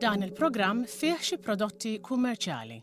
Dan il-programm fih xi prodotti kummerċjali.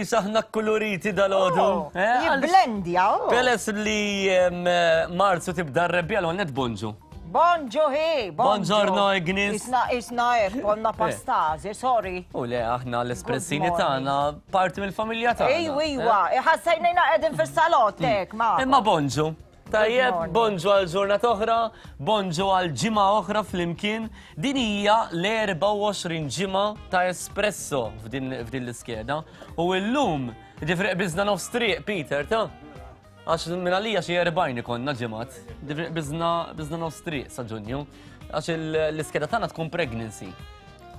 Saħna kuluriti dal-ħodu. Oh, eh, Jibblendja, oh. Peles li marzu tibda r-rebbija l-għonet bonġu. Bonġu hi, Buongiorno Ignis. Isna, isna ek, konna eh. pastazi, sorry. U le, aħna l-espressini tagħna parti mill-familja tagħna. Ejwa, ejwa, eh? ħassajnejna qegħdin fis-salott mm. hekk, ma. Imma bonġu. Tajjeb, bonġu għal ġurnata oħra, bonġu għal ġimgħa oħra flimkien. Din hija l-24 ġimgħa ta' espresso f'din l-iskeda. U llum, ġifri qbiżna nofs triq, Peter, ta' Għax minn għalija xi 40 ikonna ġimgħat, biżna biżna nofs triq sa Ġunju. Għax l-iskeda tagħna tkun pregnancy.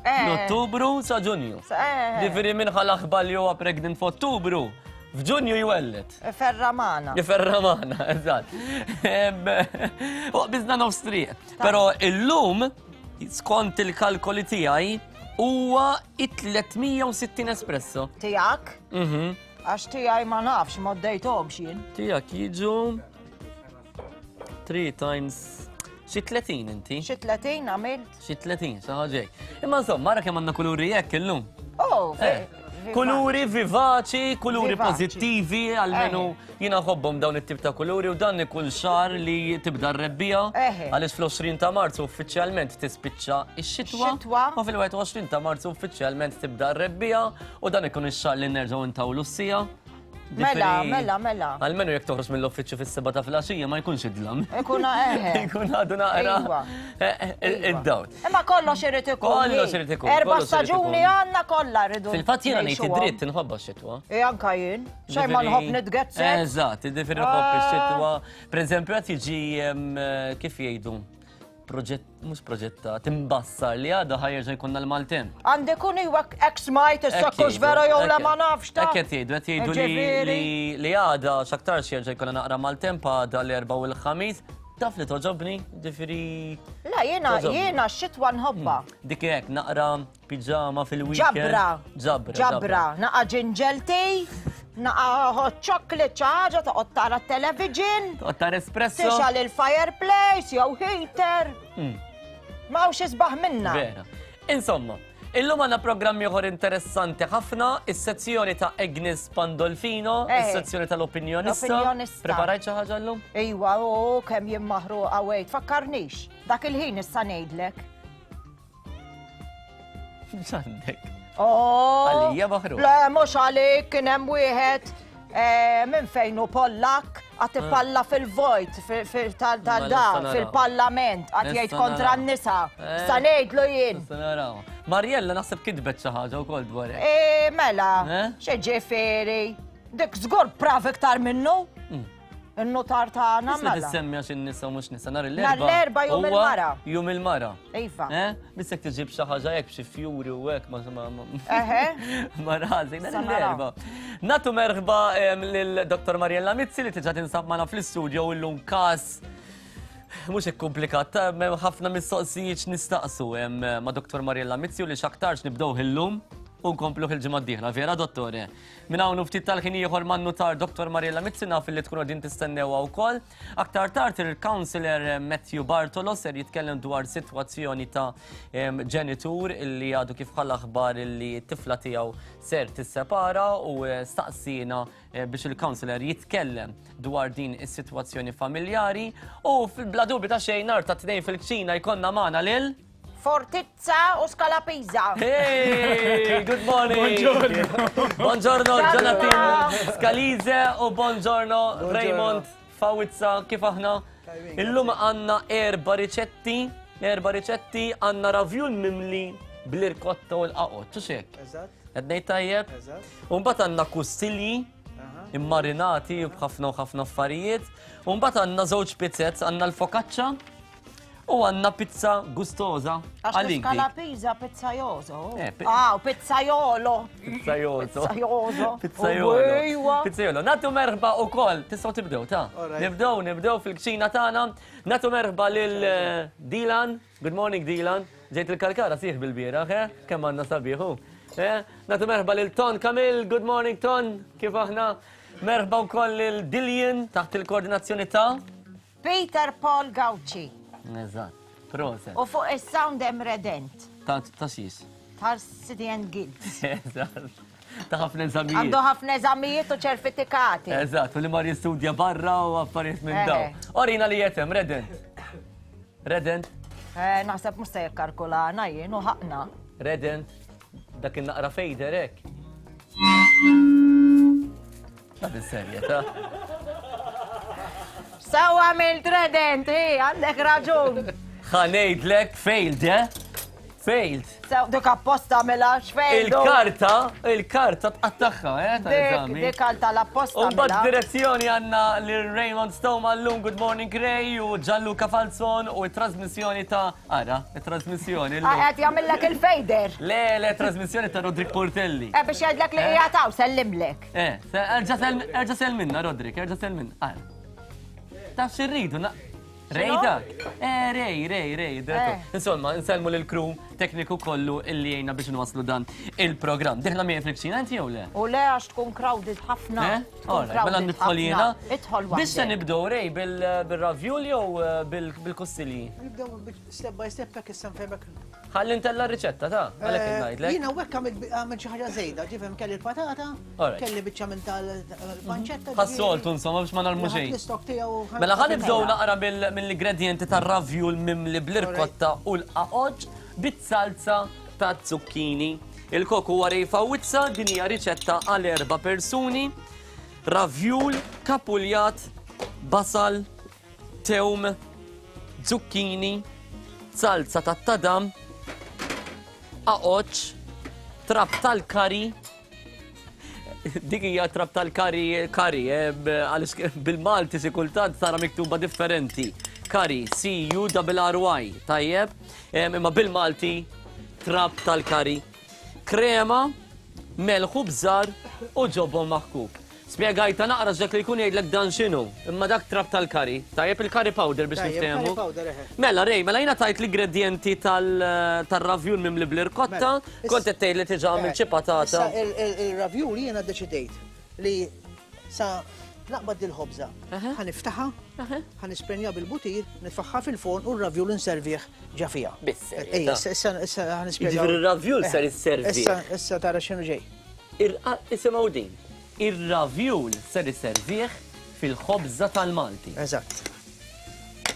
Eh. Ottubru sa Ġunju. Eh. Ġifieri minn ħal li huwa pregnant f'Ottubru, f'Ġunju jwellet. Ferramana. Ferramana, eżatt. U biżna nofs triq. Però illum, skont il-kalkoli tiegħi, huwa it-360 espresso. Tiegħek? Mhm. Għax tiegħi ma nafx, ma ddejthomx jien. Tiegħek jiġu 3 times xi 30 inti. Xi 30 għamilt? Xi 30, xi ħaġa Imma insomma, mara kemm għandna kuluri hekk illum. Oh, eh, kuluri vivaċi, kuluri pożittivi, almenu eh. jiena ħobbhom dawn it-tip ta' kuluri u dan ikun xar li tibda r-rebbija għaliex fl-20 ta' Marzu uffiċjalment tispiċċa x-xitwa. U fil-21 ta' Marzu uffiċjalment tibda r-rebbija U dan ikun ix-xahar li nerġgħu ntawlu s-sija. Mela, mela, mela. Almenu jekk toħroġ mill-uffiċċju fis-seba ta' filgħaxija ma jkunx idlam. Ikun eħe. Ikun għadu naqra. Iva. Eh, eh, Iva. id-dawl. Imma kollox irid ikun. Kollox irid ikun, Erba' kollox irid staġuni ikun. għandna kollha rridu. Fil-fatt jiena ngħid ngħixuhom. id-dritt inħobba x-xitwa. E anka jien. Xejn ma nħobb nitgezzek. Eżatt, ġifieri nħobb Ah. ix-xitwa. Per eżempju, qed jiġi em, kif jgħidu proġett, mhux proġetta, timbassar li għada ħajjerġa' jkollna l-maltemp. Għandi kun iwa hekk smajt issa kux vera jew le ma nafx ta. Hekk qed jgħidu, qed jgħidu li- Ġifieri. li li għada x'aktarx jerġa' jkollna naqra maltemp għada l-erba' u l-ħamis. Taf li toġobni, ġifieri La jiena Toġobni. jiena x-xitwa nħobbha. dik hekk naqra piġama fil-weekend. Ġabra. Ġabra. Ġabra. Naqa ġinġel tea, naqa hot chocolate xi ħaġa toqgħod tara t-television. Toqgħod tara espresso. Tixgħal il-fireplace jew heater. Ma hawnx isbaħ minna. Vera. Insomma, illum għandna programm ieħor interessanti ħafna, is-sezzjoni ta' Agnes Pandolfino, Eh. is-sezzjoni tal-opinjonista. L-opinjonista. Preparajt xi ħaġa llum? Iwa, u kemm jien maħruqa wejt, fakkarnix. Dak il-ħin issa ngħidlek. X'għandek? Oh! Għalija maħruq. Le, mhux għalik, kien hemm wieħed eh, minn fejn hu Pollak għad ipalla fil-vojt tal-da Mela, nista' naraw. fil-parlament għad jgħid Nista' kontra naraw. n-nisa. Eh. Sa ngħidlu jien. Nista' naraw. Mariella naħseb kitbet xi ħaġa wkoll dwar hekk. E, mela, Eh? xi ġifieri. Dik żgur prav iktar minnu. Mm. In-notar tagħna Issa mela. tissemmi għax in-nisa mhux nisa nhar Nhar l-erba. l-Erbgħa jum huwa il-mara. Jum il-mara. Iva. Eh? Bissek tiġib xi ħaġa hekk b'xi fjuri u hekk ma ma ma. Eħe. Ma rażi, nhar Sa naraw. l-erba. Natu merħba em, lil Dr. Mariella Mizzi li tiġa tinsab magħna fl-istudio u llum każ mhux hekk komplikat, ta' hemm ħafna mistoqsijiet nistaqsu em, ma' Dr. Mariella Mizzi u li x'aktarx nibdew illum u nkomplu il-ġimgħa d-dieħla. Vera, dottore? Minn hawn u ftit tal-ħin ieħor man-nutar Dr. Mariella Mizzi naf li tkunu qegħdin tistennewha wkoll. Aktar tard il-Councillor Matthew Bartolo ser jitkellem dwar sitwazzjoni ta' ġenitur illi għadu kif ħalla aħbar illi t-tifla tiegħu ser tissepara u eh, staqsina eh, biex il-Councillor jitkellem dwar din is-sitwazzjoni familjari u fil-bla dubju ta' xejn nhar ta' tnejn fil-kċina jkollna magħna lil Fortizza u Scalapisa. Hey, good morning. Buongiorno. Buongiorno Jonathan Scalise u buongiorno Raymond Fawizza, kif aħna? Illum għanna erba riċetti, erba riċetti għanna ravjul mimli bl-irkotta u l-qaqot, ċuxek? Eżatt. Għednej tajjeb? Eżatt. U mbagħad għandna kustilji immarinati b'ħafna u ħafna affarijiet. U mbagħad għandna żewġ pizzets, għandna l-focaccia. U għandna pizza gustosa għalik. Għax pizza pizzajoso. Eh, ah, pizzajolo. Pizzajoso. Pizzajoso. Pizzajolo. Pizzajolo. Natu merħba u koll. Tistaw tibdew, ta' Nibdew, nibdew fil-kċina tagħna. Natu merħba lil eh, Dilan. Good morning, Dilan. Ġejt il-kalkara sieħ bil-bieraħ, eh? Kemm għandna sabiħu. Eh? Natu merħba lil Ton Kamil. Good morning, Ton. Kif aħna? Merħba wkoll lil Dillian taħt il-koordinazzjoni ta' Peter Paul Gauci. Eżatt. Proset. U fuq is-sound hemm Redent. Ta' ta' xiex? Ta' City and Guilds. Eżatt. Ta' ħafna eżamijiet. Għandu ħafna eżamijiet u ċertifikati. Eżatt, u li mar jistudja barra u affarijiet minn daw. Orina li jetem, Redent. Redent. Eh, naħseb mhux se jikkalkulana jien u ħaqna. Redent. Dak in-naqra fejder hekk. Ta' bis-serjetà. Sawa għamilt redent, hi, għandek raġun. Ħa ngħidlek failed, eh? Failed. Sew dik apposta mela x'failed. Il-karta, il-karta tqattagħha, eh, tal-eżami. Dik għal tal-apposta. U mbagħad mela. direzzjoni għandna lil Raymond Stoma llum Good Morning Ray u Gianluca Falzon u t-trasmissjoni ta' ara, it-trasmissjoni llum. Ah, qed jagħmillek il-fejder. Le, le, trasmissjoni ta' Rodrik Portelli. Eh biex jgħidlek li eh? qiegħed hawn sellimlek. Eh, erġa' sel minna, Rodrik, erġa' sel minna. Ara. Taf xirridu, Rej dak. Eh, rej, rej, rej. Eh. Insomma, nsellmu lil crew tekniku kollu illi jgħinna biex nwaslu dan il-programm. Diħla miegħi fil-kċina inti jew le? U le għax tkun crowded ħafna. Eh? Mela nidħol jiena. Idħol Biex se nibdew rej bil-ravjul jew eh, bil-kussilji? Nibdew step by step hekk issa nfehmek. Ħalli ntella r-riċetta ta' għalhekk eh, ngħidlek. Jiena hekk għamilt xi ħaġa żejda, ġifhem kelli l-patata, kelli biċċa minn tal-panċetta. Ħassoltu insomma biex ma narmu xejn. L-istok tiegħu. Mela ħa nibdew naqra mill-ingredjenti tar-ravjul mimli bl-irkotta u l-qaqoġ bit-salza ta' zucchini. Il-kok huwa rejfa wizza, din hija riċetta għal erba' persuni. Ravjul, kapuljat, basal, tewm, zucchini, salza tat-tadam, aqoċ, trab tal-kari, dik hija trab tal-kari kari, eh, għaliex bil-Malti xi kultant tara miktuba differenti. Kari, C-U-R-R-Y, tajjeb, imma bil-Malti trab tal-kari. Krema, melħ u bżar u ġobon maħkuk. Spjegajtha naqra x'dak li jkun jgħidlek dan x'inhu. Imma dak trab tal-curry. Tajjeb il-curry powder biex Tajjeb, niftehmu. curry powder, eħe. Mela Ray, mela jiena tajt l-ingredjenti tal-ravjul mimli bl-irkotta, Mela, kont qed tgħid li diġà għamilt xi patata. Issa il-ravjul jiena ddeċidejt li sa naqbad dil-ħobża, ħa niftaħha, ħa nisprenja bil-butir, nitfagħha fil-forn u r-ravjul inservih ġa fiha. Bis-serjetà. Ejja, issa issa ħa nispjegaw. Jiġifieri r-ravjul ser isservih. Issa issa tara x'inhu ġej. Isimgħu din. Ir-ravjul ser iservih fil-ħobża tal-Malti. Eżatt.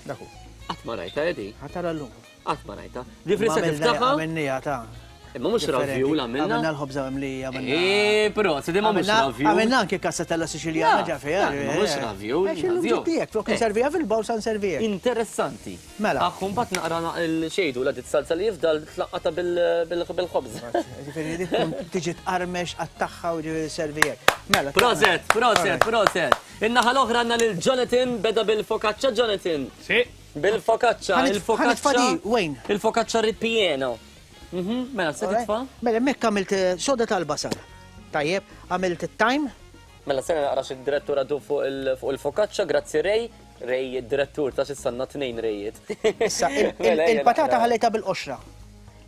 Dak hu. Qatt ma rajtha eh, di. Ħa tara llum. Qatt ma rajtha. Ġifieri se tiftaħha. Għamilniha ta'. Imma mhux ravjul għamilna. Għamilna l-ħobża mimlija. Eh, però, se ma mhux ravjul. Għamilna anke kassatella Siċiljana ġa fiha. Ma mhux ravjul. Għax illum ġiet tiegħek, flok inserviha fil-bawl sa nserviha. Interessanti. Mela. Aħ, mbagħad naqra xejdu la dit salsa li jifdal tlaqqata bil-ħobż. Ġifieri dik tkun tiġi tqarmex qattagħha u ġifieri servijek. Mela. Proset, proset, proset. In-naħa l-oħra għandna lil Jonathan beda bil-focaccia Jonathan. Si. Bil-focaccia, il-focaccia. Wayne. Il-focaccia ripieno. Mhm, mela, se titfa'? Mela, hemmhekk għamilt eh, soda tal-basal. Tajjeb, għamilt it-time. Mela se naqra xi direttur għadu fuq il-focaccia, grazzi Ray. Ray, id-direttur ta' xissanna tnejn Rayiet. Issa, mela, il-patata ħallejta bil-qoxra.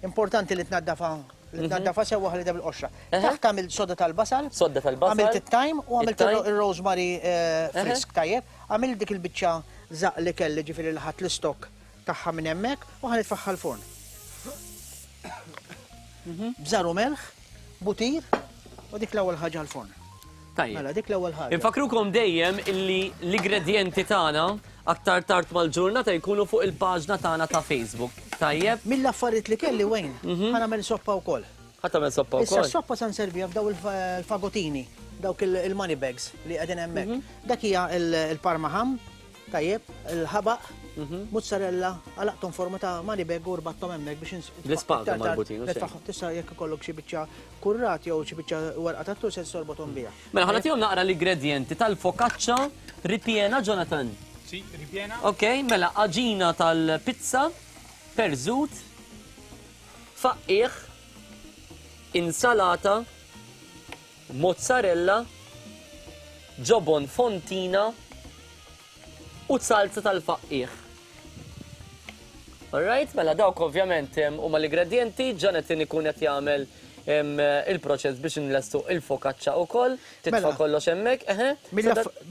Importanti li tnaddafa li mhm. tnaddafa sewwa ħallejta bil-qoxra. Taħt għamilt soda tal-basal. Soda tal-basal. Għamilt it-thyme u għamilt il-rosemary eh, frisk tajjeb. Għamilt dik il-biċċa zaq li kelli ġifieri li ħadd l-istok tagħha minn hemmhekk u ħa nitfagħha l-forn. Mhm. Bżar u melħ, butir u dik l-ewwel ħaġa l-forn. Tajjeb. Mela, dik l-ewwel ħaġa. Infakrukom dejjem illi l-ingredjenti tagħna aktar tard mal-ġurnata jkunu fuq il-paġna tagħna ta' Facebook. Tajjeb? Mill-affarijiet li kelli Wayne, mhm. ħa nagħmel soppa wkoll. Ħa tagħmel soppa wkoll. Issa s-soppa sa nserviha f'daw il-fagotini, dawk il-money bags li qegħdin hemmhekk. Mhm. Dak hija il-parma ham, Tajjeb, il-ħabaq, mozzarella, għalaqthom forma ta' money bag u rbatthom hemmhekk biex Bl-ispaga marbutin, u xejn. Tista' jekk ikollok xi biċċa kurrat jew xi biċċa warqa tat-tul se torbothom biha. Mela ħa nagħtihom naqra l-ingredjenti tal-focaccia ripiena, Jonathan. Sì, ripiena. Ok, mela għaġina tal-pizza, perżut, faqqiegħ, insalata, mozzarella, ġobon fontina u salza tal-faqqiegħ. Alright, mela dawk ovvjament huma l-ingredjenti, Jonathan ikun qed jagħmel il-proċess biex inlestu il-focaccia wkoll, titfa' Mela. kollox hemmhekk, eħe.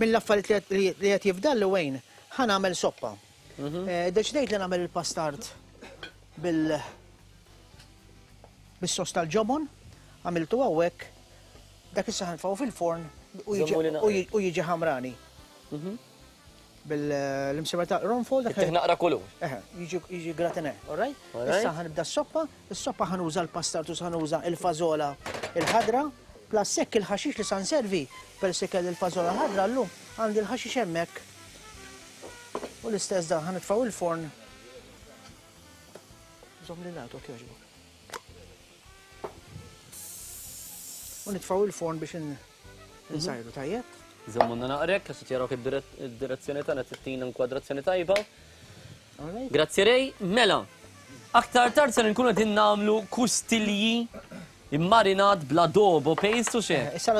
Mill-affarijiet li qed jifdalli Wayne, ħa nagħmel soppa. Deċidejt li nagħmel il-pastard bil bis-sos tal-ġobon, għamiltu hawnhekk, dak issa ħa nitfgħu fil-forn u Żommuli naqra. jiġi ħamrani. Bil-imsiemer ta' qronfol. dak Ittih naqra kulur. Eħe, jiġi gratiné, all right? All right. Issa ħa nibda s-soppa, is-soppa ħa nuża l-pastard u ħa nuża il-fażola il-ħadra, plus hekk il-ħaxix li sa nservi, peress li kelli l-fażola ħadra llum, għandi l-ħaxix hemmhekk. U l-istess dan ħa nitfgħu il-forn. Żomm li nagħtu jogħġbok. U nitfgħu il-forn biex insajru tajjeb. Żommuna naqrek, għax qed jarawk id-direzzjoni tagħna tittina inkwadrazzjoni tajba. All right. Grazzi Ray, mela. Aktar tard se nkunu qegħdin nagħmlu kustilji immarinat bl-adobo paste u xejn. Issa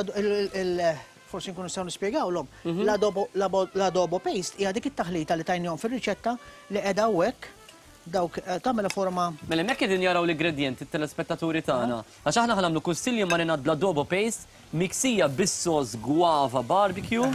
forsi nkunu nistgħu nispjegawlhom. L-adobo paste hija dik it-taħlita li tajnihom fir-riċetta li qiegħda hawnhekk dawk tagħmel forma. Mela hemmhekk qegħdin jaraw l-ingredjenti t-telespettaturi tagħna. Għax aħna ħa nagħmlu kustilji marinat bl-adobo paste miksija bis-sos guava barbecue,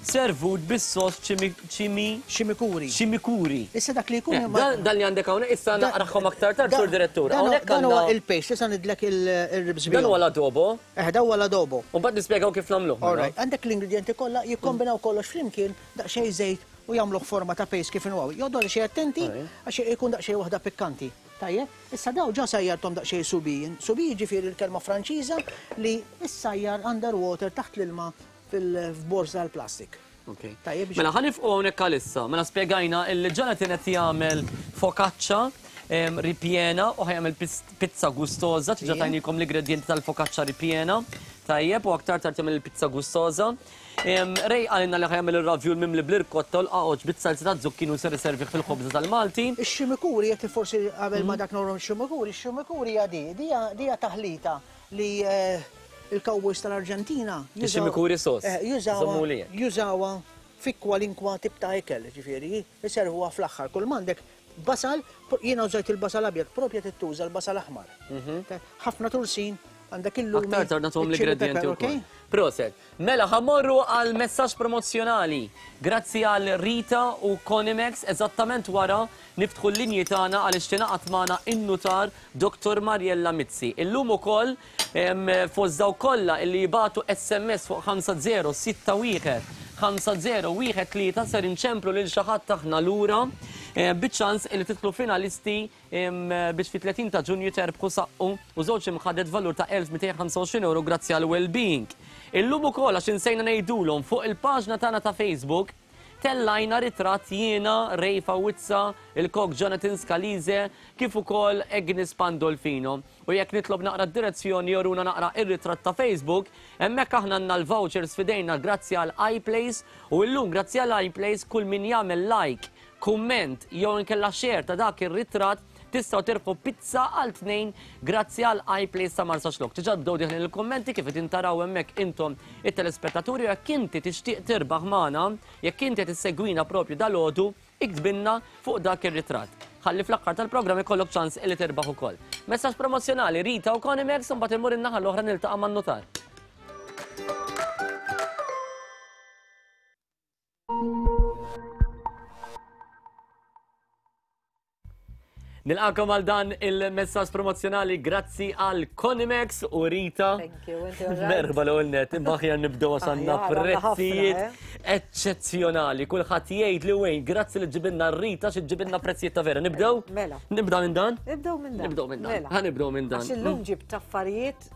servut bis-sos chimi Chimicuri. Chimicuri. Issa dak li jkun ma- Dan li għandek hawnhekk issa naqraħhom aktar tard sur direttur. Hawnhekk Dan huwa għandna il-paste, issa nidlek il-ribs Dan huwa l-adobo. Dan huwa l-adobo. U mbagħad nispjegaw kif nagħmluh. All right, għandek l-ingredienti kollha jikkombinaw kollox flimkien daqsxejn żejt u jagħmluh forma ta' paste kif inhu. Joqogħdu xejn attenti għax ikun daqsxejn waħda pikkanti. Tajjeb, issa daw ġa sajjartom daqsxejn subijin. Subijin ġifieri l-kelma Franċiża li issajjar underwater taħt l-ilma fil-borża tal-plastik. Ok. Tajjeb, biex Mela ħa nifqu hawnhekk għalissa. Mela spjegajna illi Jonathan qed jagħmel focaccia ripiena u ħa jagħmel pizza gustosa, diġà tajnikom l-ingredienti tal-focaccia ripiena. Tajjeb, u aktar tard jagħmel il-pizza gustosa. Ray qalilna li ħa jagħmel ir-ravjul mimli bl-irkotta u l-qaqoċ bit-salsa ta' zucchini u ser iservih fil-ħobża tal-Malti. Ix-ximikuri, jekk forsi qabel ma dak norom ix-ximikuri, ix-ximikuri hija di, dija taħlita li il-cowboys tal-Arġentina Ix-ximikuri sos. Żommu li hekk. jużawha fi kwalinkwa tip ta' ikel, ġifieri, iservuha fl-aħħar. Kull m'għandek basal, jiena użajt il-basal abjad, propja tittuża l-basal aħmar. Ħafna tursin, għandek il-lumi. Aktar tard nagħtuhom iċ-chili l-ingredienti pepper, wkoll. ok? Proset. Mela ħa mmorru għal messaġġ promozzjonali. Grazzi għal Rita u Conimex, eżattament wara niftħu l-linji tagħna għaliex tingħaqad magħna in-nutar Dr. Mariella Mizzi. Illum ukoll fost daw kollha illi jibatu SMS fuq 5061 5013 ser inċemplu lil xi ħadd aħna lura biċ-ċans illi titlu finalisti biex fi 30 ta' Ġunju terbħu saqqu u żewġ imħadet valur ta' 1225 euro grazzi għal well-being. Illum ukoll għax insejna ngħidulhom fuq il-paġna tagħna ta' Facebook tellajna ritratt jiena, Ray Fawizza, il-kok Jonathan Scalise, kif ukoll Agnes Pandolfino. U jekk nitlob naqra d-direzzjoni joruna naqra ir-ritratt ta' Facebook, hemmhekk aħna għandna l-vouchers fidejna grazzi għal iPlace u llum grazzi għal iPlace kull min jagħmel like, kumment jew inkella share ta' dak ir-ritratt tistgħu tirbħu pizza għal 2 grazzi għal iPlace ta' Marsaxlokk. Diġà bdew diħlin il-kummenti kif qed intaraw hemmhekk intom it-telespettaturi jekk inti tixtieq tirbaħ magħna, jekk inti qed issegwina propju dalgħodu, iktbilna fuq dak ir-ritratt. Ħalli fl-aħħar tal-programm ikollok ċans li tirbaħ ukoll. Messaġġ promozzjonali Rita u Conimex u mbagħad immur in-naħa l-oħra niltaqa' man-nutar. Nilqakom għal dan il-messaġġ promozzjonali grazzi għal Conimex u Rita. Thank you, inti all right? Merħba l-ewwel nett, imma aħjar nibdew għax għandna Aħjar, għandna ħafna, prezzijiet eh? eċċezzjonali. Kulħadd jgħid li wejn, grazzi li ġibilna Rita xi ġibilna prezzijiet ta' vera. Nibdew? Mela. Nibda minn dan? Nibdew minn dan. Nibdew minn dan. Mela. Ħa nibdew minn dan. Għax illum ġibt affarijiet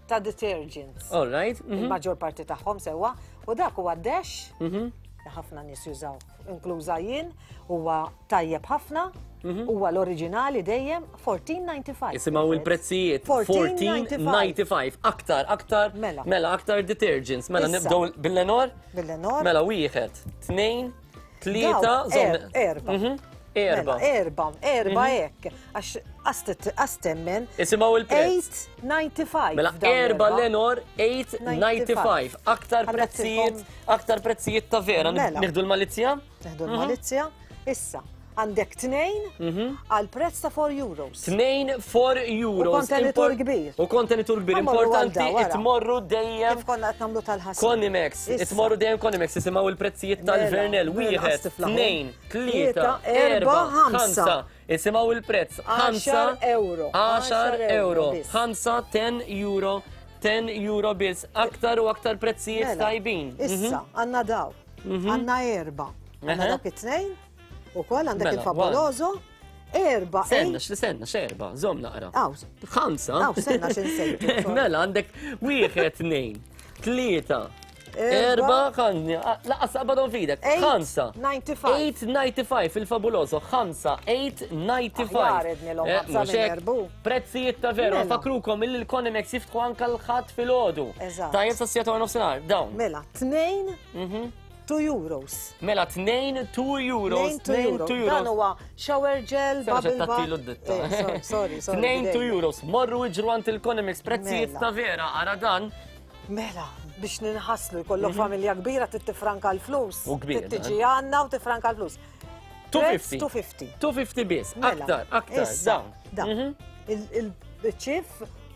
ta' detergents. All right. Il-maġġor parti tagħhom sewwa u dak huwa Dash li ħafna nies jużaw, inkluża jien, huwa tajjeb ħafna, huwa l-oriġinali dejjem 14.95. Isimgħu il-prezzijiet 14.95. 14.95. Aktar, aktar, Mela. mela, aktar detergents. Mela Issa. nibdew bil-Lenor? Bil-Lenor. Mela wieħed, tnejn, Tlieta, Erba. Mhm. Erba. Mela, erba, erba mhm. hekk. Għax għastemmen. Isimgħu il-prezz. 8.95. Mela erba Lenor 8.95. Aktar prezzijiet, aktar prezzijiet ta' vera. Mela. Nieħdu l-malizzja? Nieħdu mhm. l-malizzja. Issa, għandek tnejn mhm. għal prezz ta' 4 euros. Tnejn 4 euros. U kontenitur kbir. U kontenitur kbir. Importanti, itmorru dejjem. Kif konna qed nagħmlu tal-ħasil. Konimex, itmorru dejjem Konimex, isimgħu il-prezzijiet mela, tal-Vernel. Mela, Wieħed, tnejn, tlieta, erba, ħamsa. Isimgħu il-prezz. 5 euro. 10 euro. 5, 10 euro. 10 euro biss. Aktar u aktar prezzijiet mela, tajbin. Issa, mhm. għandna daw. Mhm. Għandna erba. Għandna dawk it-tnejn. U koll għandek mela, il-favoloso. Erba. Senna, x'senna, x'erba, żomm naqra. Ħamsa. Aw, senna x'insejtu. Mela għandek wieħed, tnejn, tlieta, erba, ħanni, laqas qabadhom fidek. Ħamsa. 8.95. 8.95 il-fabuloso, ħamsa, 8.95. Eh, Prezzijiet ta' veru, mela. fakrukom illi l-Konimex jiftħu anka l-ħadd filgħodu. Tajjeb sa' siegħa nofsinhar, dawn. Mela, tnejn. Mhm. 2 euros. Mela 2 2 euros. 2 euros. Dan huwa shower gel, bubble bath. ditta. Eh, sorry, sorry. 2 2 euros. Morru iġru għand il-Economics prezzijiet Mela. ta' vera, ara dan. Mela, biex ninħaslu jkollok familja kbira trid tifranka l-flus. Mhm. U kbir, Trid tiġi għandna u tifranka l-flus. 250. 250. 250 biss. Mela, Aktar, aktar, issa, dawn. Dan. Mhm. Il-ċif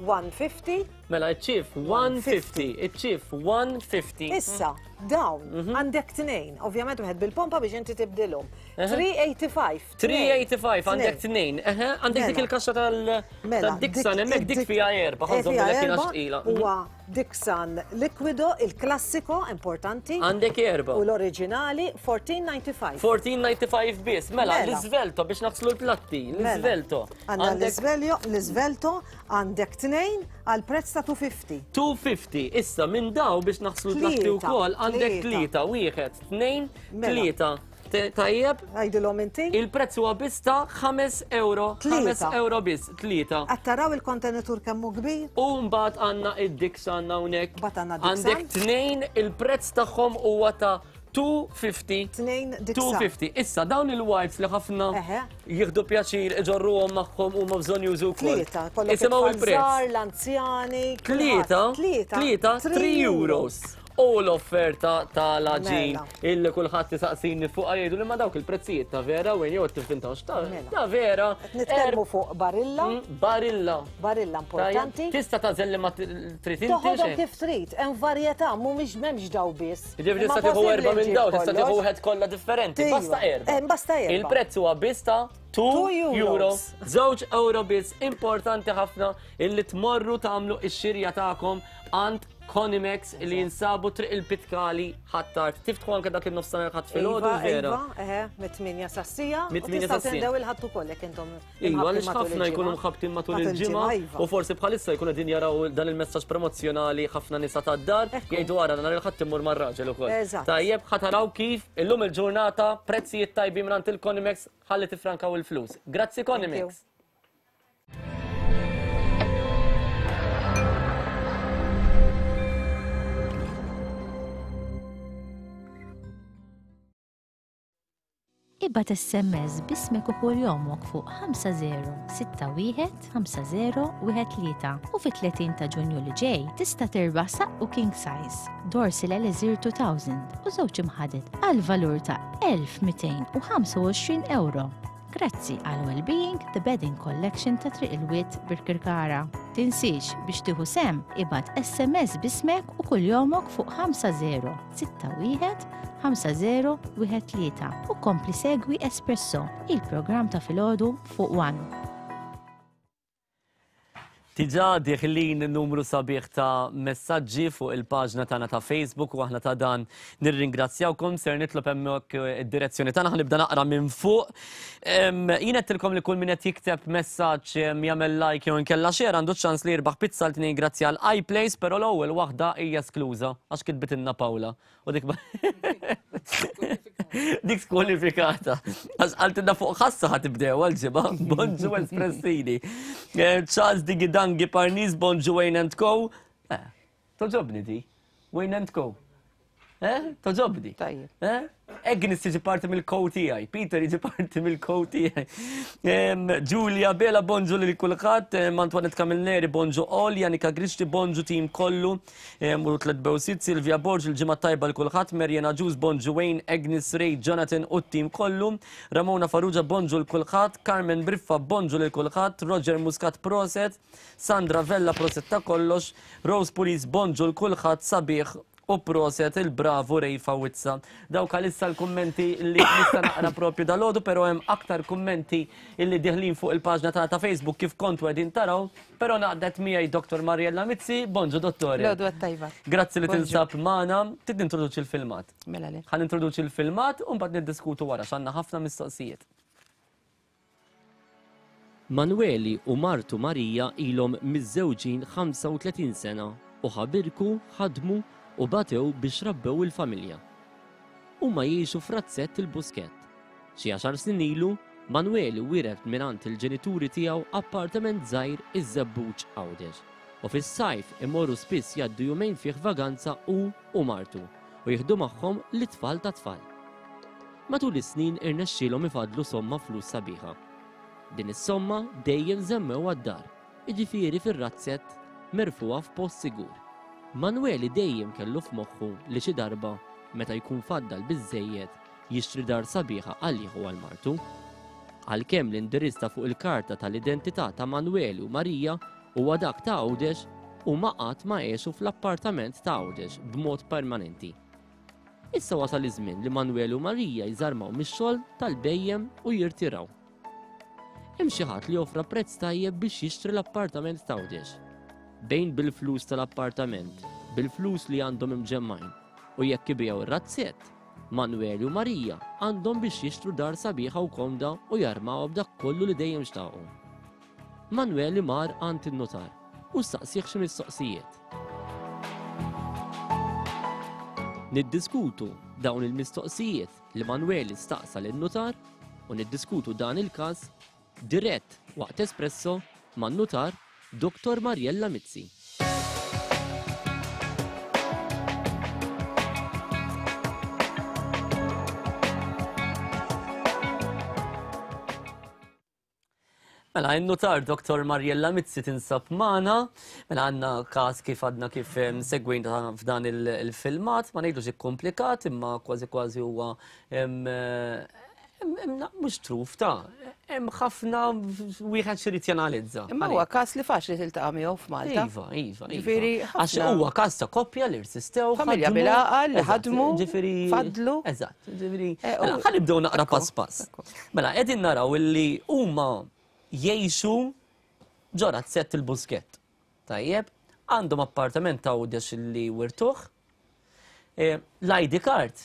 150. Mela, iċ-ċif 150, iċ-ċif 150. Issa, dawn, Mhm. għandek tnejn, ovvjament wieħed bil-pompa biex inti tibdilhom. 385. 385 għandek tnejn. Eħe, għandek dik Mela. il-kaxxa tal-Dixon, hemmhekk dik fiha erba, Eh, ħanżom fiha bil kien erba, tqila. Huwa Dixon Liquido, il-klassiko importanti. Għandek erba. U l-oriġinali 1495. 1495 biss, mela, Mela. l-iżvelto biex naħslu l-platti, Mela. l-iżvelto. Għandna l-Isveljo, l-Isvelto għandek tnejn għal prezz ta' 250. 250, issa minn daw biex naħslu l-platti Tlieta, wkoll għandek tlieta. tlieta, wieħed, tnejn, Mela. tlieta. Tajjeb, Għajdilhom inti. il-prezz huwa biss ta' 5 euro, 5 Tlieta. euro biss, tlieta. Qed taraw il-kontenitur kemm hu kbir? U mbagħad għandna id-Dixon hawnhekk. Mbagħad għandna Dixon. Għandek tnejn il-prezz tagħhom huwa ta' 250. Tnejn Dixon. 250. Issa dawn il-wipes li ħafna Eħe. jieħdu pjaċir iġorruhom magħhom huma bżonn jużu wkoll. Tlieta, kollok Isimgħu it-tfal il-prezz. żgħar, l-anzjani. Tlieta, kulħadd. Tlieta, tlieta, 3 euros. U l-offerta tal-aġin Mela. illi kulħadd isaqsini fuq jgħidu li ma dawk il-prezzijiet ta' vera wejn jew tifintawx ta' Mela. ta' vera. Qed nitkellmu fuq barilla, Mm, Barilla. barilla importanti. Tista' tagħżel li ma trid inti. Toħodhom xejn. kif trid, hemm varjetà, mhumiex m'hemmx daw biss. Ġifieri Imma tista' tieħu possibbli erba' minn ġġib daw, tista' tieħu kollox. wieħed kollha differenti. Iva. Basta erba'. Eh, basta erba'. Il-prezz huwa biss ta' 2 Two euro. euros. Żewġ euro biss importanti ħafna illi tmorru tagħmlu x-xirja tagħkom għand Conimex li jinsabu triq il-Pitkali ħattart. Tiftħu anke dak il-nofsinhar ħadd filgħodu Iva, vera. iva, eħe, mit-8 sassija. Mit-tmienja Mit-8 sassija. sas-sija. Tindew il-ħadd ukoll jekk intom. Iva, imħabbtin għaliex matul ħafna jkunu il-ġimgħa. mħabtin matul il-ġimgħa iva. u forsi bħalissa jkunu din jaraw dan il-messaġġ promozzjonali ħafna nisa tad-dar Ekku. jgħidu ara nhar il-ħadd immur mar-raġel ukoll. Eżatt. Tajjeb ħa taraw kif illum il-ġurnata prezzijiet tajbin mingħand il-Conimex ħalli tifrankaw il-flus. Grazzi you. Conimex. Ibgħat SMS b'ismek u kuljomok fuq 50615013 u fit-30 ta' Ġunju li ġej tista' tirbaħ saqqu king size, Dorsil Elixir 2000 u żewġ imħaded għal valur ta' 1225 euro. Grazzi għal Wellbeing The Bedding Collection ta' Triq il-Wied Birkirkara. Tinsiex biex tieħu sehem ibgħat SMS b'ismek u kuljomok fuq 5061 5013 u kompli segwi Espresso, il-programm ta' filgħodu fuq One. Diġà diħlin numru sabiħ ta' messaġġi fuq il-paġna tagħna ta' Facebook u aħna ta' dan nirringrazzjawkom ser nitlob hemmhekk id-direzzjoni tagħna ħanibda naqra minn fuq. Jien għedtilkom li kull min qed jikteb messaġġ jagħmel like jew inkella share għandu ċans li jirbaħ pizza l tnejn grazzi għal iPlace, però l-ewwel waħda hija skluża għax kitbitilna Paula. U dik dik skwalifikata. Għax qaltilna fuq ħassa ħa tibdew għal-ġimgħa. Bonġu Espressini. Charles Digidangi Parnis, bonġu Wayne and Co. Toġobni di. Wayne and Co. Eh? Toġobni. Tajjeb. Eh? Agnes tiġi parti mill-kow tiegħi, Peter jiġi parti mill-kow tiegħi. Giulia Bela bonġu lil kulħadd, Antoinette Camilleri bonġu all, Janika Grixti bonġu tim kollu, u tlet bewsit, Silvia Borg il-ġimgħa tajba l kulħadd, Mariana Ġus bonġu Wayne, Agnes Ray, Jonathan u t-tim kollu, Ramona Farrugia bonġu l kulħadd, Carmen Briffa bonġu lil kulħadd, Roger Muscat proset, Sandra Vella proset ta' kollox, Rose Pulis bonġu l kulħadd sabiħ U proset il-bravu Ray Fawizza. Dawk għalissa l-kummenti li nista' naqra propju dalgħodu, però hemm aktar kummenti illi diħlin fuq il-paġna tagħna ta' Facebook kif kontu qegħdin taraw, però naqdet miegħi Dr. Mariella Mizzi. Bonġu dottore. L-għodwa tajba. Grazzi li tinsab magħna. Trid nintroduċi l-filmat. Mela le. Ħa nintroduċi l-filmat u mbagħad niddiskutu wara x'għandna ħafna mistoqsijiet. Manueli u martu Marija ilhom miżżewġin 35 sena u ħabirku, ħadmu u batew biex rabbew il-familja. Huma jgħixu f'razzett il-Buskett. Xi għaxar snin ilu, Manueli wiret mingħand il-ġenituri tiegħu appartament żgħir iż-Żebbuġ Għawdex u fis-sajf imorru spiss jgħaddu jumejn fih vaganza hu u martu u jieħdu magħhom lit-tfal tat-tfal. Matul is-snin irnexxielhom ifaddlu somma flus sabiħa. Din is-somma dejjem żammewha d-dar, jiġifieri fir-razzett merfugħa f'post sigur. Manueli dejjem kellu f'moħħu li xi darba, meta jkun faddal biżżejjed, jixtri dar sabiħa għalih u għal martu. Għalkemm l-indirizz ta' fuq il-karta tal-identità ta' Manueli u Marija huwa dak ta' Għawdex, huma qatt ma għexu fl-appartament ta' Għawdex b'mod permanenti. Issa wasal iż-żmien li Manuel u Marija jżarmaw mix-xogħol tal-bhejjem u jirtiraw. Hemm xi ħadd li offra prezz tajjeb biex jixtri l-appartament t'Għawdex. Bejn bil-flus tal-appartament, bil-flus li għandhom imġemmgħin, u jekk ibigħu r-razzett, Manuel u Marija għandhom biex jixtru dar sabiħa u komda u jarmawha b'dak kollu li dejjem xtaqu. Manuel mar għand in-nutar u staqsieh xi mistoqsijiet. Niddiskutu dawn il-mistoqsijiet li Manuel staqsa lin-nutar u niddiskutu dan il-każ dirett waqt Espresso man-nutar Dr. Mariella Mizzi. Mela, in-nutar Dr. Mariella Mizzi tinsab magħna, mela għandna każ kif għadna kif segwejna f'dan il-filmat, ma ngħidux ikkomplikat, imma kważi kważi huwa mhux truf ta' hemm ħafna wieħed x'irid janalizza. Imma huwa każ li faċli tiltaqa' miegħu f'Malta. Iva, iva. Ġifieri għax huwa każ ta' koppja li rsistew. Familja bil-għaqal li ħadmu, fadlu. Eżatt, ġifieri. Eh, mela, ħa nibdew naqra pass pass. Mela, qegħdin naraw illi huma jgħixu ġo razzett il-Buskett. Tajjeb, għandhom appartament ta' Għawdex li wirtuh. E, L-ID card,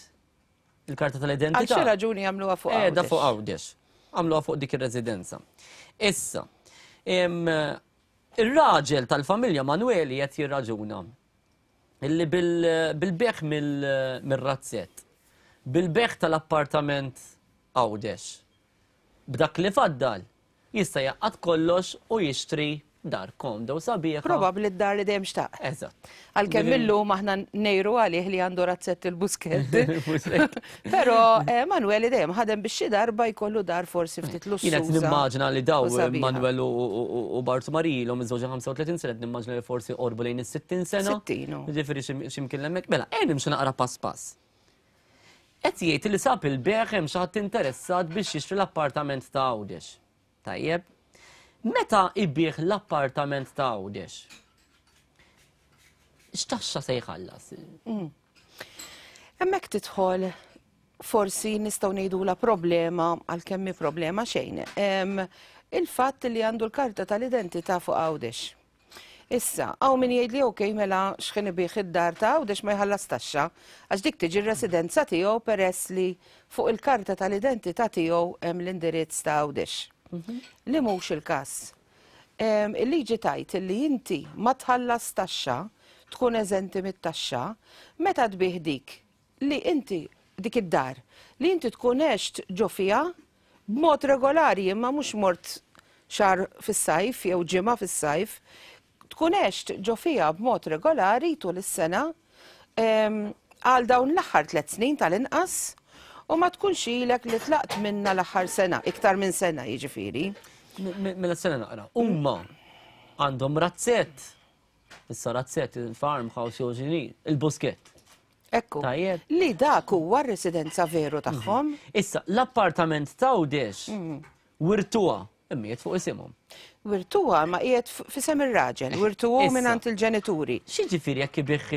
il-karta tal-identità. Għal xi raġuni għamluha fuq Għawdex. Qiegħda fuq Għawdex. Għamluha fuq dik ir-residenza. Issa, ir-raġel tal-familja Manueli qed jirraġuna illi bil-beħ mill-razzett, bil-beħ tal-appartament Għawdex, b'dak li faddal, jista' jgħaqqad kollox u jixtri dar komda u sabiħa. Probabbli d-dar li dejjem xtaq. Eżatt. Għalkemm illum aħna ngħiru għalih li għandu razzett il-Buskett. Però eh, Manuel dejjem ħadem biex xi darba jkollu dar forsi ftit lussuża. Jien qed nimmaġina li daw Manuel u Bartu Marija ilhom miżżewġa 35 sena, qed nimmaġina li forsi qorbu lejn is-60 sena. 60. Ġifieri x'imkien hemmhekk. Mela, ejja nimxu naqra pass pass. Qed jgħid li sab il-bejgħ hemm xi ħadd interessat biex jixtri l-appartament ta' Għawdex. Tajjeb. Meta ibigħ l-appartament ta' Għawdex? X'taxxa se jħallas? Mm. Hemmhekk tidħol forsi nistgħu ngħidula problema għalkemm hi problema xejn. Il-fatt li għandu l-karta tal-identità fuq Għawdex. Issa, hawn min jgħidli ok mela x'ħin ibigħ id-dar ta' Għawdex ma jħallas taxxa għax dik tiġi r-residenza tiegħu peress li fuq il-karta tal-identità tiegħu hemm l-indirizz ta' Għawdex. Mhm. Li mhux il-każ. Il-liġi tgħid li inti ma tħallas taxxa, tkun eżenti mit-taxxa, meta tbigħ dik li inti dik id-dar li inti tkun għext ġo fiha b'mod regolari imma mhux mort xahar fis-sajf jew ġimgħa fis-sajf, tkun għext ġo fiha b'mod regolari tul is-sena. Għal dawn l-aħħar tlet snin tal-inqas u ma tkunx ilek li tlaqt minna l-aħħar sena, iktar minn sena jiġifieri. Mela sena naqra. Huma għandhom razzett. Issa razzett il-farmhouse jew x'inhi, il-Buskett. Ekku. Tajjeb. Li dak huwa r-residenza veru tagħhom. Issa, l-appartament ta' Għawdex wirtuha imma qiegħed fuq isimhom. Wirtuha ma qiegħed f'isem ir-raġel, wirtuhu Issa. mingħand il-ġenituri. X'jiġifieri jekk ibigħ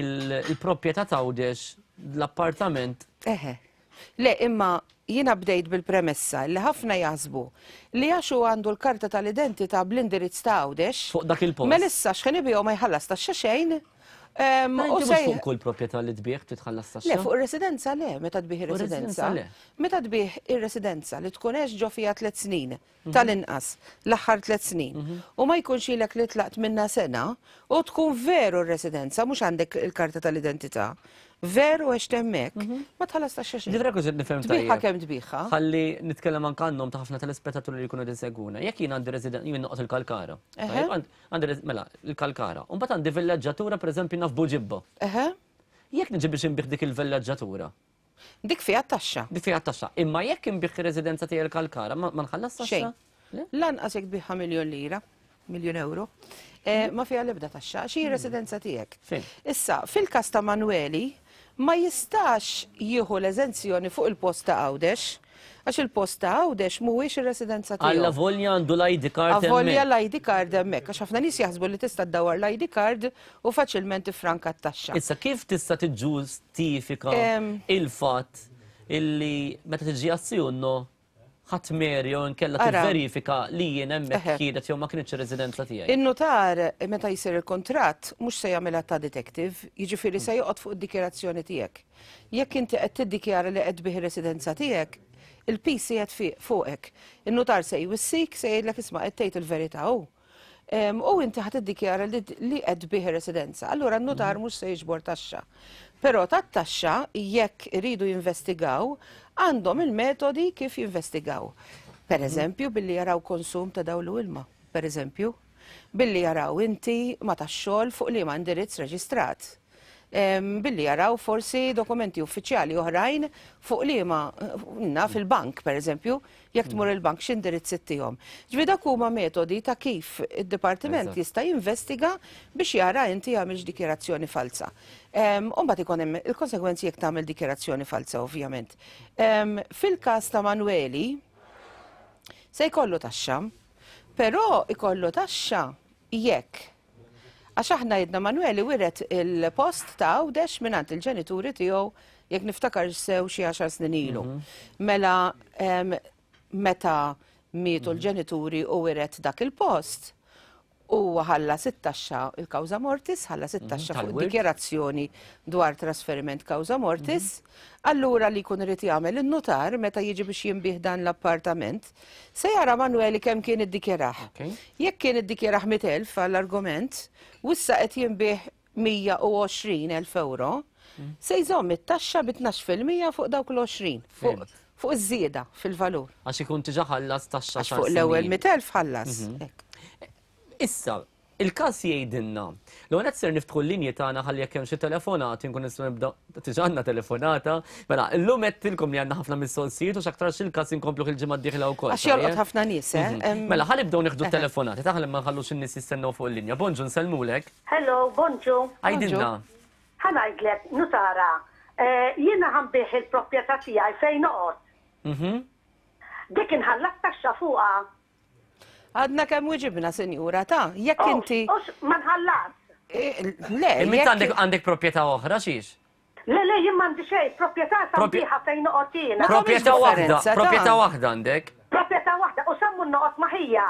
il-proprjetà ta' Għawdex l-appartament? Eħe. Le, imma jiena bdejt bil-premessa li ħafna jaħsbu li għax hu għandu l-karta tal-identità bl-indirizz ta' Għawdex. Fuq dak il-post. Mela issa x'ħin ibigħu ma jħallas taxxa xejn. Ma inti mhux fuq kull proprjetà li tbigħ titħallas taxxa? Le, fuq ir-residenza le, meta tbigħ ir-residenza. Meta tbigħ ir-residenza li tkun għext ġo fiha tliet snin, tal-inqas, l-aħħar tliet snin, u ma jkunx ilek li tlaqt minnha sena, u tkun veru r-residenza, mhux għandek il-karta tal-identità, veru għext hemmhekk, ma tħallas taxxa xejn. Ġifieri jekk nifhem tajjeb. Tbigħha kemm tbigħha. Ħalli nitkellem anke għan-nom ta' ħafna telespettaturi li jkunu qed isegwuna. Jekk jien għandi residenza, jien noqgħod il-Kalkara. Tajjeb, għandi mela, il-Kalkara. U mbagħad għandi villeġġatura pereżempju naf Buġibba. Jekk niġi biex inbigħ dik il-villeġġatura. Dik fiha t-taxxa. Dik fiha t-taxxa. Imma jekk inbigħ ir-residenza tiegħi l-Kalkara, ma nħallas taxxa? Xejn. Lanqas jekk tbigħha miljun lira, miljun euro, ma fiha l-ebda taxxa, għax hi residenza tiegħek. Issa, fil-każ ta' Manueli, ma jistax jieħu l-eżenzjoni fuq il-post ta' Għawdex, għax il-post ta' Għawdex mhuwiex ir-residenza tiegħu. Alla volja għandu l-ID card hemmhekk. Avolja l-ID card hemmhekk, għax ħafna nies jaħsbu li tista' ddawwar l-ID card u faċilment tiffranka t-taxxa. Issa, kif tista' tiġġustifika il-fatt illi meta tiġi għas-Siunno ħadd mer jew inkella tivverifika li jien hemmhekk kienet jew ma kinitx ir-residenza tiegħi? In-nutar meta jsir il-kuntratt mhux se jagħmilha ta' detective, jiġifieri se joqgħod fuq id-dikjarazzjoni tiegħek. Jekk inti qed tiddikjara li qed tbigħ ir-residenza tiegħek, il-piż qiegħed fuqek. In-nutar se jwissik, se jgħidlek isma' qed tgħid il-verità hu. U inti ħa tiddikjara li qed tbigħ ir-residenza. Allura n-nutar mhux se jiġbor taxxa. Però tat-taxxa jekk iridu jinvestigaw, għandhom il-metodi kif jinvestigaw. Per eżempju, billi jaraw konsum ta' dawl u ilma, per eżempju, billi jaraw inti ma tax-xogħol fuq liema indirizz reġistrat. Billi jaraw forsi dokumenti uffiċjali oħrajn fuq liema naf il-bank, per eżempju, jekk tmur il-bank x'indirizz ittihom. Ġifieri dak huma metodi ta' kif id-dipartiment jista' jinvestiga biex jara inti għamilx dikjarazzjoni falsa. U mbagħad ikun hemm il-konsegwenzi jekk tagħmel dikjarazzjoni falsa, ovvjament. Fil-każ ta' Manueli se jkollu taxxa, però ikollu taxxa jekk Għax aħna jedna Manueli wiret il-post ta' Għawdex mingħand il-ġenituri tiegħu jekk niftakar sew xi 10 snin ilu. Mela meta mietu l-ġenituri u wiret dak il-post, huwa ħallas it-taxxa il-kawża mortis, ħallas it-taxxa fuq Tal-wirt. dikjarazzjoni dwar trasferiment kawża mortis. Allura li jkun irid jagħmel in-nutar meta jiġi biex jinbih dan l-appartament, se jara Manueli kemm kien iddikjarah. Jekk kien iddikjarah 100,000 għall-argument, u issa qed jinbih 120,000 euro, se jżomm it-taxxa bi tnax fil-mija fuq dawk l-20, fuq iż-żieda fil-valur. Għax ikun diġà ħallas taxxa Għax fuq l-ewwel 100,000 ħallas. Hekk. Issa, il-każ jgħidilna. L-ewwel qed ser niftħu l-linji tagħna ħalli jekk hemm xi telefonati nkun nistgħu nibda diġà għandna telefonata. Mela, illum għedtilkom li għandna ħafna mistoqsijiet u x'aktarx il-każ inkomplu il-ġimgħa d-dieħla wkoll. Għax jolqot ħafna nies, eh? Mela, ħa nibdew nieħdu telefonati, taħlem ma nħallux in-nies jistennew fuq il-linja. Bonġu, nsellmulek. Hello, bonġu. Għidilna. Ħa ngħidlek, nutara, jiena ħa nbigħ il-proprjetà tiegħi fejn noqgħod. Dik inħallas taxxa fuqha. Għadna kemm wiġibna, sinjura, ta' jekk inti. Ma nħallas. Le, Imma jekk għandek proprjetà oħra xiex? Le, le, jien m'għandi xejn, proprjetà sabiħa fejn noqgħod jiena. Ma tagħmilx Proprjetà waħda, differenza, ta' proprjetà waħda għandek. Proprjetà waħda, u sammu noqgħod ma' ħija.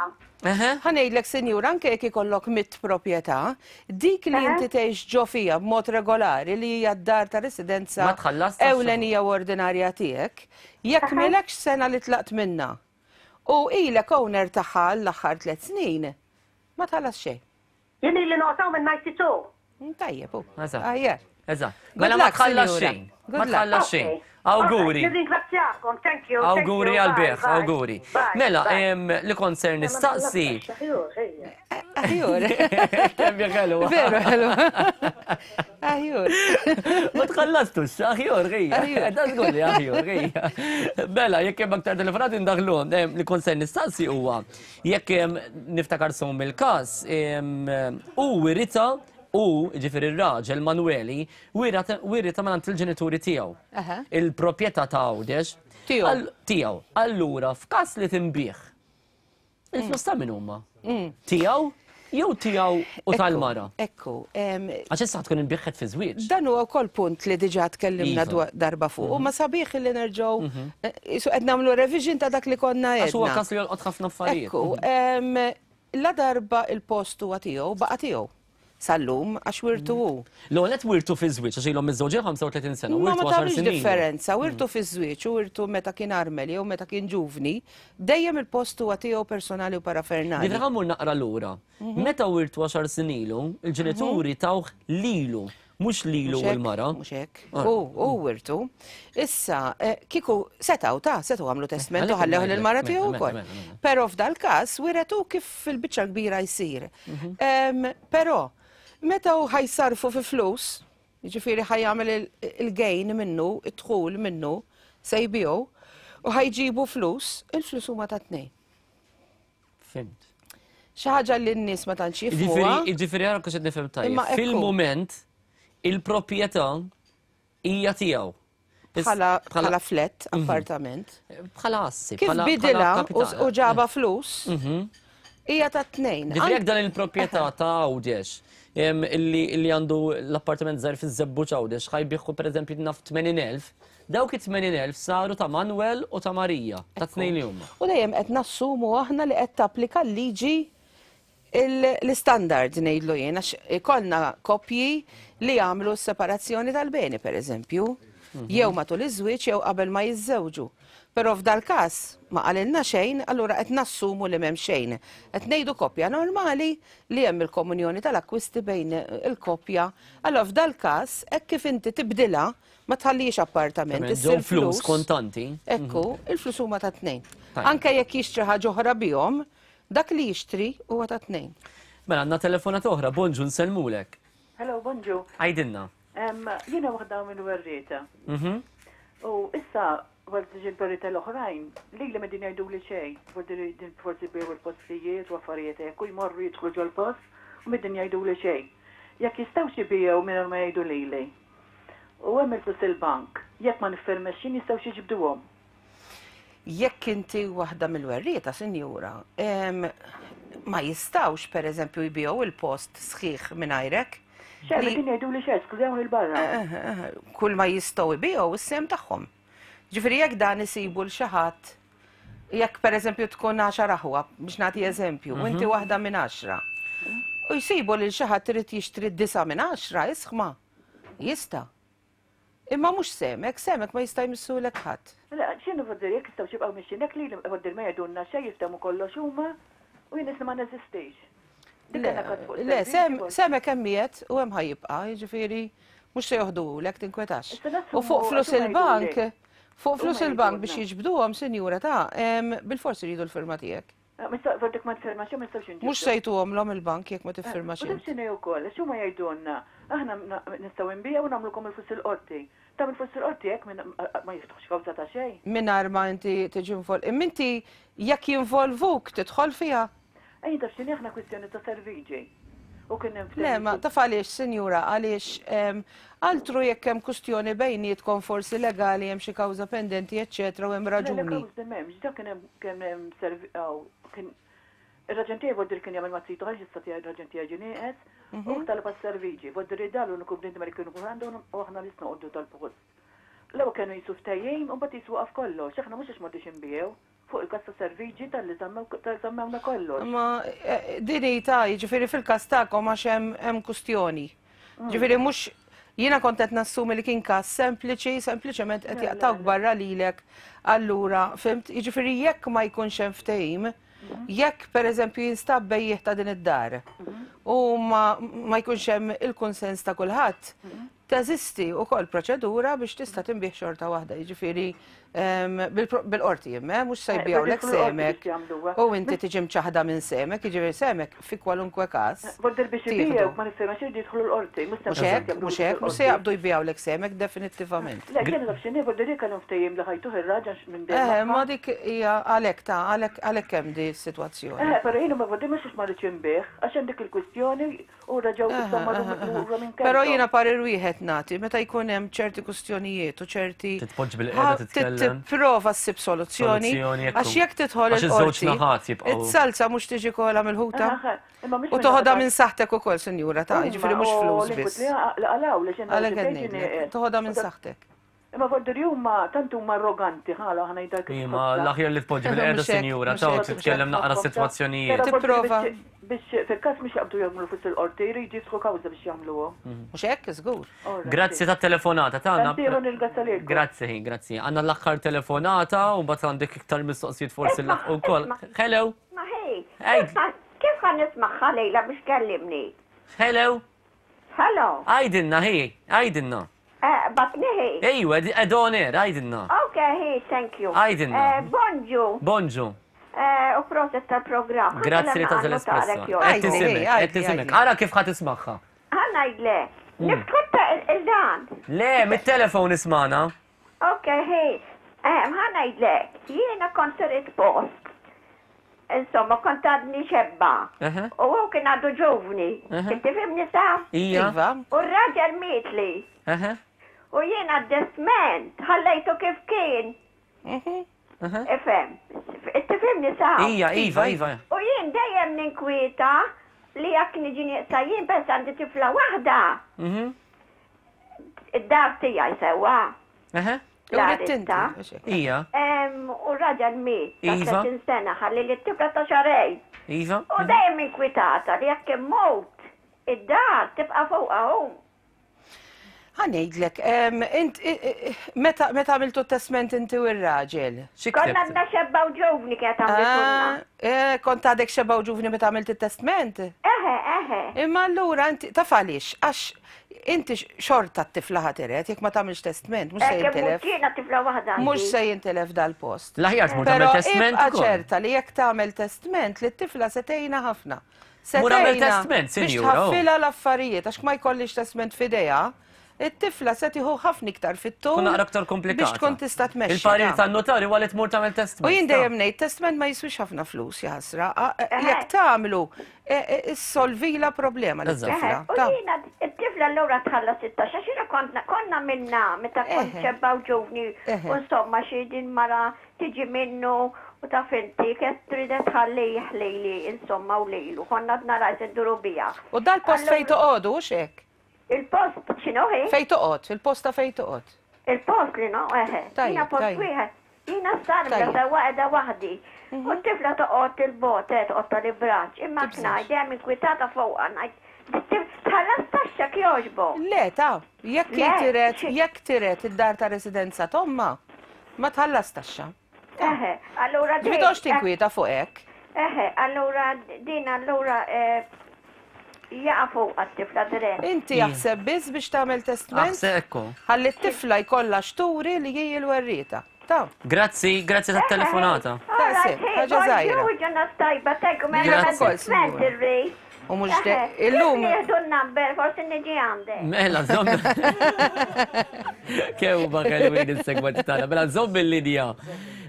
Ħa ngħidlek, sinjura, anke jekk ikollok mitt proprjetà, dik li inti tgħix ġo fija b'mod regolari li hija d-dar ta' residenza Ma tħallas taxxa. ewlenija u ordinarja tiegħek, jekk m'ilekx sena li tlaqt minna u ilek owner tagħha l-aħħar 3 snin, ma tħallas xejn. Jien ili noqgħod hawn minn 92. Tajjeb, hu. Eżatt. Aħjar. Eżatt. Good Mela ma luck, tħallas sinjura. xejn. Good Ma luck. tħallas Okay. xejn. Awguri. Alright, nirringrazzjakom, thank you, thank Awguri you, għal bye, bieħ, bye. awguri. Bye, Mela, bye. li kont ser nistaqsi. Aħjur. Kemm hija ħelwa. Veru ħelwa. Aħjur. Ma tħallastux, aħjur, għija. Da żgur li aħjur, għija. Bella, jekk hemm aktar telefonati ndaħlu, li kont se nistaqsi huwa jekk niftakar sum il-każ, u wirita u ġifieri r-raġel Manueli wirita mingħand il-ġenituri tiegħu. Il-proprjetà ta' Għawdex. Tiegħu. Tiegħu. Allura, f'każ li tinbih, Il-flus ta' min huma? Tiegħu jew tiegħu u tal-mara? Ekku. Għax issa tkun inbiħħet fi żwieġ. Dan huwa wkoll punt li diġà tkellimna iva. darba fuq. Ma sabiħ li nerġgħu isu qed nagħmlu revision ta' dak li konna għedna. Għax huwa każ li jolqot ħafna affarijiet. Ekku. La darba il-post huwa tiegħu baqa' tiegħu. sal-lum għax wirtu hu. L-ewwel nett wirtu fiż-żwieġ għax ilhom miżżewġin 35 sena, Ma wirtu ma għaxar tagħmilx snin ilu. differenza, wirtu fiż-żwieġ u wirtu meta kien armel jew meta kien ġuvni, dejjem il-post huwa tiegħu personali u parafernali. Ġifieri ħa mmur naqra lura. Meta wirtu għaxar snin ilu, il-ġenituri tawh lilu, mhux lilu u l-mara. Mhux hekk. Hu, hu wirtu. Issa, kieku setgħu ta' setgħu għamlu testment u ħallewh lill-mara tiegħu wkoll. Però f'dal-każ wiret hu kif fil-biċċa l-kbira jsir. Però, meta hu ħajsarfu fi flus, jiġifieri ħajjagħmel il-gain minnu, id-dħul minnu, se jbigħu, u ħajġibu flus, il-flus huma ta' tnejn. Fimt. Xi ħaġa li n-nies ma tantx jifhmuha. Jiġifieri ara kux qed nifhem tajjeb. Fil-mument il-proprjetà hija tiegħu. Bħala flat, appartament. Bħala assi. Kif bidilha u ġaba flus, hija ta' tnejn. Ġifieri jekk dan il-proprjetà ta' Għawdex illi għandu l-appartament żgħir fiż-Żebbuġ Għawdex ħa jbigħu pereżempju naf 80,000, dawk it-80,000 saru ta' Manuel u ta' Marija, ta' tnejn li huma. U dejjem qed nassumu aħna li qed tapplika l-liġi l-istandard ngħidlu jien għax ikollna koppji li jagħmlu s-separazzjoni tal-beni pereżempju, jew matul iż-żwieġ jew qabel ma jiżżewġu. Però f'dal-każ ma qalilna xejn, allura qed nassumu li m'hemm xejn. Qed ngħidu koppja normali li hemm il-komunjoni tal-akkwisti bejn il-koppja. Allura f'dal-każ hekk kif inti tibdilha ma tħallihiex appartament, issir flus kontanti. Ekku, il-flus huma ta' tnejn. Anke jekk jixtri ħaġa oħra bihom, Dak li jixtri huwa ta' tnejn. Mela għandna telefonata oħra, bonġu nsellmulek. Hello, bonġu. Għidilna. Jiena waħda minn werrieta. U issa wara li ġiet werrieta l-oħrajn, lili m'qegħdin jgħiduli xejn. Forsi din forsi jbigħu l-postijiet u affarijiet hekk u jmorru jidħlu ġol-post u m'qegħdin jgħiduli xejn. Jekk jistgħux ibigħu mingħajr ma jgħidu lili. U hemm il-flus il-bank. Jekk ma niffirmex jien jistgħux jiġbduhom. Jekk inti waħda mill-werrieta, sinjura, ma jistgħux pereżempju jbigħu il-post sħiħ mingħajrek. Xejn, qegħdin jgħiduli xejn, skużawni 'l barra. Kull ma jistgħu jbigħu is-sehem tagħhom. Ġifieri jekk dan isibu l xi ħadd, jekk pereżempju tkun għaxar aħwa, biex nagħti eżempju, u inti waħda minn għaxra, u jsibu lil xi ħadd irid jixtri disa' minn għaxra, isħma, jista'. Imma mhux sehmek, sehmek ma jista' jmissulek ħadd. Mela, x'inhu voldiri jekk jistgħux jibqgħu mixjin hekk lili voldiri ma jgħidulna xejn jiftehmu kollox huma u jien qisni ma neżistix. Dik Le, għandna każ fuq le, is-servizzi sehem, forsi. sehmek hemm qiegħed u hemm ħa jibqa', jiġifieri mhux se joħduhulek, tinkwetax. Issa U nassumu fuq għax flus huma il-bank, jgħiduli. fuq flus Huma il-bank biex jgħidulna. jiġbduhom, sinjura ta', bilfors iridu l-firma tiegħek. Mhux ma tiffirmax ma nistgħux inġibdu. Mhux se jtuhomlhom il-bank jekk ma tiffirmax U taf int. x'inhi wkoll, għax huma jgħidulna, aħna nistgħu nbigħu u nagħmlulkom il-flus il-qorti. Tagħmel flus il-qorti hekk ma jiftħux kawża ta' xejn. Mingħajr ma inti tiġi invol. Imma inti jekk jinvolvuk tidħol fiha? Ejja taf x'inhi aħna kwistjoni ta' serviġi. U kien hemm Le, ma taf għaliex, sinjura, għaliex altru jekk hemm kustjoni bejnietkom forsi legali hemm xi kawża pendenti eċċetera u hemm raġuni. Le, le kawżi m'hemmx, dak kien hemm kien hemm kien ir-raġen tiegħi voldiri kien jagħmel ma' zitu għaliex issa tiegħi ir-raġen tiegħi ġie nieqes u talab għas-serviġi, voldiri dan l-uniku bniedem li kienu għandu u aħna li noqogħdu tal-post. L-ewwel kienu jisu ftehim u mbagħad jisu waqaf kollox, aħna mhux għax m'għadniex inbiegħu. Fuq il-każ ta' serviġi talli żammewna kollox. Imma din hi ta' jiġifieri fil-każ tagħkom għax hemm hemm kustjoni. Ġifieri mhux jiena kont qed nassumi li kien każ sempliċi, sempliċement qed jaqtgħuk barra lilek allura, fhimt? Jiġifieri jekk ma jkunx hemm ftehim, jekk pereżempju jinstab bejjiegħ ta' din id-dar. u ma ma jkunx hemm il-kunsens ta' kulħadd, teżisti wkoll proċedura biex tista' tinbiegħ xorta waħda, jiġifieri bil-qorti imma, mhux se jbigħulek semek u inti tiġi mċaħda minn semek, jiġifieri semek fi kwalunkwe każ. Border biex ibigħu ma nifhem għax jidħlu l-qorti, mhux hekk, mhux hekk, mhux se jaqbdu jbigħulek semek definittivament. Le, jiena naf x'inhi, border jekk kellhom ftehim li ħajtuh ir-raġel minn dejjem. Eh, ma dik hija għalhekk ta' għalhekk hemm di s-sitwazzjoni. Eh, però jiena ma border mhux ma rridx inbigħ għax hemm dik il-kwistjoni U reġgħu issa marru lura minn kellhom. Però jiena parir wieħed nagħti, meta jkun hemm ċerti kustjonijiet u ċerti. Titpoġġi bil-qiegħda titkellem. Tipprova ssib soluzzjoni. Għax jekk tidħol il-qorti. naħat jibqgħu. Is-salza mhux tiġi kollha mill-ħuta. U toħodha minn saħtek ukoll, sinjura ta' jiġifieri mhux flus biss. Għalhekk qed ngħidlek, toħodha minn saħtek. Imma voldiri huma tant huma arroganti ħala ħa ngħidha kif. Imma l-aħjar li tpoġġi bil-qiegħda sinjura ta' u titkellem naqra sitwazzjonijiet. Tipprova. Biex fil-każ mhux jaqbdu jagħmlu fuq il-qorti, jridu jiftħu kawża biex jagħmluhom. Mhux hekk, żgur. Grazzi tat-telefonata tagħna. Grazzi, grazzi. Għandna l-aħħar telefonata u mbagħad għandek iktar mistoqsijiet forsi l ukoll. Hello. Ma ħej. Kif ħa nismagħha lejla biex tkellimni? Hello. Hello. Għidilna hi, għidilna. Eh, batni hi. Ejwa, ed on air, għidilna. Ok, hi, thank you. Għidilna. Eh, bonġu. Bonġu. Eh, u proset tal-programm. Grazzi li tażel espresso. Qed tisimek, qed tisimek. Ara kif ħa tismagħha. Ħa ngħidlek. Niftħu il-dan. Le, mit-telefon ismana. Ok, hi. Ħa ngħidlek, jiena kont sirit post Insomma, kont għadni xebba. U hu kien għadu ġuvni. Kif tifhimni sa? Iva. U r-raġel mietli. U jiena d-destment ħallejtu kif kien. Ifhem. Tifhimni sa? Ija, iva, iva. U jien dejjem ninkwieta li jekk niġi nieqsa jien bes għandi tifla waħda. Id-dar tiegħi sewwa. L-aritta. Ija. U raġel miet ta' 30 iva. sena ħalli li t-tifla ta' xarejn. Iva. U dejjem inkwitata li jekk immut id-dar tibqa' fuqha hu. Ħa ngħidlek, meta għamiltu testment inti u r-raġel? Konna għadna xebba u ġuvni kienet għamiltulna. Ah, eh, kont għadek xebba u ġuvni meta għamilt it-testment? Eħe, eħe. Imma allura inti taf għaliex, għax Inti xorta t-tifla ħa tiret, jekk ma tagħmilx testment, mhux se jintilef. Jiena tifla waħda. Mhux se jintilef dal-post. L-aħjar tmur tagħmel testment. Però ċerta li jekk tagħmel testment li t-tifla se tgħinha ħafna. Se tagħmel testment, sinjura. Biex tħaffilha l-affarijiet għax ma jkollix testment f'idejha, it-tifla se tieħu ħafna iktar fit-tul. Tkun naqra aktar komplikata. Biex tkun tista' tmexxi. Il-parir tan-notari huwa li tmur tagħmel testment. U jien dejjem ngħid testment ma jiswix ħafna flus jaħasra. Jekk tagħmlu Issolvila problema lit-tifla. U jiena t-tifla allura tħallas it-taxxa x'jiena kont konna minna meta kont xebba u ġuvni u insomma xi din mara tiġi minnu u taf inti kienet trid tħallih lili insomma u lilu konna għadna rajt induru biha. U dal-post fejn toqogħdu hux hekk? Il-post x'inhu hi? Fejn toqgħod, il-post ta' fejn toqgħod. Il-post li no, eħe. Jiena post wieħed. Jiena s-sarma sewwa qiegħda waħdi. U t-tifla toqgħod il-bogħod, eh, toqgħod tal-ibraġ. Imma ngħid dejjem inkwitata fuqha ngħid tħallas taxxa jogħġbok. Le, ta' jekk tiret, jekk tiret id-dar ta' residenza t'ommha, ma tħallas taxxa. Eħe, allura din. Ġifieri tinkwieta fuq hekk. Eħe, allura din allura eh, jaqa' fuq għat-tifla dirett. Inti jaħseb biss biex tagħmel testment. Aħseb ekku. Ħalli t-tifla jkollha xturi li hi l-werrieta. Ta. Grazzi, grazzi tat-telefonata. Ħaġa żgħira. Ġurnata tajba, thank you, mela testment irrid. U mhux illum. Nieħdu n-number, forsi niġi għandek. Mela, żomm. Kew ma kelwin il-segwenti tagħna. Mela żomm il-linja.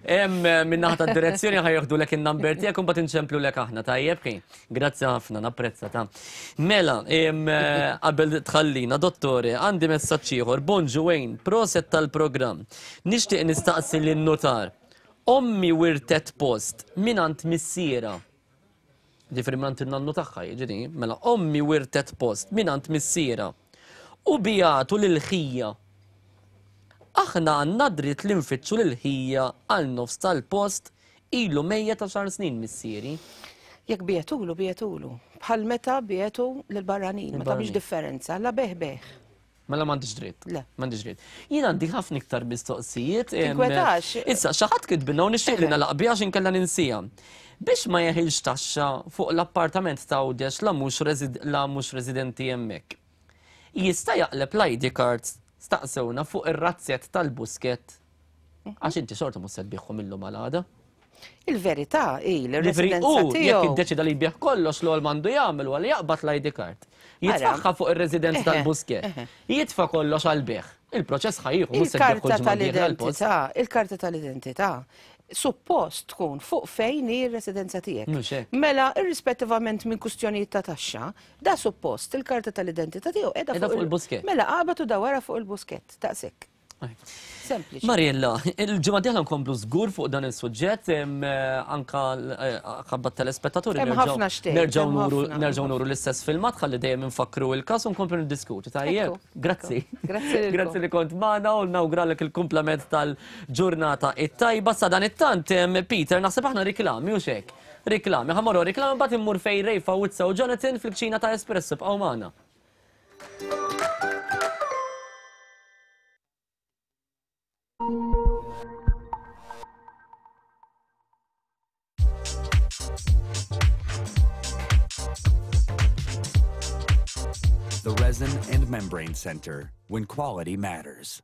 Hemm minn naħa tad-direzzjoni ħa jieħdulek in-number tiegħek u mbagħad inċemplulek aħna, tajjeb hi? Grazzi ħafna, napprezza ta. Mela, qabel tħallina, dottore, għandi messaġġ ieħor. Bonġu Wayne, proset tal-programm. Nixtieq nistaqsi lin-nutar. Ommi wirtet post mingħand missierha. Ġifieri mingħand in-nannu tagħha, jiġri, mela ommi wirtet post mingħand missierha u bijatu lil ħija. Aħna għandna dritt li nfittxu lil ħija għal nofs tal-post ilu mejjet għaxar snin missieri. Jekk biegħtulu, biegħtulu. Bħal meta biegħtu lill-barranin, ma tagħmilx differenza, la bejgħ bejgħ. Mela m'għandix dritt. Le. M'għandix dritt. Jien għandi ħafna iktar mistoqsijiet. Tinkwetax. Issa, xi ħadd kitbilna u nixtieq li nagħlaq biha għax inkella ninsija. Biex ma jeħilx taxxa fuq l-appartament ta' Għawdex la mhux la mhux residenti hemmhekk. Jista' jaqleb l-ID cards staqsewna fuq ir-razzett tal-Buskett għax inti xorta mhux se tbigħhom illum għal għada. Il-verità hi li Ġifieri r-residenza hu jekk tiegħu. iddeċida li jbigħ kollox l-ewwel m'għandu jagħmel huwa li jaqbad l-ID card. Jitfaħħa fuq ir-residenza tal-Buskett. Jitfa' kollox għall-bejgħ. Il-proċess ħa jieħu mhux se tbigħ kull Il-karta ġimgħa dieħla l-post. tal-identità, il-karta tal-identità suppost tkun fuq fejn hi r-residenza tiegħek. Mhux hekk. Mela, irrispettivament minn kustjonijiet ta' taxxa, da suppost il-karta tal-identità tiegħu qiegħda Qiegħda fuq il-Buskett. Mela qabad u dawwarha fuq il-Buskett, daqshekk. Sempliċi. Mariella, il-ġimgħa dieħla nkomplu żgur fuq dan is-suġġett, anka ħabba telespettaturi Hemm ħafna xtejt, nerġgħu hemm nuru ħafna. nerġgħu nuru l-istess filmat ħalli dejjem infakkru il-każ u nkomplu niddiskutu. Tajjeb, Ekku, grazzi. ekku. Grazzi lilkom. Grazzi li kont magħna u nawguralek il-kumplament tal-ġurnata it-tajba. Sa dan it-tant, Peter, naħseb aħna riklami u xek. Riklami, ħa mmorru riklami mbagħad immur fejn Ray Fawizza u Jonathan fil-kċina ta' Espresso bqgħu magħna. The Resin and Membrane Center, when quality matters.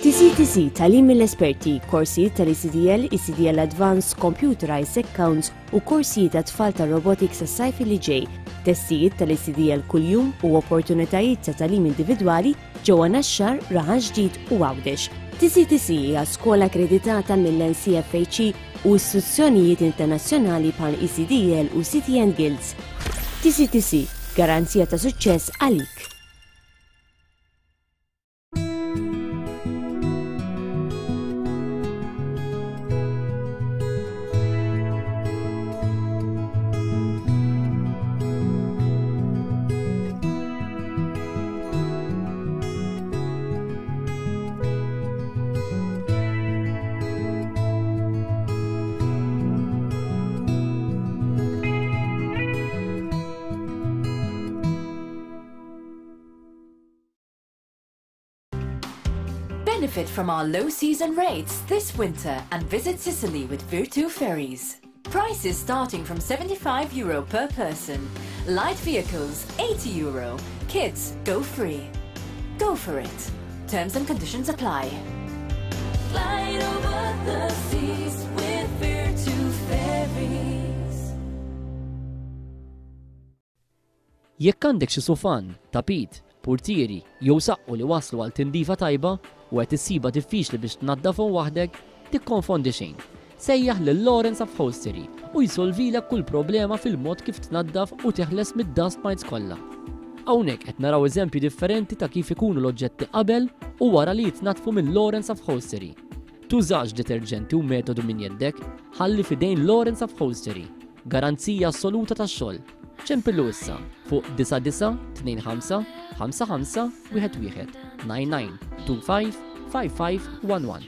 TCTC, Tagħlim mill-esperti, korsijiet tal-ECDL, ECDL Advanced, Computerized Accounts u korsijiet għat-tfal tar-robotics għas-sajf li ġej, testijiet tal-ECDL kuljum u opportunitajiet ta' tagħlim individwali ġewwa Naxxar, Raħal Ġdid u Għawdex. TCTC hija skola akkreditata mill-NCFHE u istituzzjonijiet internazzjonali bħal ECDL u City and Guilds. TCTC, garanzija ta' suċċess għalik. Benefit from our low season rates this winter and visit Sicily with Virtu Ferries. Prices starting from 75 euro per person. Light vehicles, 80 euro. Kids, go free. Go for it. Terms and conditions apply. Flight over the seas with Virtu Ferries. Jekk għandek xi sufan, tapit, purtieri jew saqqu li waslu għal tindifa tajba u qed issibha diffiċli biex tnaddafhom waħdek, tikkonfondi xejn. Sejjaħ lil Lawrence Upholstery u jsolvilek kull problema fil-mod kif tnaddaf u teħles mid-dust mites kollha. Hawnhekk qed naraw eżempji differenti ta' kif ikunu l-oġġetti qabel u wara li jitnaddfu minn Lawrence Upholstery. Tużax deterġenti u metodu minn jeddek, ħalli f'idejn Lawrence Upholstery. Garanzija assoluta tax-xogħol. Ċempillu issa fuq 9925 55 11 99 25 55 11.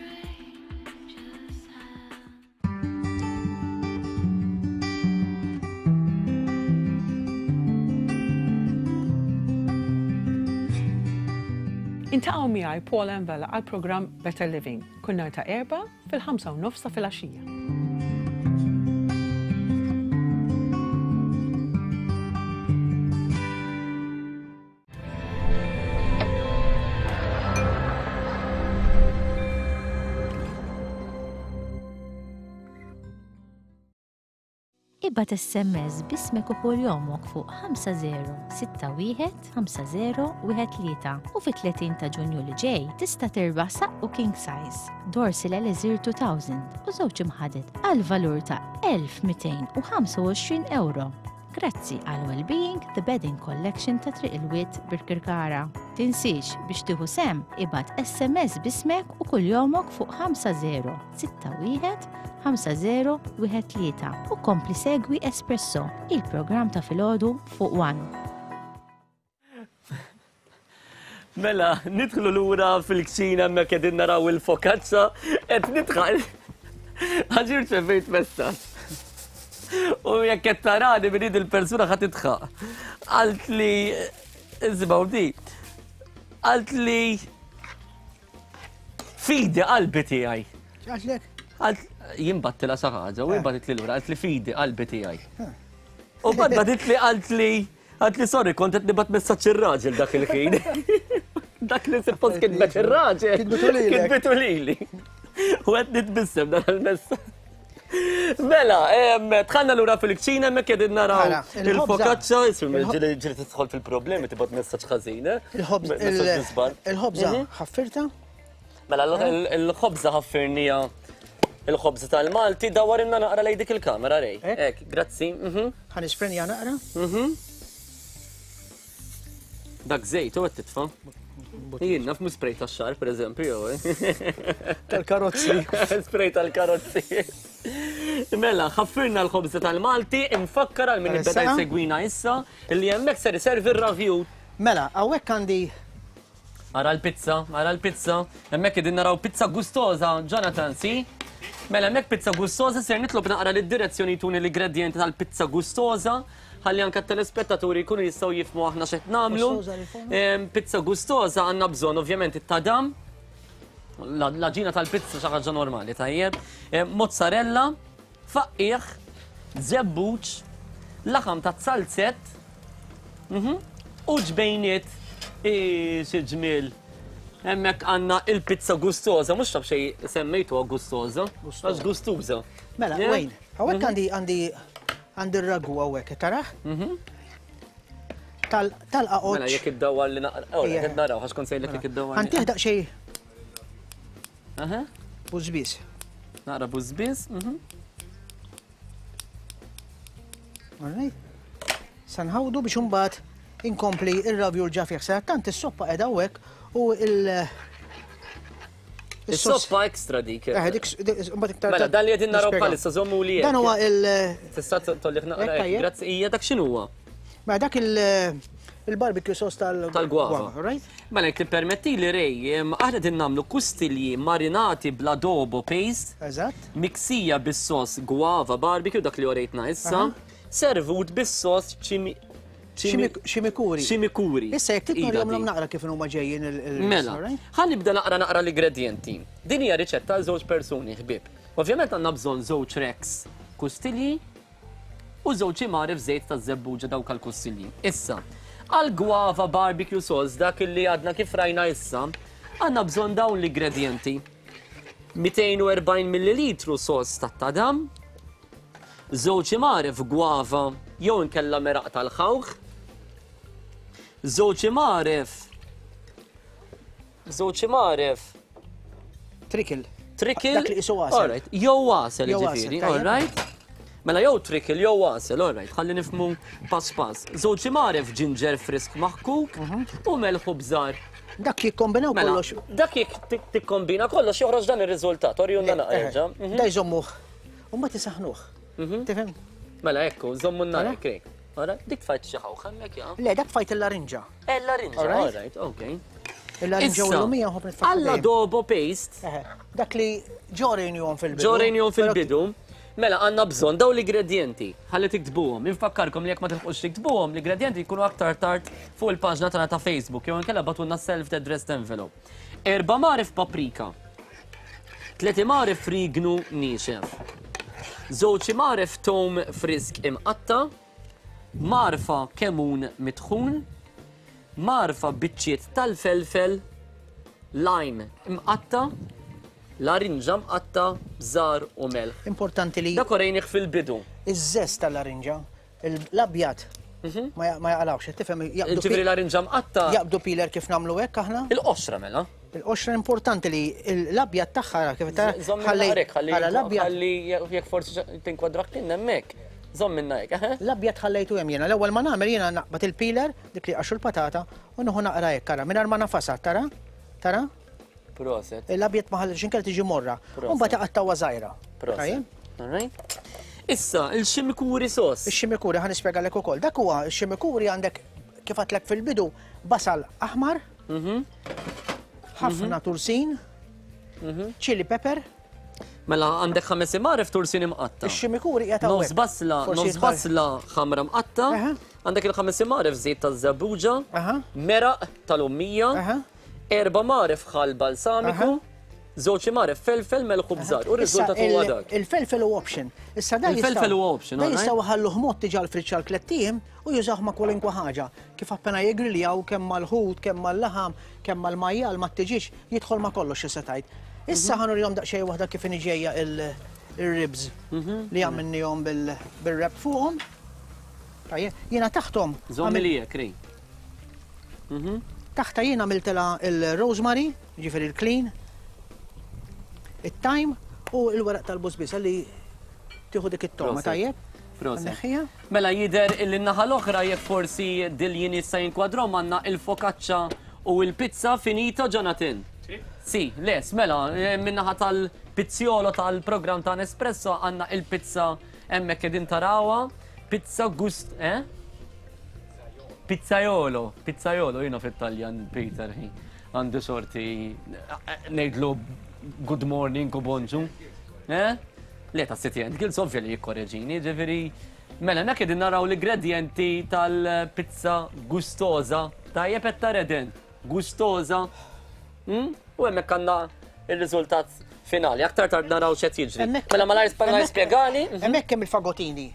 Iltaqgħu miegħi Paul Envela għal programm Better Living kull nhar ta' Erbgħa fil-5 u nofs ta' filgħaxija. Ibgħat SMS b'ismek u kuljomok fuq 5061 5013 u fit-30 ta' Ġunju li ġej tista' tirbaħ saqqu king size, Dorsil Elixir 2000 u żewġ imħaded għal valur ta' 1225 euro. Grazzi għal Wellbeing The Bedding Collection ta' Triq il-Wied Birkirkara. Tinsiex biex tieħu sehem ibgħat SMS b'ismek u kuljomok fuq 5061 5013 u kompli segwi Espresso, il-programm ta' filgħodu fuq One. Mela, nidħlu lura fil-kċina hemmhekk qegħdin naraw il-focaccia, qed nidħal għax irċevejt messaġġ. U jekk qed tarani minn id il-persuna ħa tidħaq. Qalt li isimgħu di. Għalt li fidi qalbi tiegħi. Għatlek? Għalt jien battila xi ħaġa u Eh. batit li lura għalt li fidi qalbi tiegħi. U bad batit li għalt li għalt li sorry kont qed nibgħat messaġġ ir-raġel dak il-ħin. Dak li suppost kitbet ir-raġel. Kitbitu lilek. Kitbitu lili. U qed nitbissem dan il-messaġġ. Mela, tħanna lura fil-kċina hemmhekk qegħdin naraw Ara, il-ħobża. il-focaccia, ismi ġieli ġieli tidħol fil-problemi tibgħat messaġġ ħażin, eh? Messaġġ nisban. Il-ħobża ħaffirta? Mela l-ħobża ħaffirnija il-ħobża tal-Malti dawar inna naqra lej dik il-kamera rej. Ek, grazzi. Ħa nisprenja naqra? Dak żejt u qed titfa'. Jien naf mhux spray tax-xagħar pereżempju jew. eh. Tal-karozzi. Spray tal-karozzi. Mela, ħaffirna l-ħobża tal-Malti, infakkar għal min beda jsegwina issa li hemmhekk ser iservi r-ravjut. Mela, hawnhekk għandi Ara l-pizza, ara l-pizza. Hemmhekk qegħdin naraw pizza gustosa, Jonathan, si? Mela hemmhekk pizza gustosa ser nitlob naqra lid-direzzjoni jtuni l-ingredjenti tal-pizza gustosa ħalli anke t-telespettaturi jkunu jistgħu jifhmu aħna x'qed nagħmlu. Pizza gustosa għandna bżonn ovvjament it-tadam, l-għaġina tal-pizza xi ħaġa normali, tajjeb. Mozzarella, faqqiegħ, żebbuġ, laħam ta' zalzett, u ġbejniet xi ġmiel. Hemmhekk għandna il-pizza gustosa, mhux taf xejn semmejtuha gustosa, għax gustuża. Mela, Wayne, hawnhekk għandi għandi għandi r-ragu hawnhekk, tarah? Tal-qaqoċ. Mela jekk iddawwar li naqra, oh, qed naraw għax kont sejlek jekk iddawwar. Ħantih daqsxejn. Bużbiż. Naqra bużbiż. All right. Sa nħawdu biex imbagħad inkompli ir-ravjul ġa fih. Sadattant is-soppa qiegħda hawnhekk u il- Is-soppa extra dik. Eh, dik mbagħad iktar. Mela dan li qegħdin naraw bħalissa żommu li. Dan huwa il- Tista' tollik naqra. Grazzi, hija dak x'inhuwa? Mela dak il-barbecue sauce tal- Tal-guava. Right? Mela jekk tippermettili Ray, aħna qegħdin nagħmlu kustilji marinati bl-adobo paste. Eżatt. Miksija bis-sos guava barbecue dak li orejtna issa, servut bis-sos chimi Chimicuri. Chimicuri. Issa jekk trid nurihomlhom naqra kif huma ġejjin il- Mela, ħa nibda naqra naqra l-ingredjenti. Din hija riċetta għal żewġ persuni ħbieb. Ovvjament għandna bżonn żewġ racks kustilji u żewġ imgħaref żejt taż-żebbuġa dawk għall-kustilji. Issa, għal guava barbecue sauce dak li għadna kif rajna issa, għandna bżonn dawn l-ingredjenti. 240 millilitru sos tat-tadam, żewġ imgħaref guava jew inkella meraq tal-ħawħ, żewġ imgħaref żewġ imgħaref Trickle. Trickle. Dak li qisu għasel. All right. Jew għasel Jew ġifieri, għasel, all tajjeb. right. Mela jew trickle jew għasel, all right, ħalli nifhmu pass pass. Żewġ imgħaref ġinġer frisk maħkuk u melħ u bżar. Dak jikkombinaw Mela, kollox. Dak jekk tikkombina kollox joħroġ dan ir-riżultat, orjunna naqra jerġa'. Da jżommuh. U mbagħad isaħnuh. Tifhem? Mela ekku, żommu n-nar hekk. hekk. Ora, dik tfajt xi ħawħ hemmhekk ja. Le, dak tfajt il-larinġa. Eh, l-larinġa, all right, okay. Il-larinġa u l-lumija nħobb nitfa' Alla dobo paste. Dak li ġorejnihom fil-bidu. Ġorejnihom fil-bidu. Mela għandna bżonn dawn l-ingredjenti. Ħalli tiktbuhom. Infakkarkom li jekk ma tilħqux tiktbuhom, l-ingredjenti jkunu aktar tard fuq il-paġna tagħna ta' Facebook jew inkella bagħtulna self-addressed envelope. Erba' mgħaref paprika. Tliet imgħaref frignu niexef. Żewġ imgħaref tewm frisk imqatta'. Mgħarfa kemun mitħun. Mgħarfa biċċiet tal-felfel, lime imqatta', larinġa mqatta', bżar u melħ. Importanti li. Dak orejnih fil-bidu. Iż-żest tal-larinġa, l-abjad ma jaqalgħux, qed tifhem? Jaqbdu Ġifieri larinġa mqatta'. Jaqbdu peeler kif nagħmlu hekk aħna. Il-qoxra mela. Il-qoxra importanti li l-abjad tagħha ara kif tara. Żomm minna hekk, ħalli ħalli jekk forsi tinkwadrak kien hemmhekk. Żomm minna hekk, eħe. L-abjad ħallejtu hemm jiena. L-ewwel ma nagħmel jiena naqbad il-peeler, dik li jqaxxu l-patata, u nieħu naqra hekk, ara, mingħajr ma nafasha, tara? Tara? Proset. L-abjad ma ħallejtx inkella tiġi morra. Proset. U mbagħad iqattgħuha żgħira. Proset. All right. Issa, il-ximikuri sos. Ix-ximikuri ħa nispjegalek ukoll. Dak huwa x-ximikuri għandek kif għedtlek fil-bidu basal aħmar, ħafna tursin, chili pepper. Mela għandek ħames imgħaref tursin imqatta'. Ix-ximikuri qiegħed hawnhekk. Nofs basla, nofs basla ħamra mqatta', Għandek il-ħames imgħaref żejt taż-żebbuġa, meraq tal-ummija, erba' mgħaref ħall balsamiku, żewġ imgħaref felfel melħ u bżar. U r-riżultat huwa dak. Il-felfel huwa option. Issa dan Il-felfel huwa option, Dan jistgħu ħalluh mod diġà l-friġġ għal tlett ijiem u jużawh ma' kwalunkwe ħaġa. Kif appena jigriljaw kemm mal-ħut, kemm mal-laħam, kemm mal-majjal, mat-tiġieġ, jidħol ma' kollox xi se tgħid. Issa ħa nurihom daqsxejn waħda kif inhi ġejja il-ribs li għamilnihom bil-wrap fuqhom. Tajjeb, jiena taħthom. Żommi li hekk, Ray. Taħta jiena għamiltilha il-rosemary, ġifieri il-clean, it-thyme u l-weraq tal-bużbież li tieħu dik it-togħma, tajjeb? Proset. Mela jidher illi n-naħa l-oħra jekk forsi diljin jista' jinkwadrhom għandna il-focaccia u l-pizza finita Jonathan. Si, les, mela, min-naħa tal-pizziolo tal-programm ta' Nespresso għandna il-pizza hemmhekk qegħdin tarawha. Pizza gust, eh? Pizzaiolo, pizzaiolo, jiena fit-Taljan Peter, għandu sorti ngħidlu good morning u bonġu. Eh? Le ta' City and Guilds ovvja li jikkoreġini, ġifieri mela hemmhekk qegħdin naraw l-ingredjenti tal-pizza gustosa. Tajjeb qed tara Eden, gustosa. Hmm? U hemmhekk għandna ir-riżultat finali. Aktar tard naraw x'qed jiġri. Mela malajr malajr spjegali. Hemmhekk hemm il-fagotini.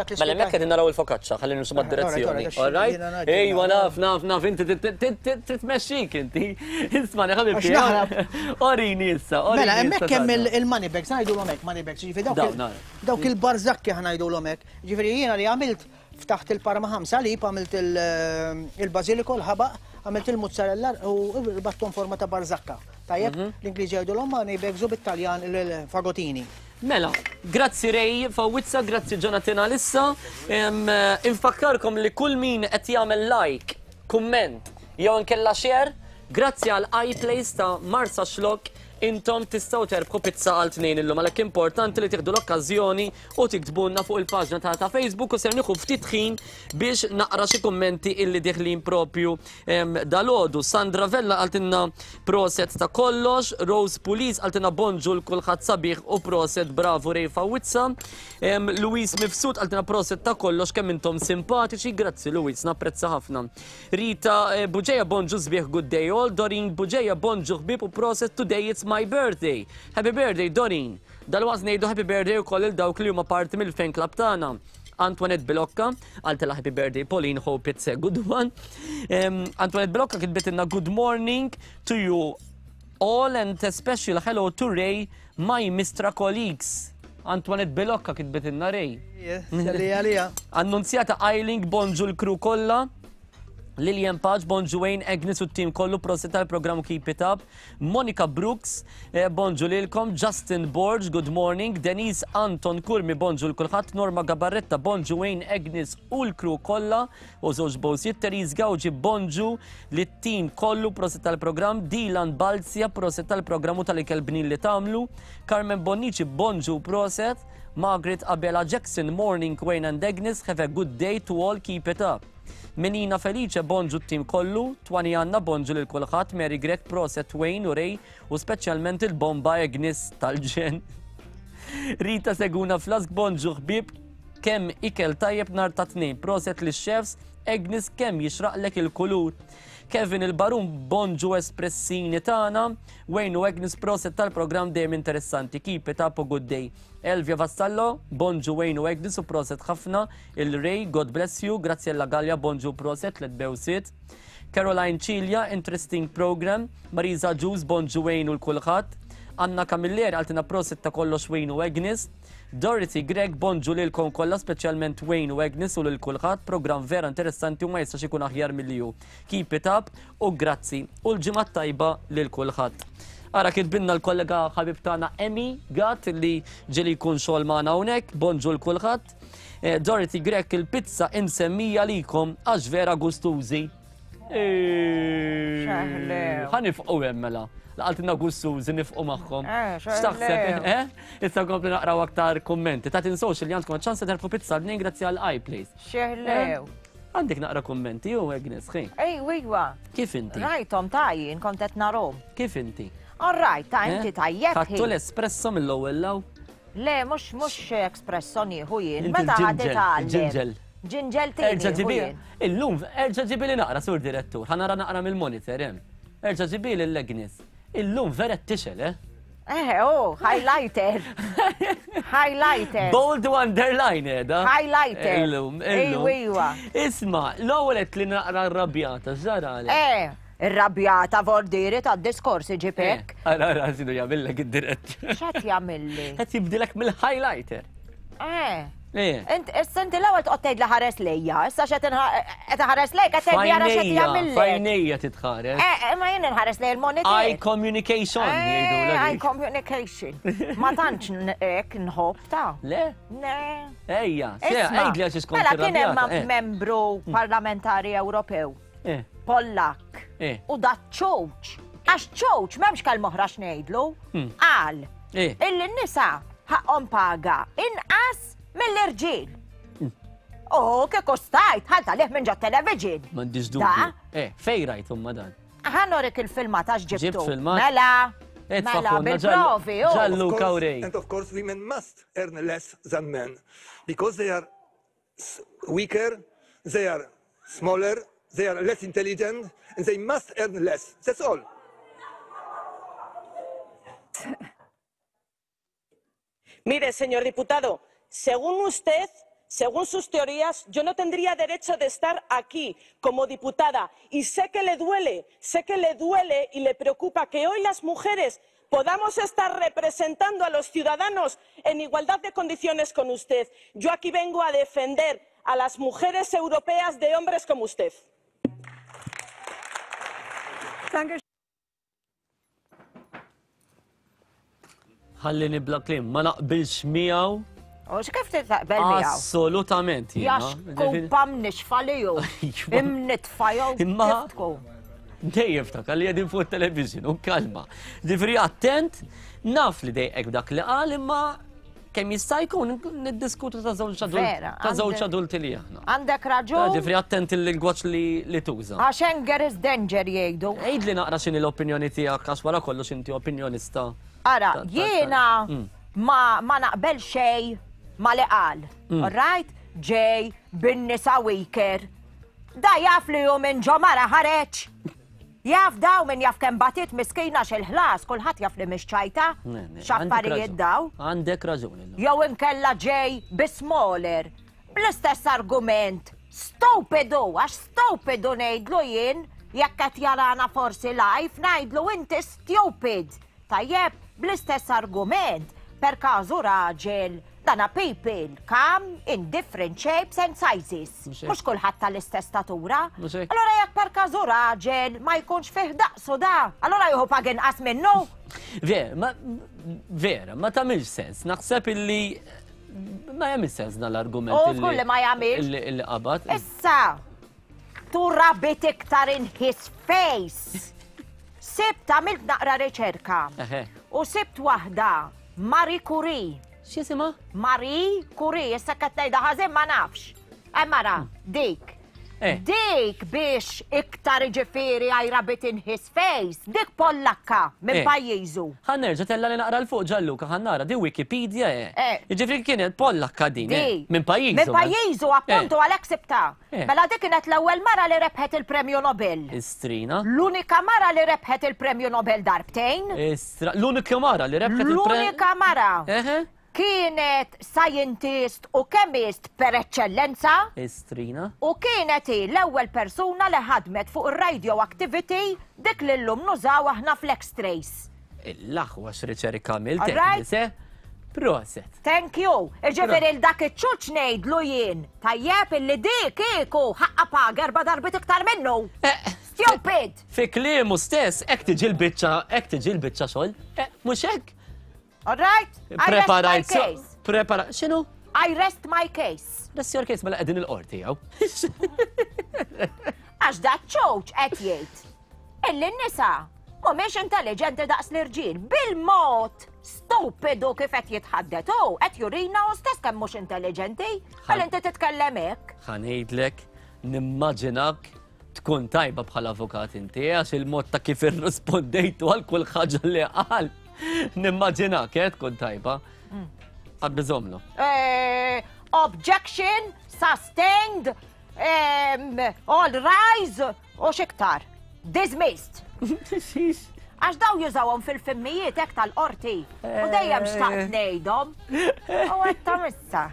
Mela hemmhekk qegħdin naraw il-focaccia, ħalli nimxu mad-direzzjoni. All right? Ejwa naf, naf, naf, inti titmexxik inti. Isma' ħabib. Orini issa, orini. Mela hemmhekk hemm il-money bags, ngħidulhom hekk money bags, jiġifieri dawk il-barżakki ħa ngħidulhom hekk. Jiġifieri jiena li għamilt ftaħt il-Parma Ham Salib, għamilt il-bażiliko, l-ħabaq, għamilt il-mozzarella u rbatthom forma ta' barzakka. Tajjeb, l-Ingliżi jgħidulhom money bags u bit-Taljan il-fagotini. Mela, grazzi Ray Fawizza, grazzi Jonathan għalissa. Infakkarkom li kull min qed jagħmel like, kumment jew inkella share, grazzi għal iPlace ta' Marsaxlokk intom tistgħu terbħu pizza għal tnejn illum għalhekk importanti li tieħdu l-okkażjoni u tiktbulna fuq il-paġna tagħna ta' Facebook u ser nieħu ftit ħin biex naqra xi kummenti illi diħlin propju dalgħodu. Sandra Vella qaltilna proset ta' kollox, Rose Pulis qaltilna bonġu l kulħadd sabiħ u proset bravo Ray Fawizza. Louise Mifsud qaltilna proset ta' kollox kemm intom simpatiċi, grazzi Louise, napprezza ħafna. Rita Bugeja bonġu sbieħ good day all, Doreen Bugeja bonġu ħbieb u proset today it's my birthday. Happy birthday Doreen. Dalwaqt ngħidu happy birthday ukoll il dawk li huma parti mill-fan club tagħna. Antoinette Bilocca, qaltilha happy birthday Pauline, hope it's a good one. Antoinette Bilocca kitbitilna good morning to you all and a special hello to Ray, my Mistra colleagues. Antoinette Bilocca kitbitilna Ray. Yes, għalija, għalija. Annunzjata Eiling, bonġu l-crew kollha. Lilian Paċ, bonġu Wayne, Agnes u t-team kollu, prosit tal-programm Keep It Up. Monica Brooks, bonġu lilkom. Justin Borg, good morning. Denise Anton Kurmi, bonġu l-kulħadd. Norma Gabarretta, bonġu Wayne, Agnes u l-crew kollha. U żewġ bowsiet. Therese Gawġi, bonġu lit-team kollu, prosit tal-programm. Dylan Balzja, prosit tal-programm u tal-ikel bnin li tagħmlu. Carmen Bonnici, bonġu proset. Margaret Abela Jackson, morning Wayne and Agnes, have a good day to all, keep it up. Menina Felice, bonġu t-tim kollu, Twani Anna, bonġu lil kulħadd, Mary Grech, proset Wayne u Ray u speċjalment il-bomba Agnes tal-ġen. Rita Seguna Flask, bonġu ħbieb, kemm ikel tajjeb nhar ta' Tnejn, proset lix chefs, Agnes kemm jixraqlek il-kulur. Kevin il-Barun, bonġu espressini tagħna, Wayne u Agnes proset tal-programm dejjem interessanti, keep it up u good day. Elvia Vassallo, bonġu Wayne u Agnes u proset ħafna, il-Ray, God bless you, Graziella Gallia, bonġu proset, let bewsit. Caroline Cilia, interesting program, Marisa Ġus, bonġu Wayne u l-kulħadd. Anna Camilleri, għaltina proset ta' kollox Wayne u Agnes. Dorothy Grech, bonġu lilkom kollha, speċjalment Wayne u Agnes u lil kulħadd, programm vera interessanti u ma jistax ikun aħjar milli hu. Keep it up u grazzi u l-ġimgħa tajba lil kulħadd. Ara kitbinna l-kollega ħabib tagħna Emmy Gatt li ġieli jkun xogħol magħna hawnhekk, bonġu l kulħadd. Dorothy Grech, il-pizza imsemmija likom għax vera gustużi. Ħa nifqu hemm mela. Laqaltilna gustużi nifqu magħhom. X'taħseb? Issa nkompli naqraw aktar kummenti. Ta' tinsewx li għandkom ċans terbħu pizza bnin grazzi għal iPlace. Xeħlew. Għandek naqra kummenti u Agnes, xejn. Ej, wijwa. Kif inti? Rajtom tajjin, kont qed narhom. Kif inti? All right, ta' inti tajjeb. Ħadtu l-espresso mill-ewwel law? Le, mhux espresso nieħu jien. Inti Meta ħadd l-ġinġel, itgħallem? il-ġinġel. Ġinġeltini. Erġa' ġibi. Illum, erġa' ġibi li naqra, sur direttur. Ħa nara naqra mill-monitor hemm. Erġa' ġibi lil Agnes. Illum vera tixel, eh? Eh, oh, highlighter. Highlighter. Bold underline edha. Highlighter. Illum, illum. Iwa. Isma, l-ewwel qed li naqra rrabjata, x'ġara għalek? Eh, irrabjata vordiri ta' diskorsi ġipek. Eh, ara, ara, x'inhu jagħmillek id-direttur. X'qed jagħmilli? Qed jibdilek mill-highlighter. Eh. Eh. Int, issa inti l-ewwel toqgħod tgħid li ħares lejja, issa x'qed qed iħares lejk qed tgħid li ara x'qed jagħmillek. Fajnejja titħares. Eh, eh, ma jien inħares lej il-monitor. Eye communication jgħidu eh, Eye communication. Ma tantx hekk nħobb ta'. Le? Ne. Ejja, se għidli għax iskont. Mela kien hemm membru parlamentari Ewropew. Pollak. U da ċoċ. Għax ċoċ m'hemmx kelma oħra x'ngħidlu. Hmm. Qal illi n-nisa ħaqhom paga inqas mill-irġiel. Hmm. U kieku stajt, ħalta liħ minn ġo television. M'għandix dubju. Eh, fej rajt umma dan? Ħanorik il-filmat għax ġibtu. Ġibt filmat? Mela. Mela, bil-provi. Ġallu kawrej. And of course women must earn less than men because they are weaker, they are smaller, they are less intelligent, and they must earn less. That's all. Mire, señor diputado, según usted, según sus teorías, yo no tendría derecho de estar aquí como diputada. Y sé que le duele, sé que le duele y le preocupa que hoy las mujeres podamos estar representando a los ciudadanos en igualdad de condiciones con usted. Yo aquí vengo a defender a las mujeres europeas de hombres como usted. Ħallini bla kliem, ma naqbilx miegħu. U x'kif taqbel miegħu? Assolutament. Jax kumpa mnixfa li hu. Imnitfa jew. Imma dejjem ftakar li qegħdin fuq television u kalma. Ġifieri attent, naf li dejqek dak li qal imma kemm jista' jkun niddiskutu ta' żewġ adulti ta' żewġ adulti li aħna. Għandek raġun. Ġifieri attent il-lingwaġġ li tuża. Għax anger is danger jgħidu. Għidli naqra x'inhi l-opinjoni tiegħek għax wara kollox inti opinjonista. Ara, jiena mm. ma, ma naqbel xej ma li qal. Mm. Right? Ġej bin-nisa weaker. Da jaf li hu minn ġo mara ħareġ. Jaf daw min jaf kemm batiet miskina x'il-ħlas, kulħadd jaf li mhix ċajta. X'affarijiet daw. Għandek raġun illum. Jew inkella ġej bi smaller. Bl-istess argument. Stupidu, għax stupidu ngħidlu jien, jekk qed jarana forsi live, ngħidlu inti stupid. Tajjeb, bl-istess argument, per każu raġel Dana people come in different shapes and sizes. Mhux kulħadd tal-istess statura. Allura jekk per każu raġel ma jkunx fih daqsu da, allura jieħu pag inqas minnu. Vera, ma vera, ma tagħmilx sens. Naħseb illi ma jagħmilx sens dan l-argument. U żgur li ma jagħmilx. Illi qabad. Issa, to rub it iktar in his face. Sibt għamilt naqra riċerka. U sibt waħda Marie Curie. X'jisimha? Marie Curie, issa qed ngħidha ħażin ma nafx. Eh mara, dik. Eh. Dik biex iktar ġifieri I rub it in his face, dik Pollakka minn eh. pajjiżu. Ħa nerġa' tella li naqra l fuq Ġalluka ħa nara di Wikipedia eh. eh. Jiġifieri kienet Pollakka din. Minn pajjiżu. Minn pajjiżu appuntu għalhekk sibta. Mela dik kienet l-ewwel mara li rebħet il-Premju Nobel. Istrina. L-unika mara li rebħet il-Premju Nobel darbtejn. Istra, l-unika mara li rebħet il-Premju. L-unika mara. Kienet scientist u chemist per eċċellenza. Istrina. U kienet hi l-ewwel persuna li ħadmet fuq ir-radioactivity dik li llum nużaw aħna fl-X-rays. Il-aħwa x'riċerka għamilt, Agnes, eh? Proset. Thank you. Iġifieri l dak iċ-ċuċ ngħidlu jien. Tajjeb illi dik kieku ħaqqa paga erba' darbiet iktar minnu. Eh, Stupid! Fi kliemu stess, hekk tiġi l-biċċa, hekk tiġi l-biċċa xogħol. Eh, mhux hekk. All right? Preparajt. Prepara, x'inhu? I rest my case. Rest your case mela qegħdin il-qorti jew. Għax da ċoċ qed jgħid illi n-nisa mhumiex intelligenti daqs l-irġiel bil-mod stupidu kif qed jitħaddet hu qed jurina hu stess kemm mhux intelligenti. Għal inti titkellem hekk. Ħa ngħidlek, nimmaġinak tkun tajba bħala avukat inti għax il-mod ta' kif irrispondejtu għal kull ħaġa li qal. Nimmaġinak eh, tkun tajba. Għad biżomlu. Eh, Objection sustained, all rise u xiktar. Dismissed. Xiex? Għax daw jużawhom fil-filmijiet hekk tal-qorti. U dejjem xtaqt ngħidhom. U għedthom issa.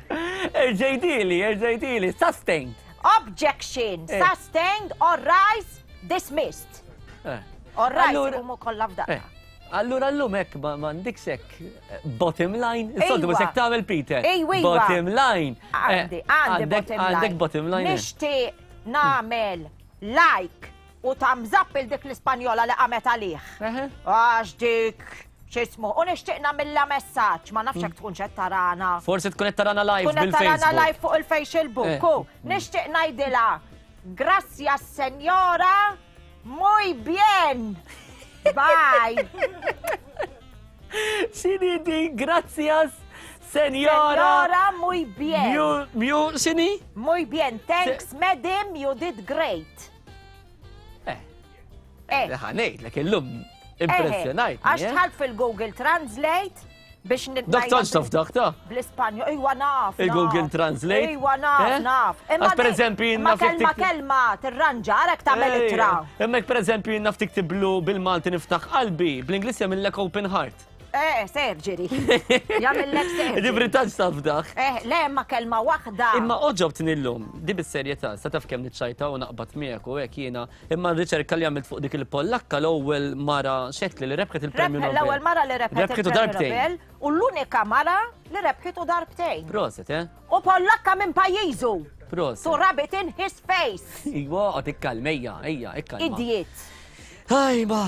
Erġejdili, erġejdili, sustained. Objection, eh. sustained, all rise, dismissed. Eh. All rise, umu kollha f'daqqa. Eh. Allura llum hekk m'għandikx hekk eh, bottom line, is-soltu mhux hekk tagħmel Peter. Ejwa. Bottom line. Eh, għandi, għandi bottom line. Għandek bottom line. Eh. Nixtieq nagħmel like u thumbs up il dik l-Ispanjola li qamet għalih. Għax dik x'ismu. U nixtieq nagħmilha messaġġ, ma nafx hekk tkun qed tarana. Forsi tkun qed tarana live bil-Facebook. Tkun qed tarana live fuq il-Facebook. Nixtieq ngħidilha, gracias senjora. Muy bien! Bye! Xini di, gracias, senjora. Senjora, muy bien. Mu, mu, xini? Muy bien, thanks, madam, you did great. Eh. Eh. Ħanejt, l-lum impressjonajt. Għax tħalt fil-Google Translate biex nitnajja. Dak tantx taf dak ta' Bl-Ispanjol, ejwa naf. Il-Google Translate. Ejwa naf, eh? naf. Imma per eżempju Ma kelma kelma tirranġa, għarek tagħmel ittra. Imma per eżempju naf tiktiblu bil-Malti niftaħ qalbi, bl-Ingliż jagħmillek open heart. Eh, surgery. Jagħmillek surgery. Ġifri tantx taf dak. Eh, le, ma kelma waħda. Imma oġobtni llum, di bis-serjetà, sa taf kemm niċċajta u naqbad miegħek u hekk jiena Imma r-riċerka li għamilt fuq dik il-Pollakka l-ewwel mara xetli li rebħet il-Premju Nobel. L-ewwel mara li rebħet il-Premju Nobel u l-unika mara li rebħitu darbtejn. Proset, eh? U Pollakka minn pajjiżu. Proset. To rub it in his face. Iwa, għod ikkalma, ejja, ejja, ikkalma. Idiot. Ajba.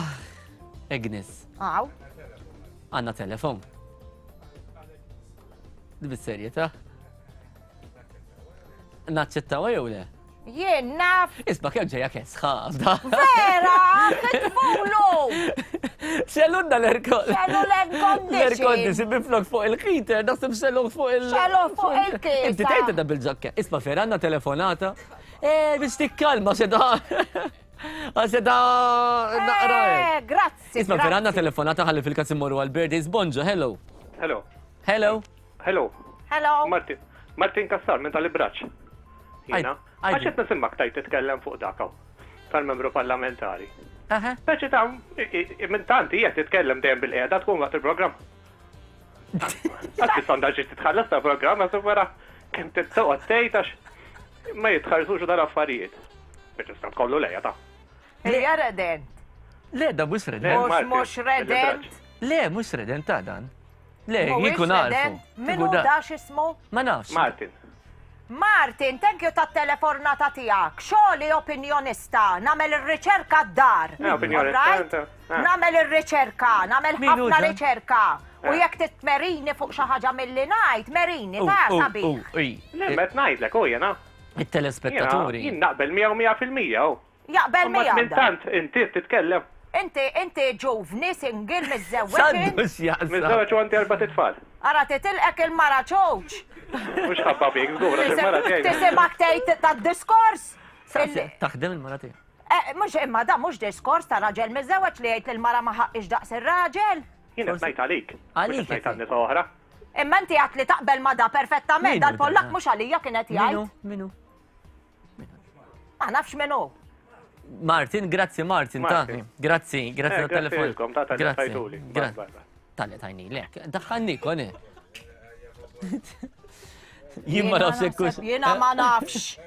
Agnes. Aw. Għanna telefon. Bis-serjetà. Naċċettaw jew le? Jien naf. Isma' kemm ġejja kesħa. Vera, kitfulu! Xellunna l-aircon. Xellu l-aircondition. L-aircondition minflok fuq il-heater, naħseb xellu fuq il- Xellu fuq il-kisa. Inti tgħid da bil-ġakka. Isma' vera għandna telefonata. Eh, biex tikkalma xi da. Għax da naqra. Eh, grazzi. Isma' vera għandna telefonata ħalli fil-każ immorru għal-birthdays. Bonġo, hello. Hello. Hello. Hello. Hello. Martin. Martin Kassar minn tal-Ibraċ. Jiena. Għax qed nisimgħek tajt titkellem fuq dak hawn tal-membru parlamentari. Speċi ta' minn tant hija titkellem dejjem bil-qiegħda tkun waqt il-programm. Għax bis-sondaġġi titħallas ta' programm għax wara kemm tittoqgħod tgħid għax ma jitħarsux dal-affarijiet. Biex tista' tkollu lejja ta'. Hija redent. Le, da mhux redent. Mhux redent. Le, mhux redent ta' dan. Le, jien kun għarfu. Min hu da x'ismu? Ma nafx. Martin. Martin, thank you tat-telefornata tiegħek. Xogħli opinjonista, nagħmel ir-riċerka d-dar. Eh, opinjonista. Eh. Nagħmel ir-riċerka, nagħmel ħafna riċerka. U jekk titmerini fuq xi ħaġa milli ngħid, merini ta' sabiħ. Le, met ngħidlek u jiena. It-telespettaturi. Jien naqbel miegħu 100% Jaqbel miegħek. Minn tant inti titkellem. Inti inti ġuvni single miżżewweġ. X'għandu x'jaqsam? Miżżewweġ u għandi erbat itfal. Ara titilqek il-mara ċowċ. Mhux ħabba fik, żgur, għax il-mara tiegħi. Tisimgħek tgħid tad-diskors. Taħdem il-mara tiegħek. Eh, mhux imma da mhux diskors ta' raġel miżżewweġ li jgħid li l-mara ma ħaqqix daqs ir-raġel. Jien qed ngħid għalik. Għalik. Ngħid għal nisa oħra. Imma inti għat li taqbel ma da perfettament, dal-Pollak mhux għalija kienet jgħid. Minu? Ma nafx min hu. Martin, grazzi Martin, ta' grazzi, grazzi eh, tal-telefon. Grazzi. Tal-li tajni lek, daħħalni koni. Jien ma nafx jekkux. Jiena ma nafx.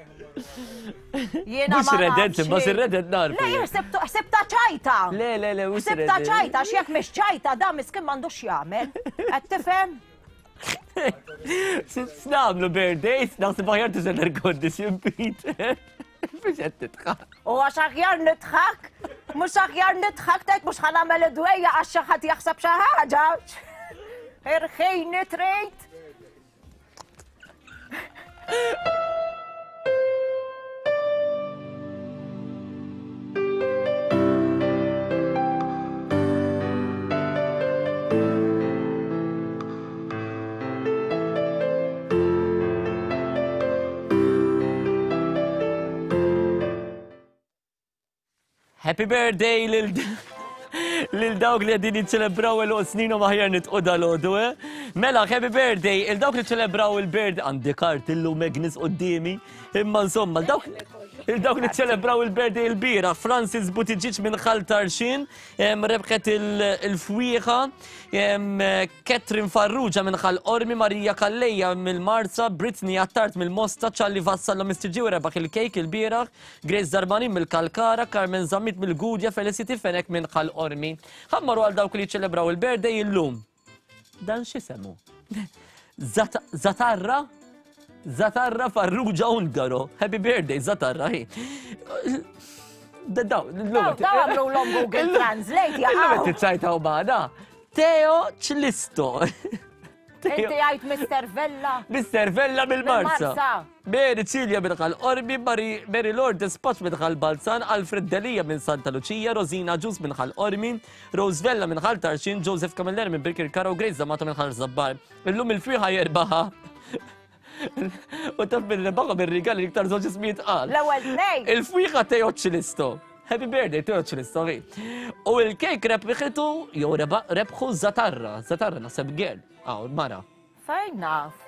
Jiena ma nafx. Redent, ma sir redent narfu. Le, ħsibta ċajta. Le, le, le, mhux Ħsibta ċajta, x'jekk mhix ċajta da miskin m'għandux jagħmel. Qed tifhem? X'nagħmlu birthdays, naħseb aħjar tuża l-air condition, Peter. Biex qed tidħak. U għax aħjar nidħak, mhux aħjar nidħak tgħid mhux ħa nagħmel id-dwejja għax xi ħadd jaħseb xi ħaġa. Irħini trid. Happy birthday lil Lil dawk li qegħdin jiċċelebraw għeluq sninhom aħjar nitqu dalgħodu, eh? Mela, happy birthday, il dawk li ċelebraw il-birthday, għandi kart illum Agnes quddiemi, imma insomma, dawk il-dawk li ċelebraw il-birthday il-bira, Francis Buttigieg minn Ħal Tarxien, rebħet il-fwieħa, Catherine Farrugia minn Ħal Qormi, Marija Calleja mill-Marsa, Britney Attard mill-Mosta, Charlie Vassallo Mistiġi rebaħ il-kejk il-bieraħ, Grace Darmanin mill-Kalkara, Carmen Zammit mill-Gudja, Felicity Fenech minn Ħal Qormi. Ħa mmorru għal dawk li jiċċelebraw il-birthday illum. Dan x'isemu? Zatarra? Zatarra Farrugia Ungaro. Happy birthday, Zatarra. Hi. Daw, daw għamlu l-om Google Translate, jaqaw. Illum tiċċajta u bada. Teo Ċlisto. Inti għajt Mr. Vella. Mr. Vella mill-Marsa. Mary Cilia minn Ħal Qormi, Mary Lourdes Paċ minn Ħal Balzan, Alfred Delia minn Santa Lucia, Rosina Ġus minn Ħal Qormi, Rose Vella minn Ħal Tarxien, Joseph Camilleri minn Birkirkara u Grace D'Amato minn Ħal Żabbar. Illum il-fwieħa jerbaħha. U taf minn rebaħha bir-rigali iktar żewġ ismijiet qal. L-ewwel tnejn. Il-fwieħa Teo Ċilisto. Happy birthday, Teo Ċilisto. U il-kejk rebħitu jew rebħu Zatarra, Zatarra naħseb girl. Aw, mara. Fejn naf?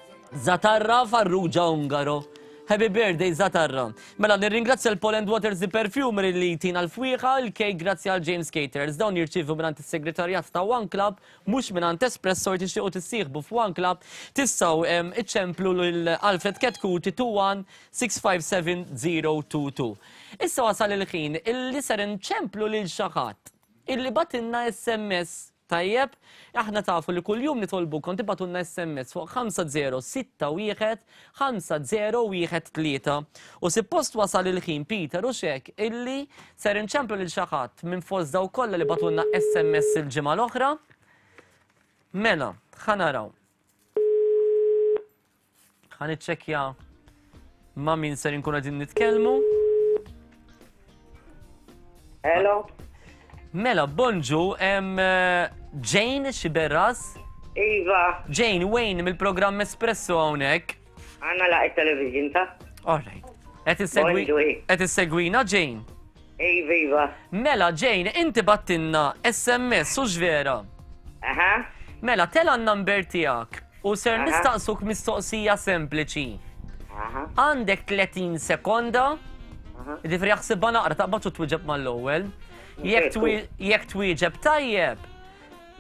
Zatarra Farrugia Ungaro. Happy birthday Zatarra. Mela nirringrazzja l-Poland Waters the Perfumery li tina l-fwieħa, il-kejk grazzi għal James Caterers. Dawn jirċievu mingħand is-segretarjat ta' One Club, mhux mingħand Espresso jekk tixtiequ tissieħbu f'One Club, tistgħu iċċemplu lil Alfred Ketkuti 21 657 022. Issa wasal il-ħin illi ser inċemplu lil xi ħadd illi bagħtilna SMS Tajjeb, aħna tafu li kuljum nitolbukom tibgħatulna SMS fuq 5061 5013. U sippost wasal il-ħin Peter u xek illi ser inċemplu lil xi ħadd minn fost dawk kollha li bagħtulna SMS il-ġimgħa l-oħra. Mela, ħa naraw. Ħa niċċekkja ma' min ser inkunu qegħdin nitkellmu. Hello. Mela, bonġu, hemm eh, Jane Xiberras. Iva. Jane, Wayne mill-programm Espresso hawnhekk. Għanna laq il-television ta' All right. Qed issegwi qed issegwina Jane. Iva, iva. Mela Jane, inti battinna SMS u vera. Aha. Mela, tela n-number tiegħek U ser nistaqsuk mistoqsija sempliċi. Għandek 30 sekonda, ġifieri jaħsibha naqra taqbad u twieġeb mal-ewwel. Jekk twieġeb tajjeb,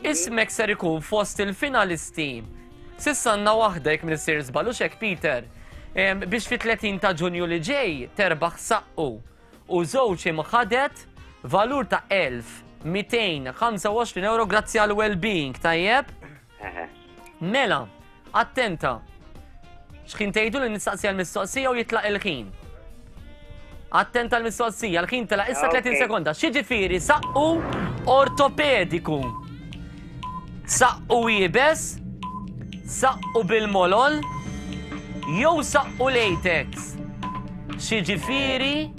ismek ser ikun fost il-finalisti. Sissa għandna waħda jekk minn żball u xek Peter. Biex fi 30 ta' Ġunju li ġej terbaħ saqqu u żewġ imħadet valur ta' 1225 euro grazzi għal well-being, tajjeb? Mela, attenta. X'ħin tgħidu li nistaqsi għal-mistoqsija u jitlaq il-ħin. Attenta l-mistoqsija, l-ħin telaq issa 30 sekonda. X'jiġifieri saqqu ortopediku? Saqqu iebes, saqqu bil-molol, jew saqqu latex? X'jiġifieri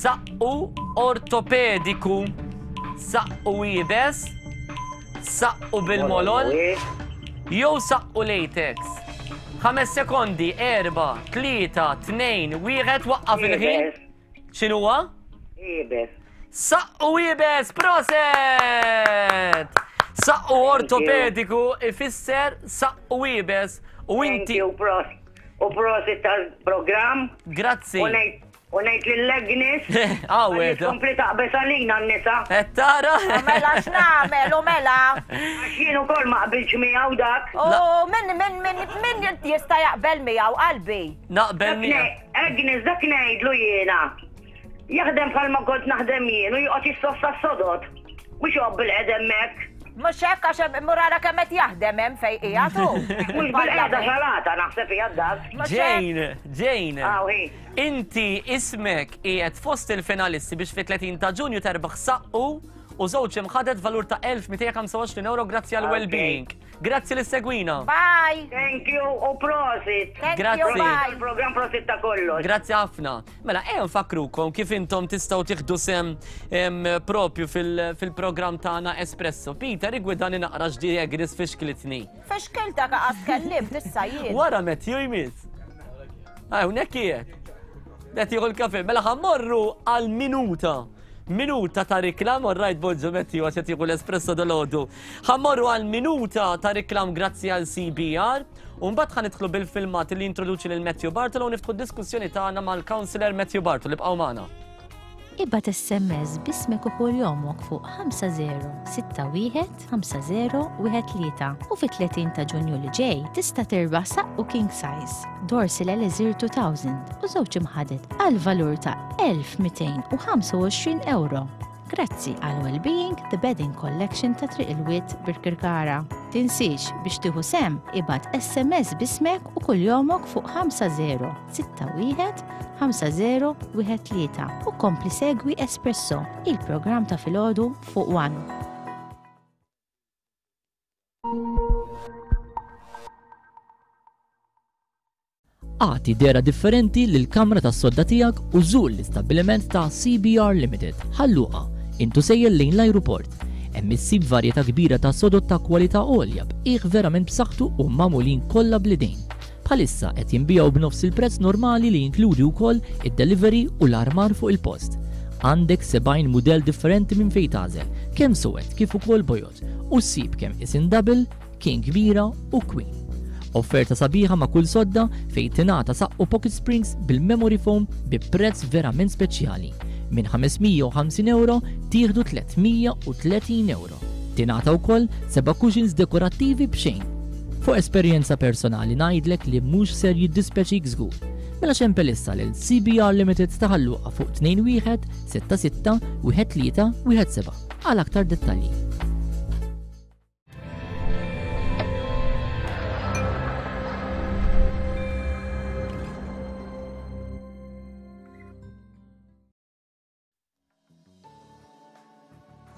saqqu ortopediku? Saqqu iebes, Saqqu bil-molol jew saqqu latex. Ħames sekondi, erba, tlieta, tnejn, wieħed, waqqaf il-ħin. X'inhuwa? Iebes. Saqqu iebes, proset! Saqqu ortopediku ifisser saqqu iebes u inti. U prosit tal-programm. Grazzi. U ngħid lil Agnes. Għawed. Kompli taqbeż għalina n-nisa. Qed tara? Mela x'nagħmel u mela. Għax jien ukoll ma qbiltx miegħu dak. U min min min min jista' jaqbel miegħu qalbi. Naqbel miegħu. Agnes dak ngħidlu jiena. Jaħdem bħalma kont naħdem jien u joqgħod jissossa s-sodod. Mhux joqgħod bil-qed hemmhekk. Mhux hekk għax mur ara kemm qed jaħdem hemm fejn qiegħed hu. Mhux bil-qegħda salata naħseb qiegħed dak. Jane, Jane. Inti ismek qiegħed fost il-finalisti biex fit-30 ta' Ġunju terbaħ saqqu u żewġ imħadet valur ta' 1225 euro grazzi għal well-being. Grazzi li segwina. Bye. Thank you u prosit. Thank Grazzi. you, bye. Il-program prosit ta' kollox. Grazzi ħafna. Mela, ejja nfakkrukom kif intom tistgħu tieħdu sem propju fil-programm tagħna Espresso. Peter, igwidani naqra x'di Agnes fixklitni. Fixkiltek qas tkellimt issa jien. Wara Matthew jmiss. Hawnhekk qiegħed. Qed jieħu l-kafe. Mela ħammorru għal minuta. minuta ta' riklam, all right, bonġu Matthew, għax qed jieħu l-espresso dolodu. Ħa mmorru għal minuta ta' riklam grazzi għal CBR, u mbagħad ħa nidħlu bil-filmat li jintroduċi lil Matthew Bartolo u niftħu d-diskussjoni tagħna mal-Councillor Matthew Bartolo. Ibqgħu magħna. Ibgħat SMS b'ismek u kuljomok fuq 5061 5013 u fit-30 ta' Ġunju li ġej tista' tirbaħ saqqu king size, Dorsil Elixir 2000 u żewġ imħaded għal valur ta' 1225 ewro. Grazzi għal Wellbeing The Bedding Collection ta' Triq il-Wied Birkirkara. Tinsiex biex tieħu sehem ibgħat SMS b'ismek u kuljomok fuq 5061 5013 u kompli segwi Espresso, il-programm ta' filgħodu fuq One. Agħti dehra differenti lill-kamra tas-sodda tiegħek u żur l-istabbiliment ta' CBR Limited, Ħal Luqa, int u sejjer lejn l-ajruport. Hemm issib varjetà kbira ta' sodod ta' kwalità għolja b'qiegħ verament b'saħħtu u magħmulin kollha bl-idejn. Bħalissa qed jinbiegħu b'nofs il-prezz normali li jinkludi wkoll id-delivery u l-armar fuq il-post. Għandek 70 mudell differenti minn fejn tagħżel, kemm suwed kif ukoll bojod, u ssib kemm isin double, king kbira u queen. Offerta sabiħa ma' kull sodda fejn tingħata saqqu pocket springs bil-memory foam bi prezz verament speċjali. Minn 550 ewro tieħdu 330 ewro. Tingħata wkoll seba' cushions dekorattivi b'xejn. Fuq esperjenza personali ngħidlek li mhux ser jiddispjaċik żgur. Mela ċempel issa lil CBR Limited ta' Ħal Luqa fuq 21 66 13 17 għal aktar dettalji.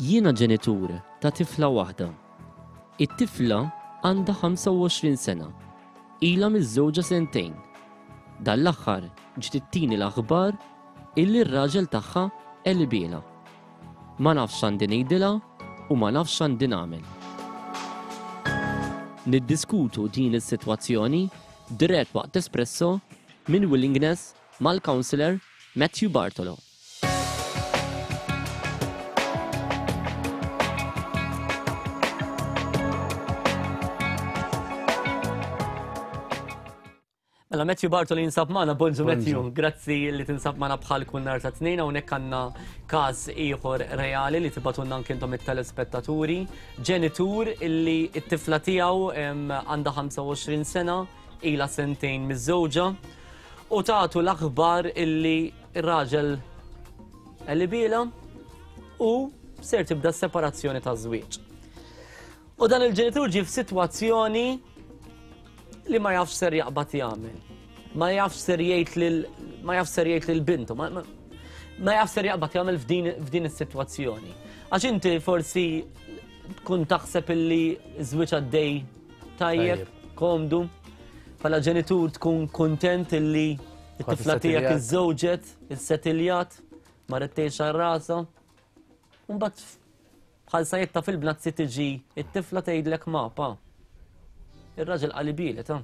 Jiena ġenitur ta' tifla waħda. It-tifla għandha 25 sena. Ilha miżżewġa sentejn. Dan l-aħħar ġiet ittini l-aħbar illi r-raġel tagħha qelibielha. Ma nafx x'għandi ngħidilha u ma nafx x'għandi nagħmel. Niddiskutu din is-sitwazzjoni dirett waqt Espresso minn Willingness mal-Councillor Matthew Bartolo. Mela Matthew Bartoli jinsab magħna, bonġu Matthew, grazzi li tinsab magħna bħal kull nhar ta' tnejn hawnhekk għandna każ ieħor reali li tibatunna anke intom it-telespettaturi, ġenitur illi t-tifla tiegħu għandha 25 sena, ilha sentejn miżżewġa u tagħtu l-aħbar illi Ir-raġel qelibielha u ser tibda s-separazzjoni taż-żwieġ. U dan il-ġenitur ġie f'sitwazzjoni li ma jafx ser jaqbad jagħmel. Ma jafx ser jgħid lil ma jafx ser jgħid lil bintu, ma, ma, ma jafx ser jaqbad jagħmel f'din f'din is-sitwazzjoni. Għax inti forsi tkun taħseb illi żwieġ għaddej tajjeb, komdu, bħala ġenitur tkun kontent illi It-tifla tiegħek iżżewġet, issetiljat, marret tgħix għal rasha. Mbagħad bħal sajetta fil-bnazzi tiġi it-tifla tgħidlek ma pa. Ir-raġel qali bielet, ha.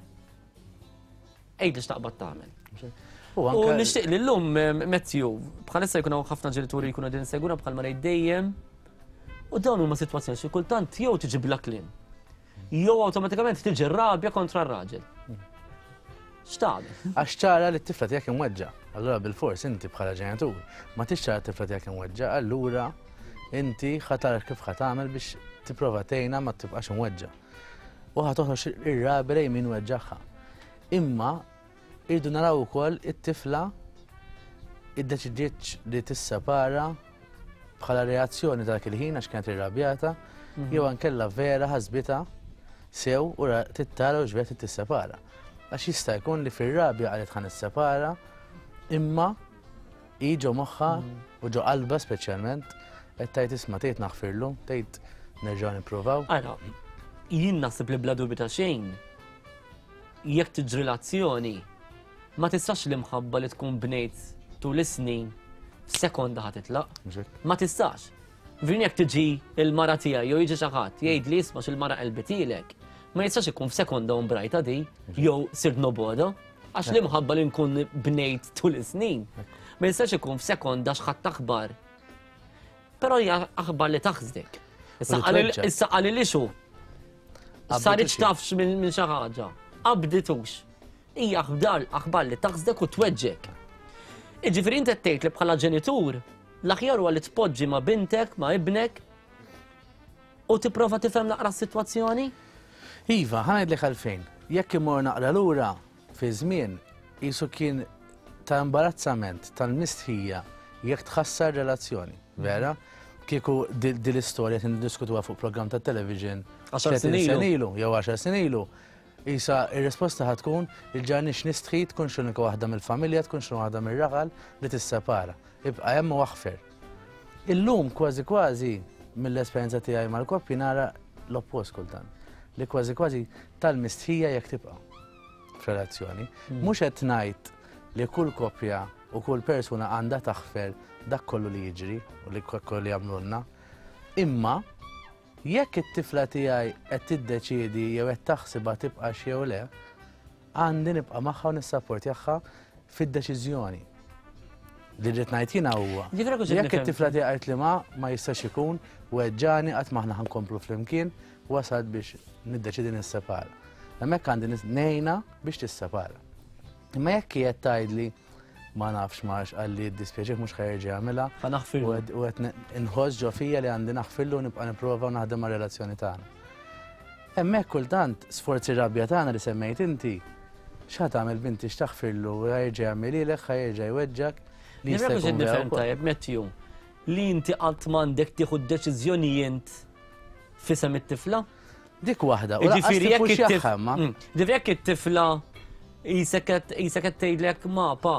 Għidli x'taqbad tagħmel. U nixtieq li llum Matthew, bħalissa jkun hawn ħafna ġenituri jkunu qegħdin segura bħal ma ngħid dejjem. U dawn huma sitwazzjoni xi kultant jew tiġi bla kliem. Jew awtomatikament tiġi rabja kontra r-raġel. X'tagħmel? Għax ċara li t-tifla tiegħek imweġġa. Allura bil-fors inti bħala ġenitur ma tix ċara t-tifla tiegħek imweġġa, allura inti ħa tara kif ħa tagħmel biex tipprova tgħinha ma tibqax imweġġa. U ħa toħroġ ir-rabja lejn min weġġagħha. Imma irridu naraw ukoll it-tifla iddeċidietx li tissepara bħala reazzjoni ta' dak il-ħin għax kienet irrabjata, mhm. jew ankella vera ħasbitha sew u tittara u ġbet tissepara. Għax jista' jkun li fir-rabja qalet ħa nissepara, imma hi ġo moħħha mhm. u ġo qalba speċjalment qed tgħid isma' tgħid naħfirlu, tgħid nerġgħu nippruvaw. Ara, jien naħseb li bla dubju ta' xejn jekk tiġri l-azzjoni ma tistax l-imħabba li tkun bnejt tul is-snin f'sekonda ħa titlaq. Ma tistax. Vin jekk tiġi il-mara tiegħi jew jiġi xi ħadd jgħid li isma' x'il-mara qelbitilek, ma jistax ikun f'sekonda u mbrajta di jew sirt noboda għax l-imħabba li nkun bnejt tul is-snin. Ma jistax ikun f'sekonda x'ħadd aħbar. Però hija aħbar li taħsdek. Issa qalilix hu. Saritx tafx minn xi ħaġa. Qabditux. Hija aħbar aħbar li taħsdek u tweġġek. Iġifieri inti qed tgħid li bħala ġenitur l-aħjar huwa li tpoġġi ma' bintek, ma' ibnek u tipprova tifhem naqra s-sitwazzjoni? Iva, ħa ngħidlek għalfejn. Jekk immur naqra lura fi żmien, qisu kien ta' imbarazzament, tal-mistħija jekk tħassar relazzjoni, vera? Kieku din l-istorja qed niddiskutuha fuq programm tat-television 30 sena ilu jew għaxar snin ilu, qisha r-risposta ħa tkun il-ġarnix nistħi tkunx l-unika waħda mill-familja, tkunx l-unika waħda mir-raħal li tissepara. Ibqa' hemm u aħfer. Illum kważi kważi mill-esperjenza tiegħi mal-koppji nara l-oppost kultant. Li kważi kważi tal-mistħija jekk tibqa' f'relazzjoni. Mhux qed ngħid li kull koppja u kull persuna għandha taħfer dak kollu li jiġri u li kollu li jagħmlulna. Imma jekk it-tifla tiegħi qed tiddeċiedi jew qed taħsibha tibqax jew le, għandi nibqa' magħha u nissapportjaha fid-deċiżjoni. Li rrid ngħid jiena huwa jekk it-tifla tiegħi qalt li ma ma jistax ikun weġġani qatt m'aħna ħankomplu flimkien, wasalt biex niddeċiedi nissepara. Hemmhekk għandi ngħinha biex tissepara. Imma jekk hi qed tgħidli ma nafx ma għax qalli jiddispjaċih mhux ħa jerġa' jagħmilha. Ħa naħfirlu. U qed inħoss ġo fija li għandi naħfirlu u nibqa' nipprova u naħdem mar-relazzjoni tagħna. Hemmhekk kultant sforz ir-rabja tagħna li semmejt inti, x'ħa tagħmel binti x'taħfirlu, ħa jerġa' jagħmilhielek, ħa jerġa' jweġġgħek. Li jista' jkun vera wkoll. Tajjeb Matthew, li inti qatt m'għandek tieħu d-deċiżjoni int f'isem it-tifla? Dik waħda, u lanqas tippuxjaha imma. Ġifieri jekk it-tifla qisek qed tgħidlek ma pa,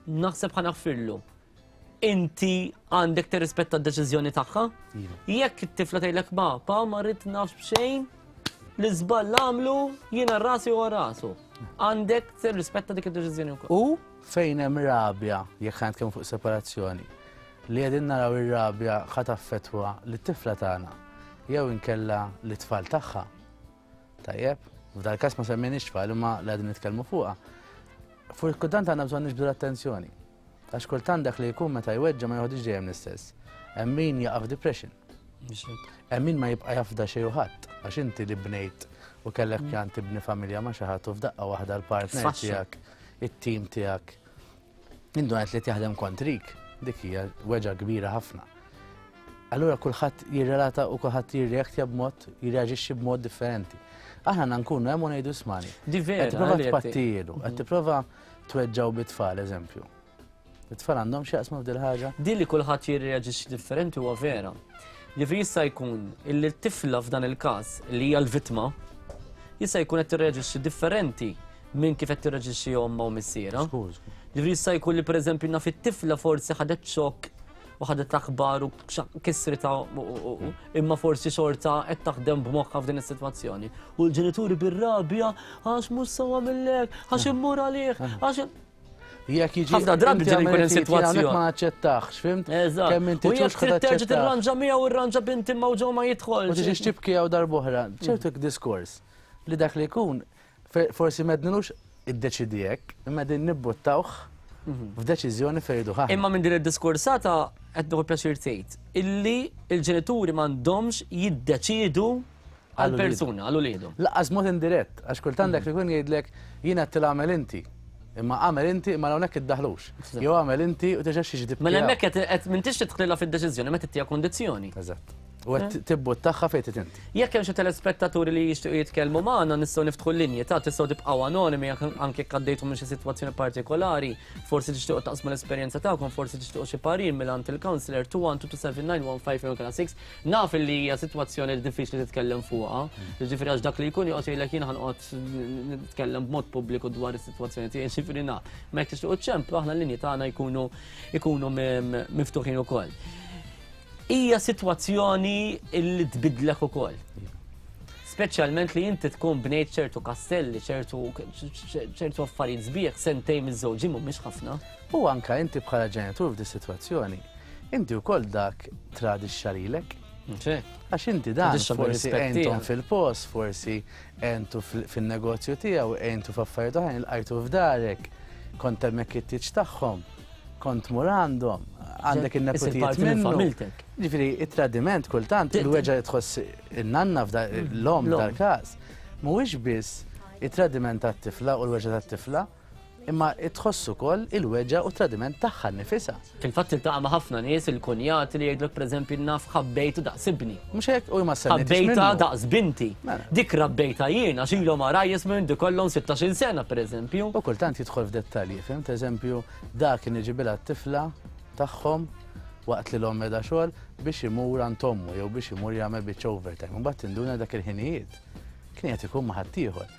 naħseb ħa naħfirlu. Inti għandek tirrispetta d-deċiżjoni tagħha? Iva. Jekk it-tifla tgħidlek ma pa ma rrid nafx b'xejn, l-iżball għamlu jiena rasi u rasu. Għandek tirrispetta dik id-deċiżjoni wkoll. U fejn hemm rabja, jekk ħa nitkellmu fuq separazzjoni, li qegħdin naraw ir-rabja ħa taffettwa lit-tifla tagħna jew inkella lit-tfal tagħha. Tajjeb, f'dal każ ma semmejniex tfal imma li qegħdin nitkellmu fuqha. Fuq kultant għandna bżonn niġbdu l-attenzjoni. Għax kultant dak li jkun meta jweġġa' ma joħodix dejjem l-istess. Hemm min jaqa' f'depression. Hemm min ma jibqa' jafda xejn u ħadd għax inti li bnejt u kellek pjan tibni familja ma' xi ħadd u f'daqqa waħda l-partner tiegħek, it-tim tiegħek Indunajt li qed jaħdem kontrik, dik hija weġgħa kbira ħafna. Allura kulħadd jirrelata u kulħadd jirreaktja b'mod, jirreaġixxi b'mod differenti. Aħna għandna nkunu hemm u ngħidu ismani. Di vera, Qed tipprova li qed tpattijielu, qed tipprova tweġġgħu bit-tfal, eżempju. It-tfal għandhom x'jaqsmu f'dil ħaġa? Din li kulħadd jirreaġixxi differenti huwa vera. Jiġifieri jista' jkun illi t-tifla f'dan il-każ li hija l-vittma jista' jkun qed tirreaġixxi differenti minn kif qed tirreġixxi ommha u missierha. Ġifieri jista' jkun li pereżempju naf it-tifla forsi ħadet xokk u ħadet aħbar u kisrita imma forsi xorta qed taħdem b'moħħha f'din is-sitwazzjoni. U l-ġenituri bir-rabja għax mhux sewa millek, għax immur għalih, għax Jekk jiġi. Ħafna drabi ġieli jkun hemm sitwazzjoni. Ma naċċettax, fimt? Eżatt. Kemm inti U jekk trid terġa' tirranġa miegħu irranġa binti ma ġew ma jidħolx. U tiġix tibki hawn darb'oħra. Ċertu diskors li dak li jkun Forsi m'għednilux iddeċiedi hekk, imma qegħdin nibbuttawh f'deċiżjoni fejn irriduh aħna. Imma minn din id-diskursata qed nieħu pjaċir tgħid illi l-ġenituri m'għandhomx jiddeċiedu għal persuna, għal uliedhom. Lanqas b'mod indirett, għax kultant dak li jkun jgħidlek jien għedtilha agħmel inti. Imma agħmel inti imma hawnhekk iddaħħlux. Jew agħmel inti u terġax tiġi tibki. Mela hemmhekk qed m'intix tidħlilha fid-deċiżjoni meta ttiha kundizzjoni. Eżatt. U qed tibbuttaha fejn trid inti. Jekk hemm xi telespettaturi li jixtiequ jitkellmu magħna nistgħu niftħu l-linji ta' tistgħu tibqgħu anonimi anke jekk għaddejtu minn xi sitwazzjoni partikolari, forsi tixtiequ taqsmu l-esperjenza tagħkom, forsi tixtiequ xi parir mingħand il-counselor 2127915 Naf li hija sitwazzjoni li diffiċli titkellem fuqha, jiġifieri għax dak li jkun joqgħod jgħidlek jien ħanqgħod nitkellem b'mod pubbliku dwar is-sitwazzjoni tiegħi, jiġifieri naf. Ma jekk tixtiequ ċemplu aħna l-linji tagħna jkunu jkunu miftuħin ukoll. Hija sitwazzjoni li tbidlek ukoll. Speċjalment li inti tkun bnejt ċertu kastelli, ċertu ċertu affarijiet sbieħ sentejn miż-żewġin mhumiex ħafna. U anka inti bħala ġenitur f'di sitwazzjoni, inti wkoll dak tradixxa lilek. Għax inti dan forsi għentom fil-post, forsi għentu fin-negozju tiegħu, għentu f'affarijiet oħrajn, ilqajtu f'darek, kont hemmhekk it-tieġ tagħhom. kont tmur għandhom, għandek in-nepotijiet minn minnu. Familtek. Ġifieri, it-tradiment kultant, il-weġgħa li tħoss in-nanna l-omm dal-każ, mhuwiex biss it-tradiment tat-tifla u l-weġgħa tat-tifla, imma tħoss ukoll il-weġgħa u t-tradiment tagħha nnifisha. Fil-fatt tiltaqa' ma' ħafna nies il-kunjati li jgħidlek pereżempju naf ħabbejtu daqs ibni. Mhux hekk u ma semmejtix Ħabbejtha minnu. daqs binti. Mela. Dik rabbejtha jien għax ilhom għarajjes minn kollhom 16-il sena pereżempju. U kultant jidħol f'dettalji, fhimt? Eżempju, dak kien iġibilha t-tifla tagħhom waqt li l-omm qiegħda xogħol biex imur għand ommu jew biex imur jagħmel biċċa overtime. Imbagħad tinduna dak il-ħinijiet kien qed ikun ma' ħaddieħor.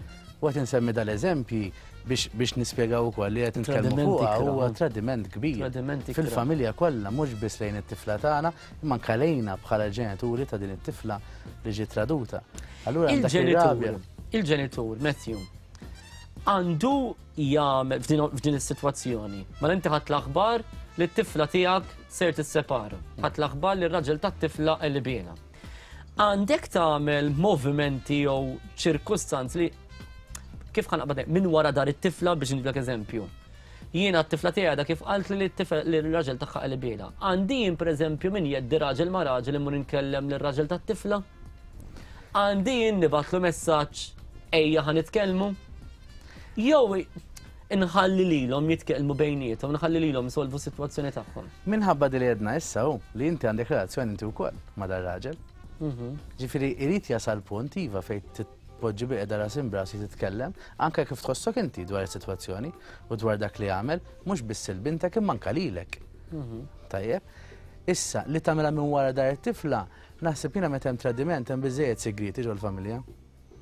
U qed insemmi dal-eżempji biex biex nispjegaw ukoll li qed nitkellmu fuqha huwa tradiment kbir. Fil-familja kollha mhux biss lejn it-tifla tagħna, imma anke lejna bħala ġenituri ta' din it-tifla li ġiet traduta. Allura hemm dak ir-rabja. Il-ġenitur, Matthew, għandu jagħmel f'din is-sitwazzjoni. Mela inti ħadd l-aħbar li t-tifla tiegħek ser tissepara. Ħadd l-aħbar li r-raġel tat-tifla qelbiena. Għandek tagħmel movimenti jew ċirkustanzi li kif ħa naqbad minn wara dar it-tifla biex nġiblek eżempju. Jiena t-tifla tiegħi għadha kif qalt li li r-raġel tagħha qelbiela. Għandi jien pereżempju minn jeddi raġel ma' raġel immur inkellem lir-raġel tat-tifla? Għandi jien nibgħatlu messaġġ ejja ħa nitkellmu? Jew inħalli lilhom jitkellmu bejniethom, nħalli lilhom isolvu s-sitwazzjoni tagħhom. Minħabba di li għedna issa hu li inti għandek relazzjoni inti wkoll ma' dar-raġel. Ġifieri irid jasal punt iva fejn tpoġġi bilqiegħda ras imb'ras li titkellem anke kif tħossok inti dwar is-sitwazzjoni u dwar dak li għamel, mhux biss lil bintek imma anke lilek. Tajjeb? Issa, li tagħmilha minn wara dar it-tifla, naħseb jiena meta hemm tradiment hemm biżżejjed sigrieti ġol-familja.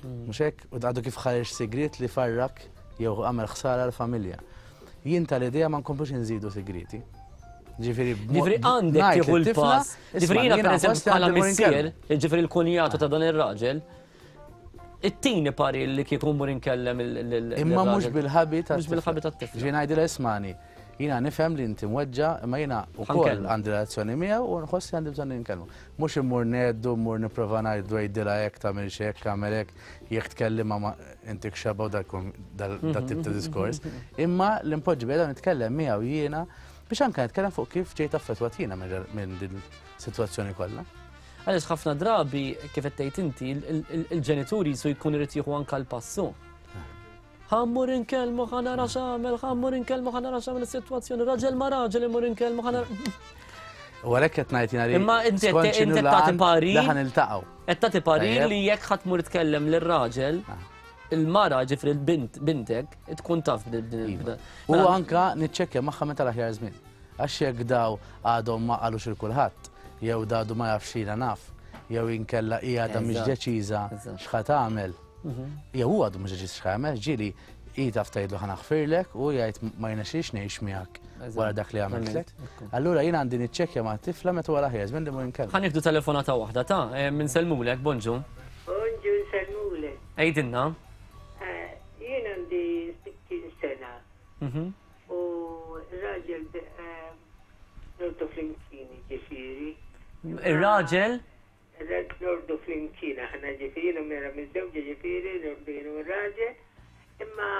Mhux hekk? U għadu kif ħareġ sigriet li farrak jew għamel ħsara l-familja. Jien tal-idea ma nkomplux inżidu sigrieti. Ġifieri Ġifieri għandek tieħu l-pass. Ġifieri jiena pereżempju bħala missier, ġifieri l-kunjatu ta' dan ir-raġel, it-tieni parir li kieku mmur inkellem il Imma mhux bil-ħabi ta' Mhux bil-ħabi tat-tifla. Ġifieri ngħidilha ismani, jiena nifhem li inti mweġġa' imma jiena wkoll għandi relazzjoni miegħu u nħoss li għandi bżonn inkellmu. Mhux immur ngħeddu, mmur nipprova ngħidlu għidilha hekk, tagħmilx hekk, agħmel hekk, jekk tkellimha ma intik xebgħa u dat-tip ta' diskors. Imma li npoġġi bilqiegħda u nitkellem miegħu jiena biex anke nitkellem fuq kif ġejt affettwat jiena minn din is-sitwazzjoni kollha. Għaliex ħafna drabi, kif qed tgħid inti, il-ġenituri jisu jkun irid jieħu anke l-passu. Ħa mmur inkellmu ħa nara x'għamel, ħa mmur inkellmu ħa nara x'għamel is-sitwazzjoni, raġel ma' raġel immur inkellmu ħa nara. U għalhekk qed ngħid jiena li. Imma inti qed tagħti parir. Li ħa niltaqgħu. Qed tagħti parir li jekk ħa tmur tkellem lir-raġel, ah. il-mara ġifri l-bint bintek tkun taf b'din iva. U mela- anka niċċekkja magħha meta l-aħjar żmien. Għax jekk daw għadhom ma qalux il kulħadd, jew dadu ma jafx jiena naf, jew inkella hija għadha mhix deċiża x'ħa tagħmel. Jew hu għadu mhux deċiż x'ħa ġieli hi taf tgħidlu ħa naħfirlek u jgħid ma jirnexxilix ngħix miegħek wara dak li għamiltlek. Allura jien għandi niċċekkja ma' tifla meta wara ħares minn li mur inkellem. Ħa nieħdu telefonata waħda ta' eh, minn Selmulek, bonġu. Bonġu Selmulek. Għidilna. Eh, jien għandi 60 sena. Mhm. U raġel eh, nordu flimkien ġifieri. Ir-raġel? Eżatt norqdu flimkien aħna ġifieri jiena mera miżżewġa ġifieri norqdu jien u r-raġel imma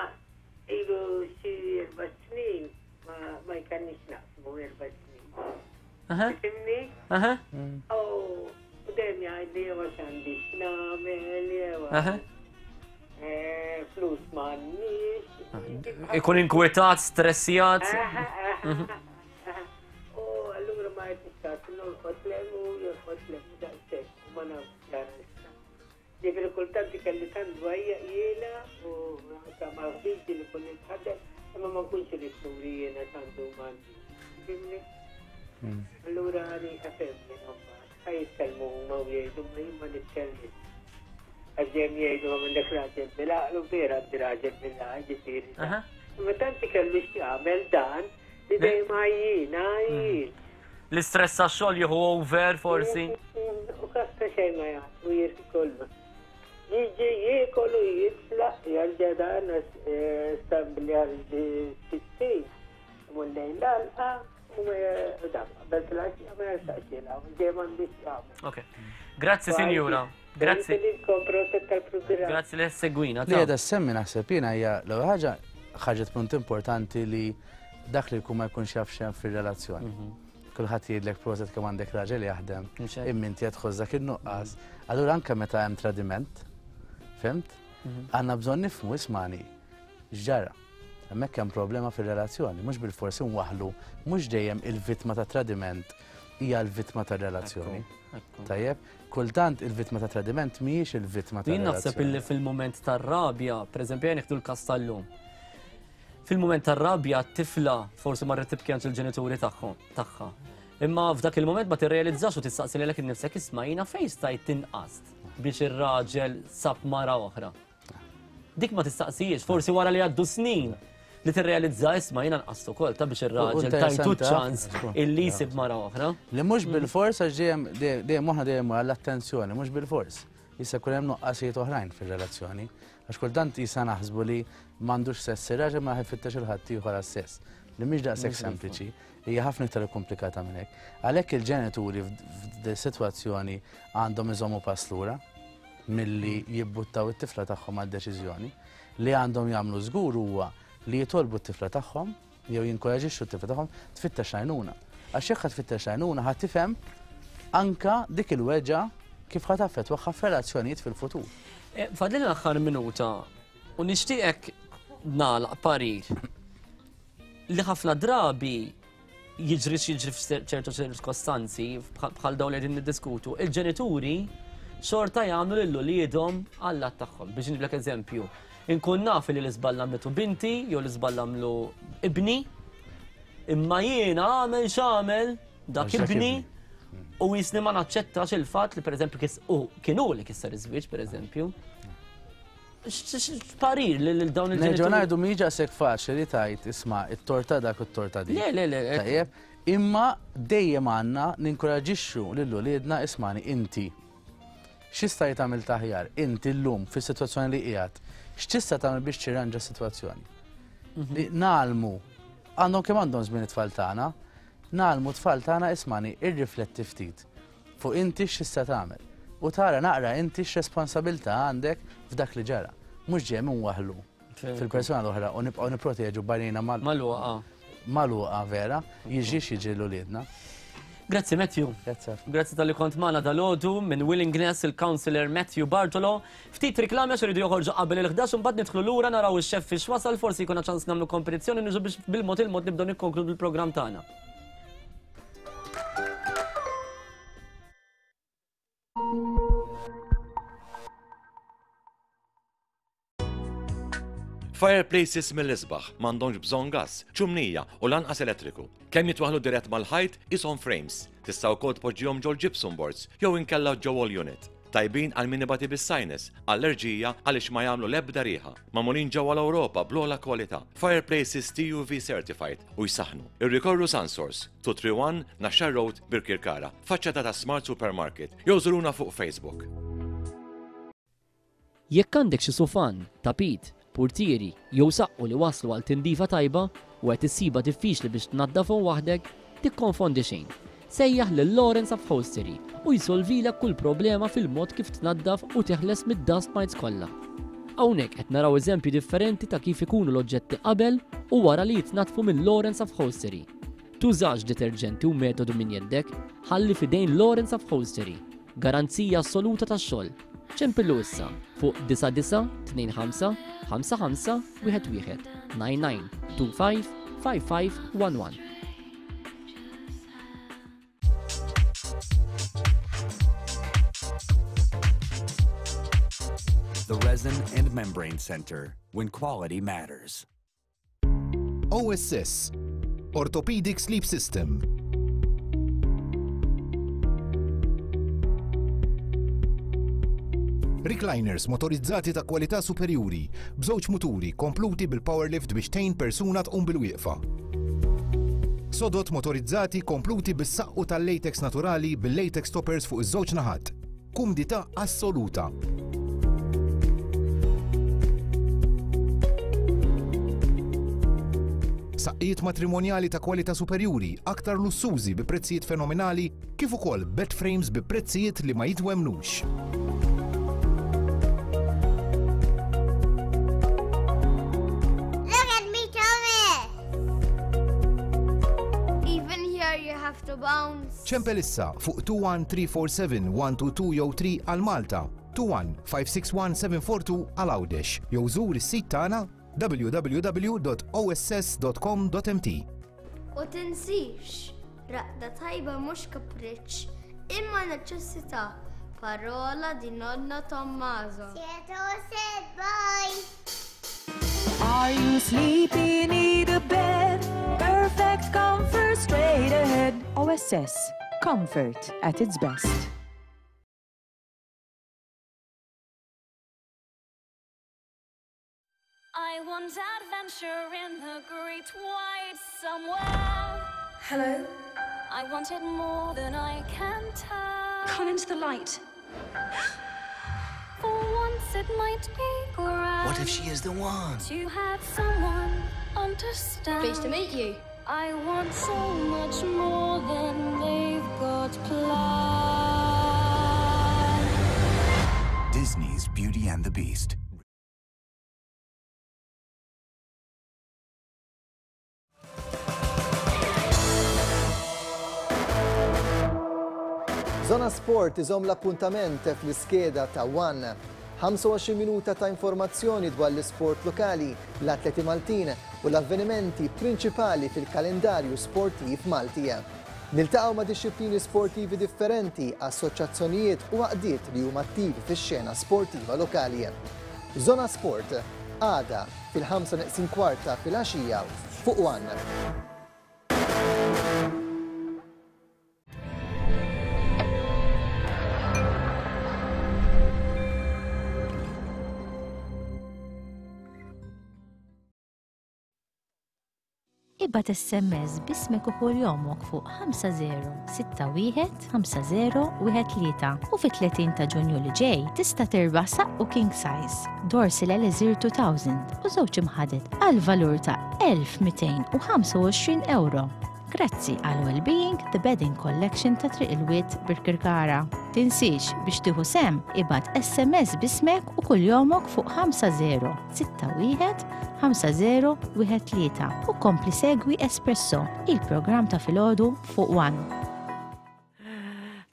ilu xi erba' snin ma ma jkanniex naqsmu erba' snin. Tifhimni? U dejjem jgħidli jew għax għandi x'nagħmel jew eh, flus m'għandniex. Ikun inkwetat, stressjat. U allura ma tistax norqod lem u jorqod lem u daqshekk u ma nafx ġara issa. Ġifieri kultant ikelli tant dwajja jiena u anke mal-ħbibi li kun nitħaddem imma ma nkunx irid nuri jiena tant u m'għandi. Fimni? Hmm. Allura għani għafem jien mbagħad. Ħa jitkellmu huma u jgħidu ma jien ma nitkellmx. Għax dejjem jgħidu għandek raġel bil-għaqlu vera għandi raġel bil-għaqlu ġifieri. Imma tant ikellu x'jagħmel dan Li dejjem għajjien, għajjien. L-istress tax-xogħol jieħu over forsi. U kasta xejn ma jagħtu jirki kollu. Jiġi jiekol u jitlaq jerġa' dan eh, stambli għal sittin. Imur lejn l-għalqa u ma dak qabel fil-għaxija ma jersaqx jilgħab, ġej m'għandux jagħmel. Ok. Grazzi sinjura. Grazzi. Grazzi li segwina. Li għedha semmi naħseb jiena hija l-ewwel ħaġa ħarġet punt importanti li Dak li jkun ma jkunx jaf x'hemm fir-relazzjoni. Kulħadd jgħidlek proset kemm għandek raġel jaħdem, imma inti qed tħoss dak in-nuqqas. Allura anke meta hemm tradiment, fhimt? Għandna bżonn nifhmu ismani x'ġara. Hemmhekk hemm problema fir-relazzjoni, mhux bilfors inwaħħlu, mhux dejjem il-vittma ta' tradiment hija l-vittma tar-relazzjoni. Tajjeb, kultant il-vittma ta' tradiment mhijiex il-vittma ta' Jien naħseb illi fil-mument tar-rabja, pereżempju jien nieħdu l-każ tal-lum. Fil-mument tar-rabja t-tifla forsi marret tibki għand il-ġenituri tagħhom tagħha. Imma f'dak il-mument ma tirrealizzax u tistaqsi lilek innifsek isma' jiena fejn stajt tinqast biex ir-raġel sab mara oħra. Dik ma tistaqsijiex, forsi wara li għaddu snin li tirrealizza isma' jiena nqast ukoll ta' biex ir-raġel tajtu ċans illi jsib mara oħra. Li mhux bil-fors għax dejjem dejjem moħħna dejjem għall-attenzjoni, mhux bil-fors. Jista' jkun hemm nuqqasijiet oħrajn fir-relazzjoni. Għax kultant jista' naħsbu li m'għandux sess ir-raġel ma jfittex il-ħaddieħor għas-sess. Li mhix daqshekk sempliċi, hija ħafna iktar ikkumplikata minn hekk. Għalhekk il-ġenituri f'sitwazzjoni għandhom iżommu pass lura milli jibbuttaw it-tifla tagħhom għal deċiżjoni. Li għandhom jagħmlu żgur huwa li jitolbu t-tifla tagħhom jew jinkoraġixxu t-tifla tagħhom tfittex għajnuna. Għax jekk ħa tfittex għajnuna ħa tifhem anka dik il-weġgħa kif ħa taffettwaha f'relazzjonijiet fil-futur. Eh, fadlina l-aħħar minuta u nixtieqek nagħlaq parir li ħafna drabi jiġri x'jiġri f'ċertu ċirkostanzi bħal dawn li qegħdin niddiskutu, il-ġenituri xorta jagħmlu lil uliedhom għall-att tagħhom. Biex nġiblek eżempju, inkun naf li l-iżball għamlitu binti jew l-iżball għamlu ibni, imma jiena għamel x'għamel dak ibni u jisni ma naċċettax il-fatt li pereżempju kienu li kisser iż-żwieġ pereżempju. Parir lil dawn il-ġenituri. Nerġgħu ngħidu mhijiex daqshekk faċli li tgħid isma' it-torta dak u t-torta dik. Le, le, le. Tajjeb, imma dejjem għandna ninkoraġixxu lil uliedna ismani inti. X'jista' tagħmel taħjar inti llum fis-sitwazzjoni li qiegħed? X'tista' tagħmel biex tirranġa s-sitwazzjoni? Mhm. Li nagħlmu għandhom kemm għandhom żmien it-tfal tagħna, nagħlmu tfal tagħna ismani irrifletti ftit. Fuq inti x'tista' tagħmel. U tara naqra inti x'responsabilità għandek f'dak li ġara. Mhux dejjem inwaħħlu fil-persuna l-oħra u nibqgħu nipproteġu b'għajnejna mal. Magħluqa. Magħluqa vera, jiġri x'jiġri 'l uliedna. Grazzi Matthew. Grazzi. Grazzi talli kont magħna dalgħodu minn Willingness il-Councillor Matthew Bartolo. Ftit riklami għax iridu joħorġu qabel il-11 u mbagħad nidħlu lura naraw ix-xef fiex wasal forsi jkollna ċans nagħmlu kompetizzjoni niġu biex bil-mod il-mod nibdew nikkonkludu l-programm tagħna. Fireplaces mill-isbaħ m'għandhomx bżonn gass, ċumnija u lanqas elettriku. Kemm jitwaħħlu dirett mal-ħajt qishom frames. Tista' wkoll tpoġġihom ġol-gypsum boards jew inkella ġo wall unit. Tajbin għal min ibati bis-sinus, allerġija għaliex ma jagħmlu l-ebda riħa. Magħmulin ġewwa l-Ewropa bl-ogħla kwalità. Fireplaces TUV certified u jsaħħnu. Irrikorru Sunsource, 231 Naxxar Road, Birkirkara, faċċata ta' Smart Supermarket, jew żuruna fuq Facebook. Jekk għandek xi sufan, tapit, purtieri jew saqqu li waslu għal tindifa tajba u qed issibha diffiċli biex tnaddafhom waħdek, tikkonfondi xejn. Sejjaħ lil Lawrence Upholstery u jsolvilek kull problema fil-mod kif tnaddaf u teħles mid-dust mites kollha. Hawnhekk qed naraw eżempji differenti ta' kif ikunu l-oġġetti qabel u wara li jitnaddfu minn Lawrence Upholstery. Tużax deterġenti u metodu minn jeddek, ħalli f'idejn Lawrence Upholstery. Garanzija assoluta tax-xogħol. Ċempillu issa fuq 9925 55 11 99 25 55 11. The Resin and Membrane Center, when quality matters. OSS, Orthopedic Sleep System. Recliners motorizzati ta' kwalità superjuri, b'żewġ muturi kompluti bil-power lift biex tgħin persuna tqum bil-wieqfa. Sodod motorizzati kompluti bis-saqqu tal-latex naturali bil-latex toppers fuq iż-żewġ naħat. Kumdità assoluta. Saqqijiet matrimonjali ta' kwalità superjuri, aktar lussużi bi prezzijiet fenomenali, kif ukoll bed frames bi prezzijiet li ma jitwemmnux. Look at me, Thomas! To bounce. Ċempel issa fuq 21 347 122 jew 3 għal Malta, 21 561 742 għal Għawdex jew żur is-sit tagħna www.oss.com.mt. U tinsix, raqda tajba mhux kapriċċ, imma neċessità. Parola di nonno Tommaso. Bye! Are you sleepy? Need a bed? Perfect comfort straight ahead. OSS. Comfort at its best. I want adventure in the great wide somewhere. Hello? I want it more than I can tell. Come into the light. For once it might be grand. What if she is the one? To have someone understand. Pleased to meet you. I want so much more than they've got planned. Disney's Beauty and the Beast. Zona Sport iżomm l-appuntament fl-iskeda ta' One. 25 minuta ta' informazzjoni dwar l-isport lokali, l-atleti Maltin u l-avvenimenti prinċipali fil-kalendarju sportiv Malti. Niltaqgħu ma' dixxiplini sportivi differenti, assoċjazzjonijiet u għaqdiet li huma attivi fix-xena sportiva lokali. Zona Sport, għada fil-ħamsa neqsin kwart ta' filgħaxija fuq One. Ibgħat SMS b'ismek u kuljomok fuq 5061 5013 u fit-30 ta' Ġunju li ġej tista' tirbaħ saqqu king size, Dorsil Elixir 2000 u żewġ imħaded għal valur ta' 1225 euro. Grazzi għal Wellbeing The Bedding Collection ta' Triq il-Wied Birkirkara. Tinsiex biex tieħu sehem ibgħat SMS b'ismek u kuljomok fuq 5061 5013 u kompli segwi Espresso, il-programm ta' filgħodu fuq One.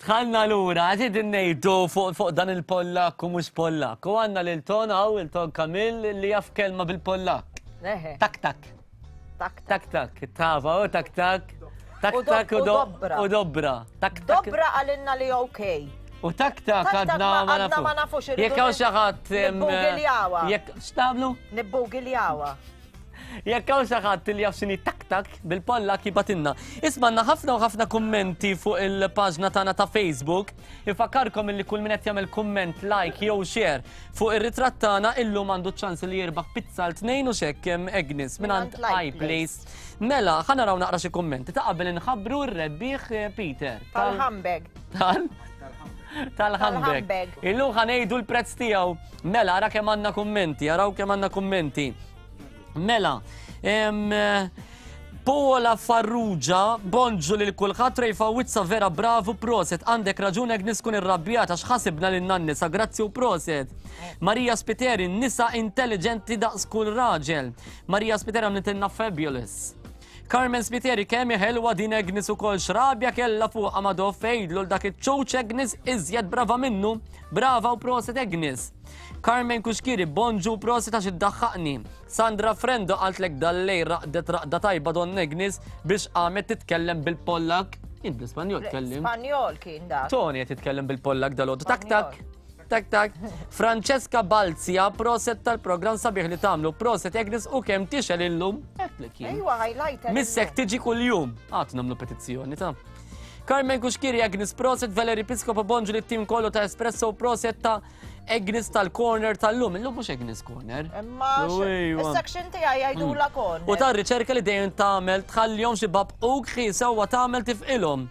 Tħallna lura, għad ngħidu fuq dan il-Pollak u mhux Pollak. U għandna lil Ton hawn, il-Ton Kamil li jaf kelma bil-Pollak. Tak tak. Tak tak. Tak tak, tava, u tak tak. Tak tak u dobra. U dobra. Tak tak. Dobra għalinna li okej. U tak tak għadna ma nafux. Jekk hawn xi ħadd. Nibbugiljawha. Jekk x'tagħmlu? Nibbugiljawha. Jekk hawn xi ħadd li jaf x'inhi tak tak bil-Pollak jibgħatilna. Isma' għandna ħafna u ħafna kummenti fuq il-paġna tagħna ta' Facebook. Infakkarkom illi kull min qed jagħmel kumment, like jew share fuq ir-ritratt tagħna illum għandu ċ-ċans li jirbaħ pizza għal tnejn u xekk Agnes mingħand iPlace. Mela, ħa naraw naqra xi kummenti ta' qabel inħabbru r-rebbieħ eh, Peter. Tal-handbag. Tal? Tal-handbag. Illum ħa ngħidu l-prezz tiegħu. Mela, ara kemm għandna kummenti, araw kemm għandna kummenti. Mela, Paola Farrugia, bonġu lil kulħadd Ray Fawizza vera bravu proset, għandek raġun Agnes kun irrabjata x'ħasibna lil nisa, grazzi u proset. Maria Spiteri, nisa intelligenti daqs kull raġel. Maria Spiteri għamlitilna fabulous. Carmen Spiteri kemm ħelwa din Agnes ukoll x'rabja kellha fuqha Madoff għidlu l dak iċ-ċuċ Agnes iżjed brava minnu. Brava u proset Agnes. Carmen Cuschieri, bonġu u prosit għax iddaħħaqni. Sandra Frendo qaltlek dal-lejl raqdet raqda tajba Don Agnes biex qamet titkellem bil-Pollak. Jien bl-Ispanjol tkellimt. Spanjol kien dak. Tony qed jitkellem bil-Pollak dalgħodu. Tak tak. Tak tak. Francesca Balzia, proset tal-programm sabiħ li tagħmlu. Proset Agnes u kemm tixel illum. Għedtlek jien. Ejwa highlighter. Missek tiġi kuljum. Għad nagħmlu petizzjoni ta'. Carmen Cuschieri, Agnes proset, Valerie Piscopo bonġu lit-tim kollu ta' Espresso u proset ta' Agnes tal-corner tal-lum. Illum mhux Agnes corner. Imma is-section tiegħi jgħidulha mm. corner. U ta' riċerka li dejjem tagħmel tħallihom xi babquk xi sewwa tagħmel tifqilhom.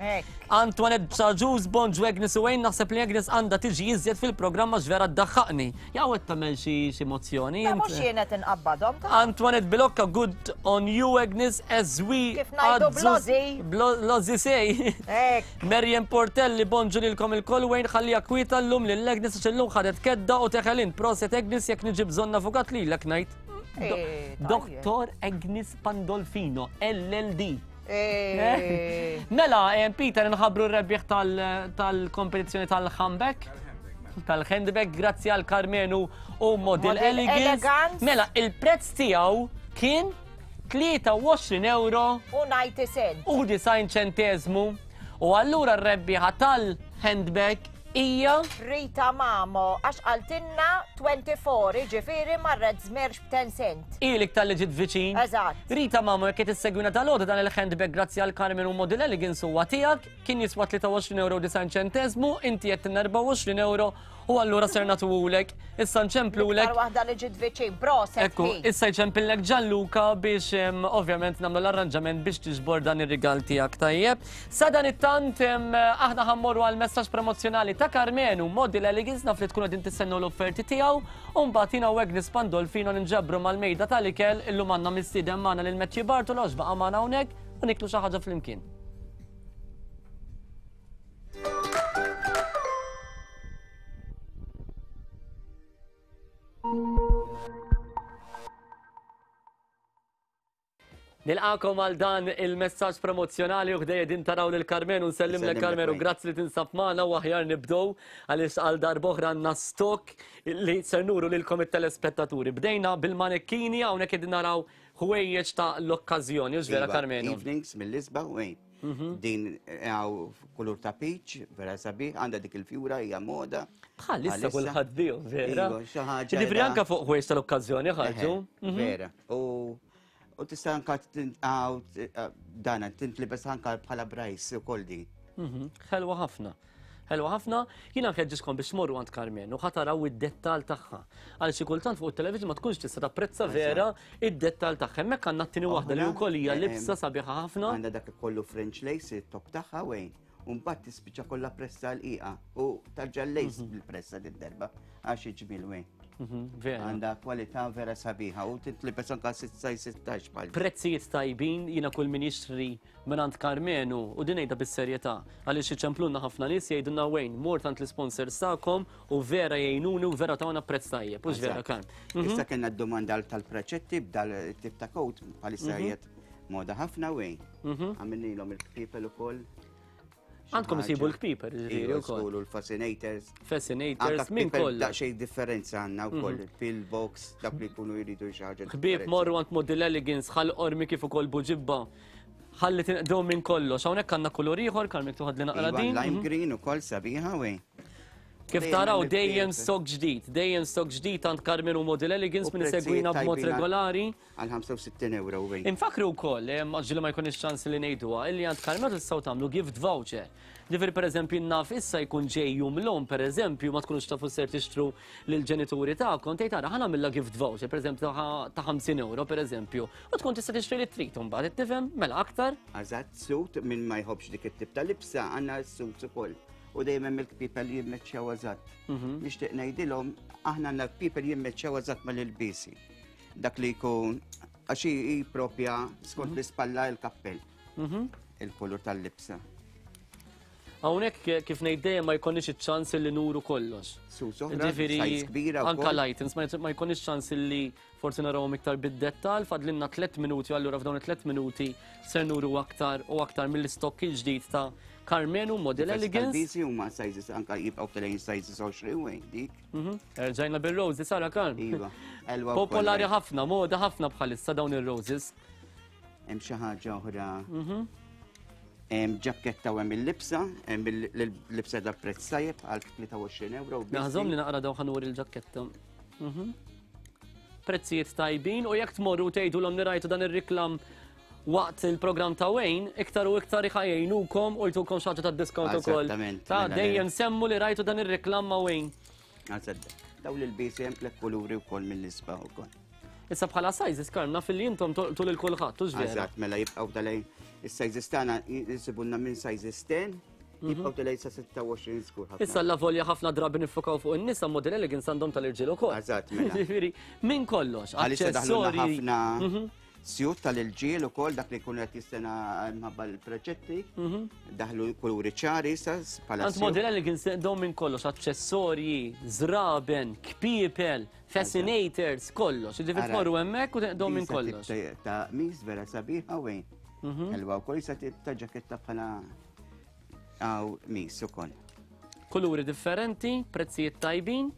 Antoinette Saġuż bonġu Agnes u Wayne naħseb li Agnes għandha tiġi iżjed fil-programm għax vera ddaħħaqni. Jew qed tagħmel xi xi mozzjoni. Ma mhux jien qed inqabbadhom. Antoinette Bilocca good on you Agnes as we Kif ngħidu blozi. Blozi sej. Marian Portelli bonġu lilkom ilkoll Wayne ħalliha kwieta llum lil Agnes għax illum ħadet kedda u teħel int. Proset Agnes jekk niġi bżonn avukat lilek ngħid. Eh, Dottor Agnes Pandolfino, LLD. Eh. Mela, Peter, nħabru r-rebbieħ tal-kompetizzjoni tal-handbag. Tal-handbag, grazzi għal Karmenu u Model Elegance. Mela, il-prezz tiegħu kien 23 euro u 90 cent. U 90 ċentesmu. U allura r-rebbieħa tal-handbag hija Rita Mamo, għax qaltilna 24, jiġifieri marret żmerġ b'10 cent. Ilik talli ġiet viċin. Eżatt. Rita Mamo, jekk qed issegwina dalgħodu dan il-handbag grazzi għal Carmen u Model Elegance huwa tiegħek, kien jiswa 23 euro u 90 ċenteżmu, inti għedtilna 24 euro U allura ser nagħtuhulek, issa nċemplulek. L-iktar waħda li ġiet viċin, proset. Ekku, issa jċempillek Gianluca biex ovvjament nagħmlu l-arranġament biex tiġbor dan ir-rigal tiegħek tajjeb. Sa dan it-tant aħna ħammorru għal messaġġ promozzjonali ta' Karmenu Model Elegance naf li tkunu qegħdin tistennew l-offerti tiegħu u mbagħad jiena u Agnes Pandolfino ninġabru mal-mejda tal-ikel illum għandna mistieden magħna lil Matthew Bartolo għax baqa' magħna hawnhekk u niklu xi ħaġa flimkien. Nilqakom għal dan il-messaġġ promozzjonali u ħdejja din taraw lil Karmenu nsellimlek Karmenu, grazzi li tinsab magħna u aħjar nibdew għaliex għal darb'oħra għandna stock li ser nuru lilkom it-telespettaturi. Bdejna bil-manekkini hawnhekk qegħdin naraw ħwejjeġ ta' l-okkażjoni, hux vera Iva, Karmenu? Evenings mill-isbaħ u Mhm. Din għaw kulur ta' peach, vera sabiħ, għandha dik il-fjura hija moda. Bħalissa kulħadd bihom, vera. Iva, xi ħaġa. Ġifieri anke fuq ħwejjeġ tal-okkażjoni ħarġu. Mhm. Vera. U u tista' anka dana tintlibes anka bħala brajs ukoll din. Mhm. Ħelwa ħafna. Ħelwa ħafna, jiena nħeġġiskom biex tmorru għand Karmen u ħataraw id-dettal tagħha. Għal xi kultant fuq it-television ma tkunx tista' tapprezza vera id-dettal tagħha. Hemmhekk għandna t-tieni waħda li wkoll hija libsa sabiħa ħafna. Għandha dak kollu French lace it-top tagħha wejn. U mbagħad tispiċċa kollha pressa l-qiqa u tarġa' lace mhm. bil-pressa din-darba għax iġmil wejn. Mhm, vera. Għandha kwalità vera sabiħa u titlibes anka 16 bħal. Prezzijiet tajbin jiena kull min jixtri mingħand Karmenu, u din ngħidha bis-serjetà, għaliex iċemplulna ħafna nies jgħidulna Wayne, mort għand l-isponsors tagħkom u vera jgħinuni u vera tawna prezz tajjeb, hux vera Karm? Mhm. Issa kellna d-domanda tal-preċetti b'dal tip ta' coat bħalissa mhm. qiegħed moda ħafna Wayne. Mhm. Għamilnilhom il-kpipel ukoll. Għandkom isibu l-kpiper, ġifieri wkoll. Isibu l-fascinators. Fascinators, minn kollox. Daqsxejn differenza għandna wkoll mhm. pillbox, dak li jkunu jridu xi ħaġa. Ħbieb morru għand Model Elegance ħal qormi kif ukoll buġibba. Ħalli tinqdew minn kollox. Hawnhekk għandna kulur ieħor, Karmik tuħad li naqra iva, din. Lime mhm. green ukoll sabiħa wej. Kif taraw dejjem stok ġdid, dejjem stok ġdid għand Carmen u Model Elegance minn segwina b'mod regolari. Għal 65 euro wejn. Infakru wkoll, eh, ġili ma jkunx ċans li ngħiduha, illi għand Carmen tistgħu tagħmlu gift voucher. Ġifieri pereżempju naf issa jkun ġej jum l-omm pereżempju ma tkunux tafu ser tixtru lill-ġenituri tagħkom, tgħid ara ħa nagħmilha gift voucher pereżempju ta' 50 euro pereżempju u tkun tista' tixtri li trid imbagħad tifhem mela aktar. Eżatt, suit min ma jħobbx dik it-tip ta' libsa għandna s-suits ukoll u dejjem hemm il-kpipel li jimmeċċjaw eżatt. Mhm. Nixtieq ngħidilhom aħna għandna kpipel jimmeċċjaw eżatt mal-ilbiesi. Dak li jkun għax hi propja skont mhm. l-ispalla il-kappell. Mhm. Il-kulur tal-libsa. Hawnhekk kif ngħid dejjem ma jkollniex iċ-ċans li nuru kollox. Ġifieri anka l-items ma jkollniex ċans li forsi narawhom iktar bid-dettal, fadlinna tliet minuti allura f'dawn it-tliet minuti ser nuru aktar u aktar mill-istokk il-ġdid ta' Carmenu Model Elegance. Bizi huma sizes anka jibqgħu telejn sizes 20 dik. Mhm. Erġajna bil-roses sara Karm. Iva. Popolari ħafna, moda ħafna bħalissa dawn ir-roses. Hemm xi ħaġa oħra. Mhm. Hemm ġakketta u hemm il-libsa, hemm il-libsa da prezz tajjeb għal 23 euro. Naħżom li naqra daw ħanur il-ġakketta. Mhm. Prezzijiet tajbin u jekk tmorru tgħidulhom li rajtu dan ir-riklam waqt il-programm ta' Wayne, iktar u iktar iħajjejnukom u jtukom xi ħaġa ta' discount ukoll. Ta' mela dejjem semmu li rajtu dan ir-riklam ma' Wayne. Daw l-ilbiesi hemm tliet kuluri wkoll mill-isbaħ ukoll. Issa bħala sizes Karl naf li intom tolqtu lil kulħadd, hux vera? Eżatt, mela jibqgħu tal-lejn is-sizes tagħna jsibulna minn sizes 10 mhm. jibqgħu tal-lejn sa 26 żgur ħafna. Issa la volja ħafna drabi nifokaw fuq in-nisa model elegance għandhom tal-irġiel ukoll. Eżatt, mela. Ġifieri, minn kollox, aċċessorji. ħafna mhm. Sjut tal-irġiel ukoll dak li jkun qed jistena mħabba l-preċetti. Mhm. Daħlu kuluri ċari sa bħala. Għand model elegance dawn minn kollox aċċessorji, żraben, kpiepel, Fascinators, kollox. Ġifieri tmorru hemmhekk u teqdom minn kollox. Ta' mis vera sabiħa wejn. Ħelwa wkoll jista' tip ta' ġaketta bħala għaw mis ukoll. Kuluri differenti, prezzijiet tajbin.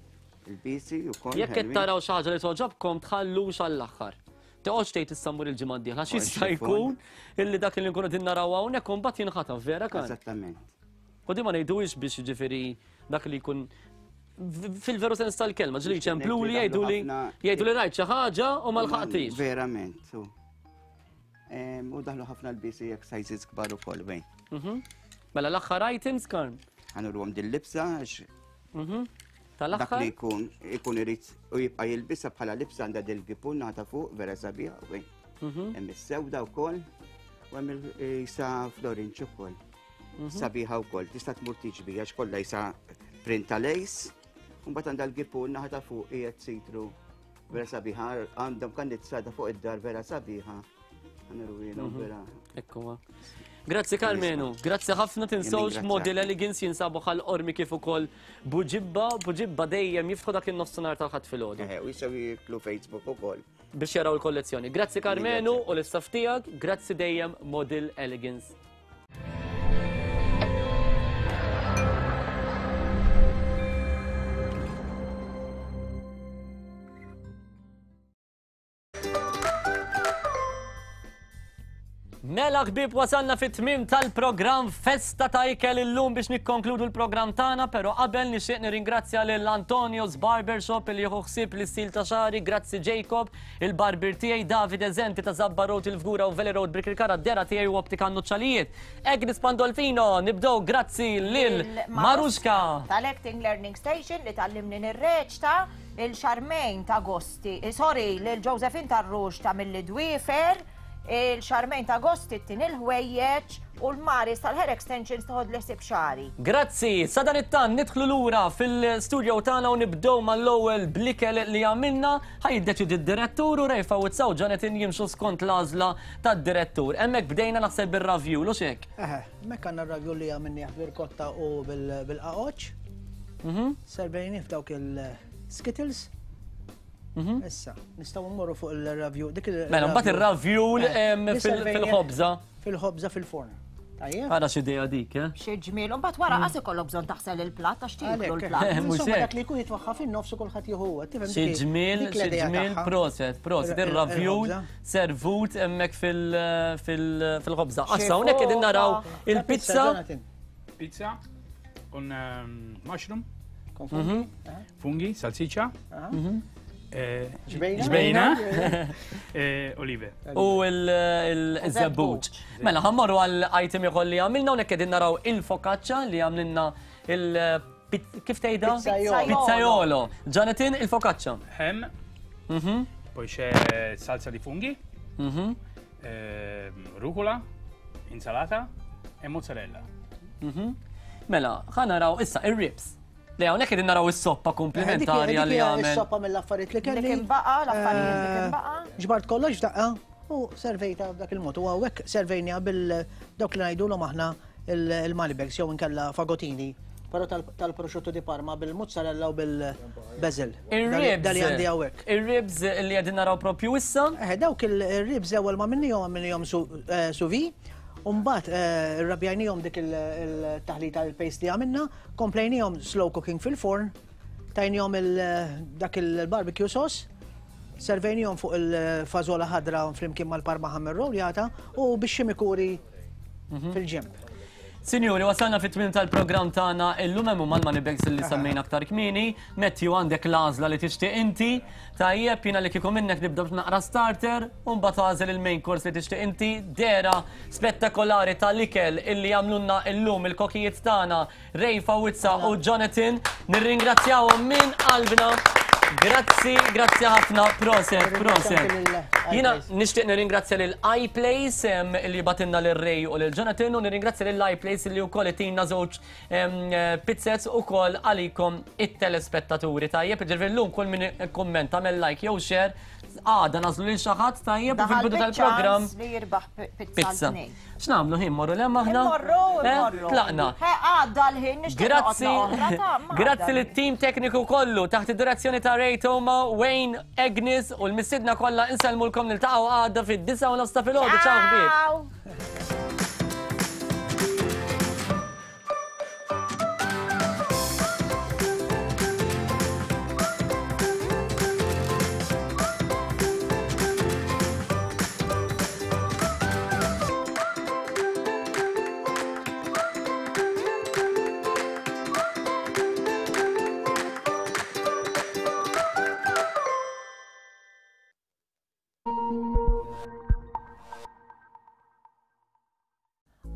Il-bisi ukoll. Jekk qed taraw xi ħaġa li toġobkom tħallux għall-aħħar. Toqgħodx tgħid issa mmur il-ġimgħa d-dieħla għax jista' jkun illi dak li nkunu qegħdin naraw hawnhekk u mbagħad jinħataf vera kan. Eżattament. U di ma ngħiduhiex biex jiġifieri dak li jkun fil-veru sens tal-kelma, ġili ċemplu li jgħidu li jgħidu li rajt xi ħaġa u ma lħaqtix. Verament. U daħlu ħafna l-bisi jekk sizes kbar ukoll bejn. Mhm. Mela l-aħħar items Karm. Ħanurhom din libsa għax mhm. Tal-aħħar. Dak li jkun ikun irid u jibqa' jilbisha bħala libsa għandha dil-gipun naħta fuq vera sabiħa bejn. Mhm. Hemm is-sewda wkoll u hemm il-isa florinċ ukoll. Sabiħa wkoll, tista' tmur tiġbi għax kollha jisa print ta' lace, u mbagħad għandha l-gipun naħa ta' fuq qiegħed sitru vera sabiħa, għandhom kannizzata fuq id-dar vera sabiħa. Għanurwilhom mhm. vera. Ekku Grazzi Karmenu, grazzi ħafna tinsewx Model Elegance jinsabu ħal ormi kif ukoll Buġibba, Buġibba dejjem jiftħu dak in-nofsinhar tal-ħadd filgħodu. Eh, u jistgħu jiklu Facebook ukoll. Biex jaraw il-kollezzjoni. Grazzi Karmenu u l-istaff tiegħek, grazzi dejjem Model Elegance. Mela ħbieb wasalna fit-tmiem tal-programm Festa ta' Ikel illum biex nikkonkludu l-programm tagħna, però qabel nixtieq nirringrazzja lil Antonio's Barbershop li jieħu ħsieb l-istil ta' xagħri, grazzi Jacob, il-barbier tiegħi Davide Zenti ta' Zabba Road il-Fgura u Valley Road Birkirkara d-dera tiegħi u Optika Nuċċalijiet. Agnes Pandolfino, nibdew grazzi lil Marushka. Tal-Acting Learning Station li tgħallimni nirreċta, lil Charmaine ta' Gosti, sorry, lil Josephine Tarrux ta' Milli Dwiefer, il-Charmaine ta' Gosti ttini l-ħwejjeġ u l-Maris tal-Hair Extensions toħodli ħsieb xagħri. Grazzi! Sadanittant nidħlu lura fil-studio tagħna u nibdew mal-ewwel bl-ikel li għamilna. Ħa jiddeċiedi d-direttur u Ray Fawzza u Jonathan jimxu skont l-għażla tad-direttur. Hemmhekk bdejna naħseb bir-ravjul, hux hekk? Eħe, hemmhekk għandna r-ravjul li għamilnieh bir-rkotta u bil-qaqoċċ. Servejnieh f'dawk il-skittles. Mhm. Issa, nistgħu mmorru fuq il-ravjul. Dik il Mela, mbagħad ir-ravjul eh, fil-ħobża. Fil-ħobża fil-forn. Tajjeb. Ara x'idea dik, eh? Xi ġmiel, u mbagħad wara qas ikollok bżonn taħsel il-platt għax tieklu l-platt. Insomma, dak li jkun jitwaħħa fin-nofs u kulħadd jieħu huwa. Xi ġmiel, xi ġmiel, proset, proset, ir-ravjul servut hemmhekk fil-ħobża. Issa hawnhekk qegħdin naraw il-pizza. Pizza con ehm, mushroom. Con funghi, mhm. funghi salsiccia, mhm. eh, ġbejna, eh, olive. U il-żebbuġ. Mela, ħammorru għal item ieħor li għamilna u qegħdin naraw il-focaccia li għamlilna il- kif tgħidha? Pizzaiolo. Jonathan, il-focaccia. Ham. Mhm. Poi c'è salsa di funghi, eh, rucola, insalata e mozzarella. Mela, ħa naraw issa ir-ribs. Le hawnhekk qegħdin naraw is-soppa komplementarja li għamel. Is-soppa mill-affarijiet li kelli. Li kien baqa, l-affarijiet li kien baqa. Ġbart kollox f'daqqa u servejta b'dak il-mod. U hawnhekk servejniha bil dawk li ngħidulhom aħna il-money bags jew inkella fagotini. Però tal-prosciutto di Parma bil-mozzarella u bil-basil. Ir-ribs. Dali għandi hawnhekk. Ir-ribs li qegħdin naraw propju issa. Eh, dawk il-ribs ewwel ma minnihom għamilnihom sous vide. U mbagħad irrabjajnihom dik il-taħlita il-paste li għamilna, komplejnihom slow cooking fil-forn, tajnihom dak il-barbecue sauce, servejnihom fuq il-fażola ħadra flimkien mal-parma ham irroljata u bix-ximikuri mhm. fil-ġenb. Sinjuri, wasalna fit-tmiem tal-programm tagħna illum hemm huma l-money bags li semmejna aktar kmieni. Matthew għandek l-għażla li tixtieq inti. Tajjeb, jiena li kieku minnek nibda b'naqra starter u mbagħad għażel il-main course li tixtieq inti. Dehra spettakolari tal-ikel illi għamlulna illum il-kokijiet tagħna Ray Fawizza u Jonathan. Nirringrazzjawhom minn qalbna. Grazzi, grazzi ħafna, proset, proset. Jiena nixtieq nirringrazzja lil iPlace li batinna lil Ray u lil Jonathan u nirringrazzja lil iPlace li wkoll itina żewġ Pizzez ukoll għalikom it-telespettaturi tajjeb, ġifieri llum kull min ikkummenta għamel like jew share għada nażlu lil xi ħadd tajjeb u fil-bidu tal-programm li jirbaħ pizza. X'nagħmlu ħin morru lem aħna? Morru, eh, morru. Tlaqna. Għadda l-ħin Grazzi. Grazzi lit-tim tekniku kollu taħt id-direzzjoni ta' Ray Toma, Wayne, Agnes u l-mistiedna kollha insellmulkom niltaqgħu għada fid-9:30 ta' filgħodu. Ciao ħbieb.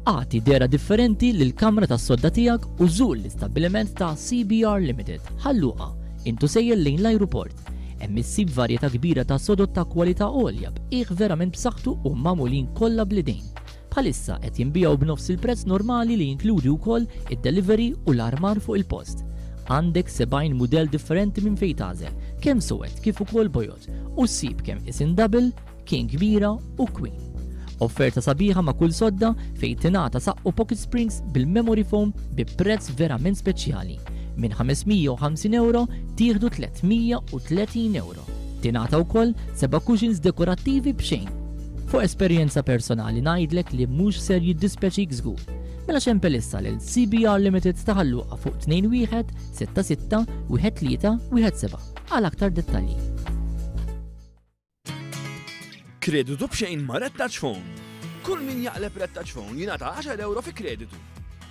Agħti dehra differenti lill-kamra tas-sodda tiegħek u żur l-istabbiliment ta' CBR Limited, Ħal Luqa, int u sejjer lejn l-ajruport. Hemm issib varjetà kbira ta' sodod ta' kwalità għolja b'qiegħ verament b'saħħtu u magħmulin kollha bl-idejn. Bħalissa qed jinbiegħu b'nofs il-prezz normali li jinkludi wkoll id-delivery u l-armar fuq il-post. Għandek 70 mudell differenti minn fejn tagħżel, kemm suwed kif ukoll bojod, u ssib kemm isin double, King kbira u Queen. Offerta sabiħa ma' kull sodda fejn tingħata saqqu pocket springs bil-memory foam bi prezz verament speċjali. Minn 550 ewro tieħdu 330 ewro. Tingħata wkoll seba' cushions dekorattivi b'xejn. Fuq esperjenza personali ngħidlek li mhux ser jiddispjaċik żgur. Mela ċempel issa lil CBR Limited ta' Ħal Luqa fuq 21 66 13 17 għal aktar dettalji. Kreditu b'xejn ma' Red Touch Phone. Kull min jaqleb Red Touch Phone jingħata 10 euro fi kreditu.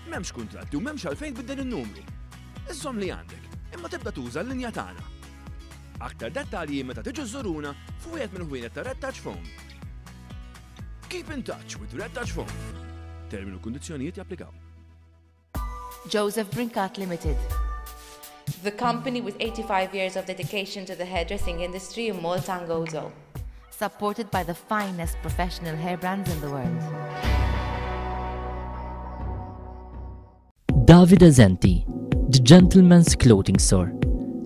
M'hemmx kuntratti u m'hemmx għalfejn tbiddel in-numru. Iżżomm li għandek, imma tibda tuża l-linja tagħna. Aktar dettalji meta tiġu żżuruna f'wieħed mill-ħwienet ta' Red Touch Phone. Keep in touch with Red Touch Phone. Termini u kundizzjonijiet japplikaw. Joseph Brincat Limited. The company with 85 years of dedication to the hairdressing industry in Malta and Gozo. Supported by the finest professional hair brands in the world. Davide Zenti, The Gentleman's Clothing Store,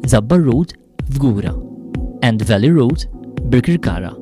Zabbar Road, Fgura, and Valley Road, Birkirkara.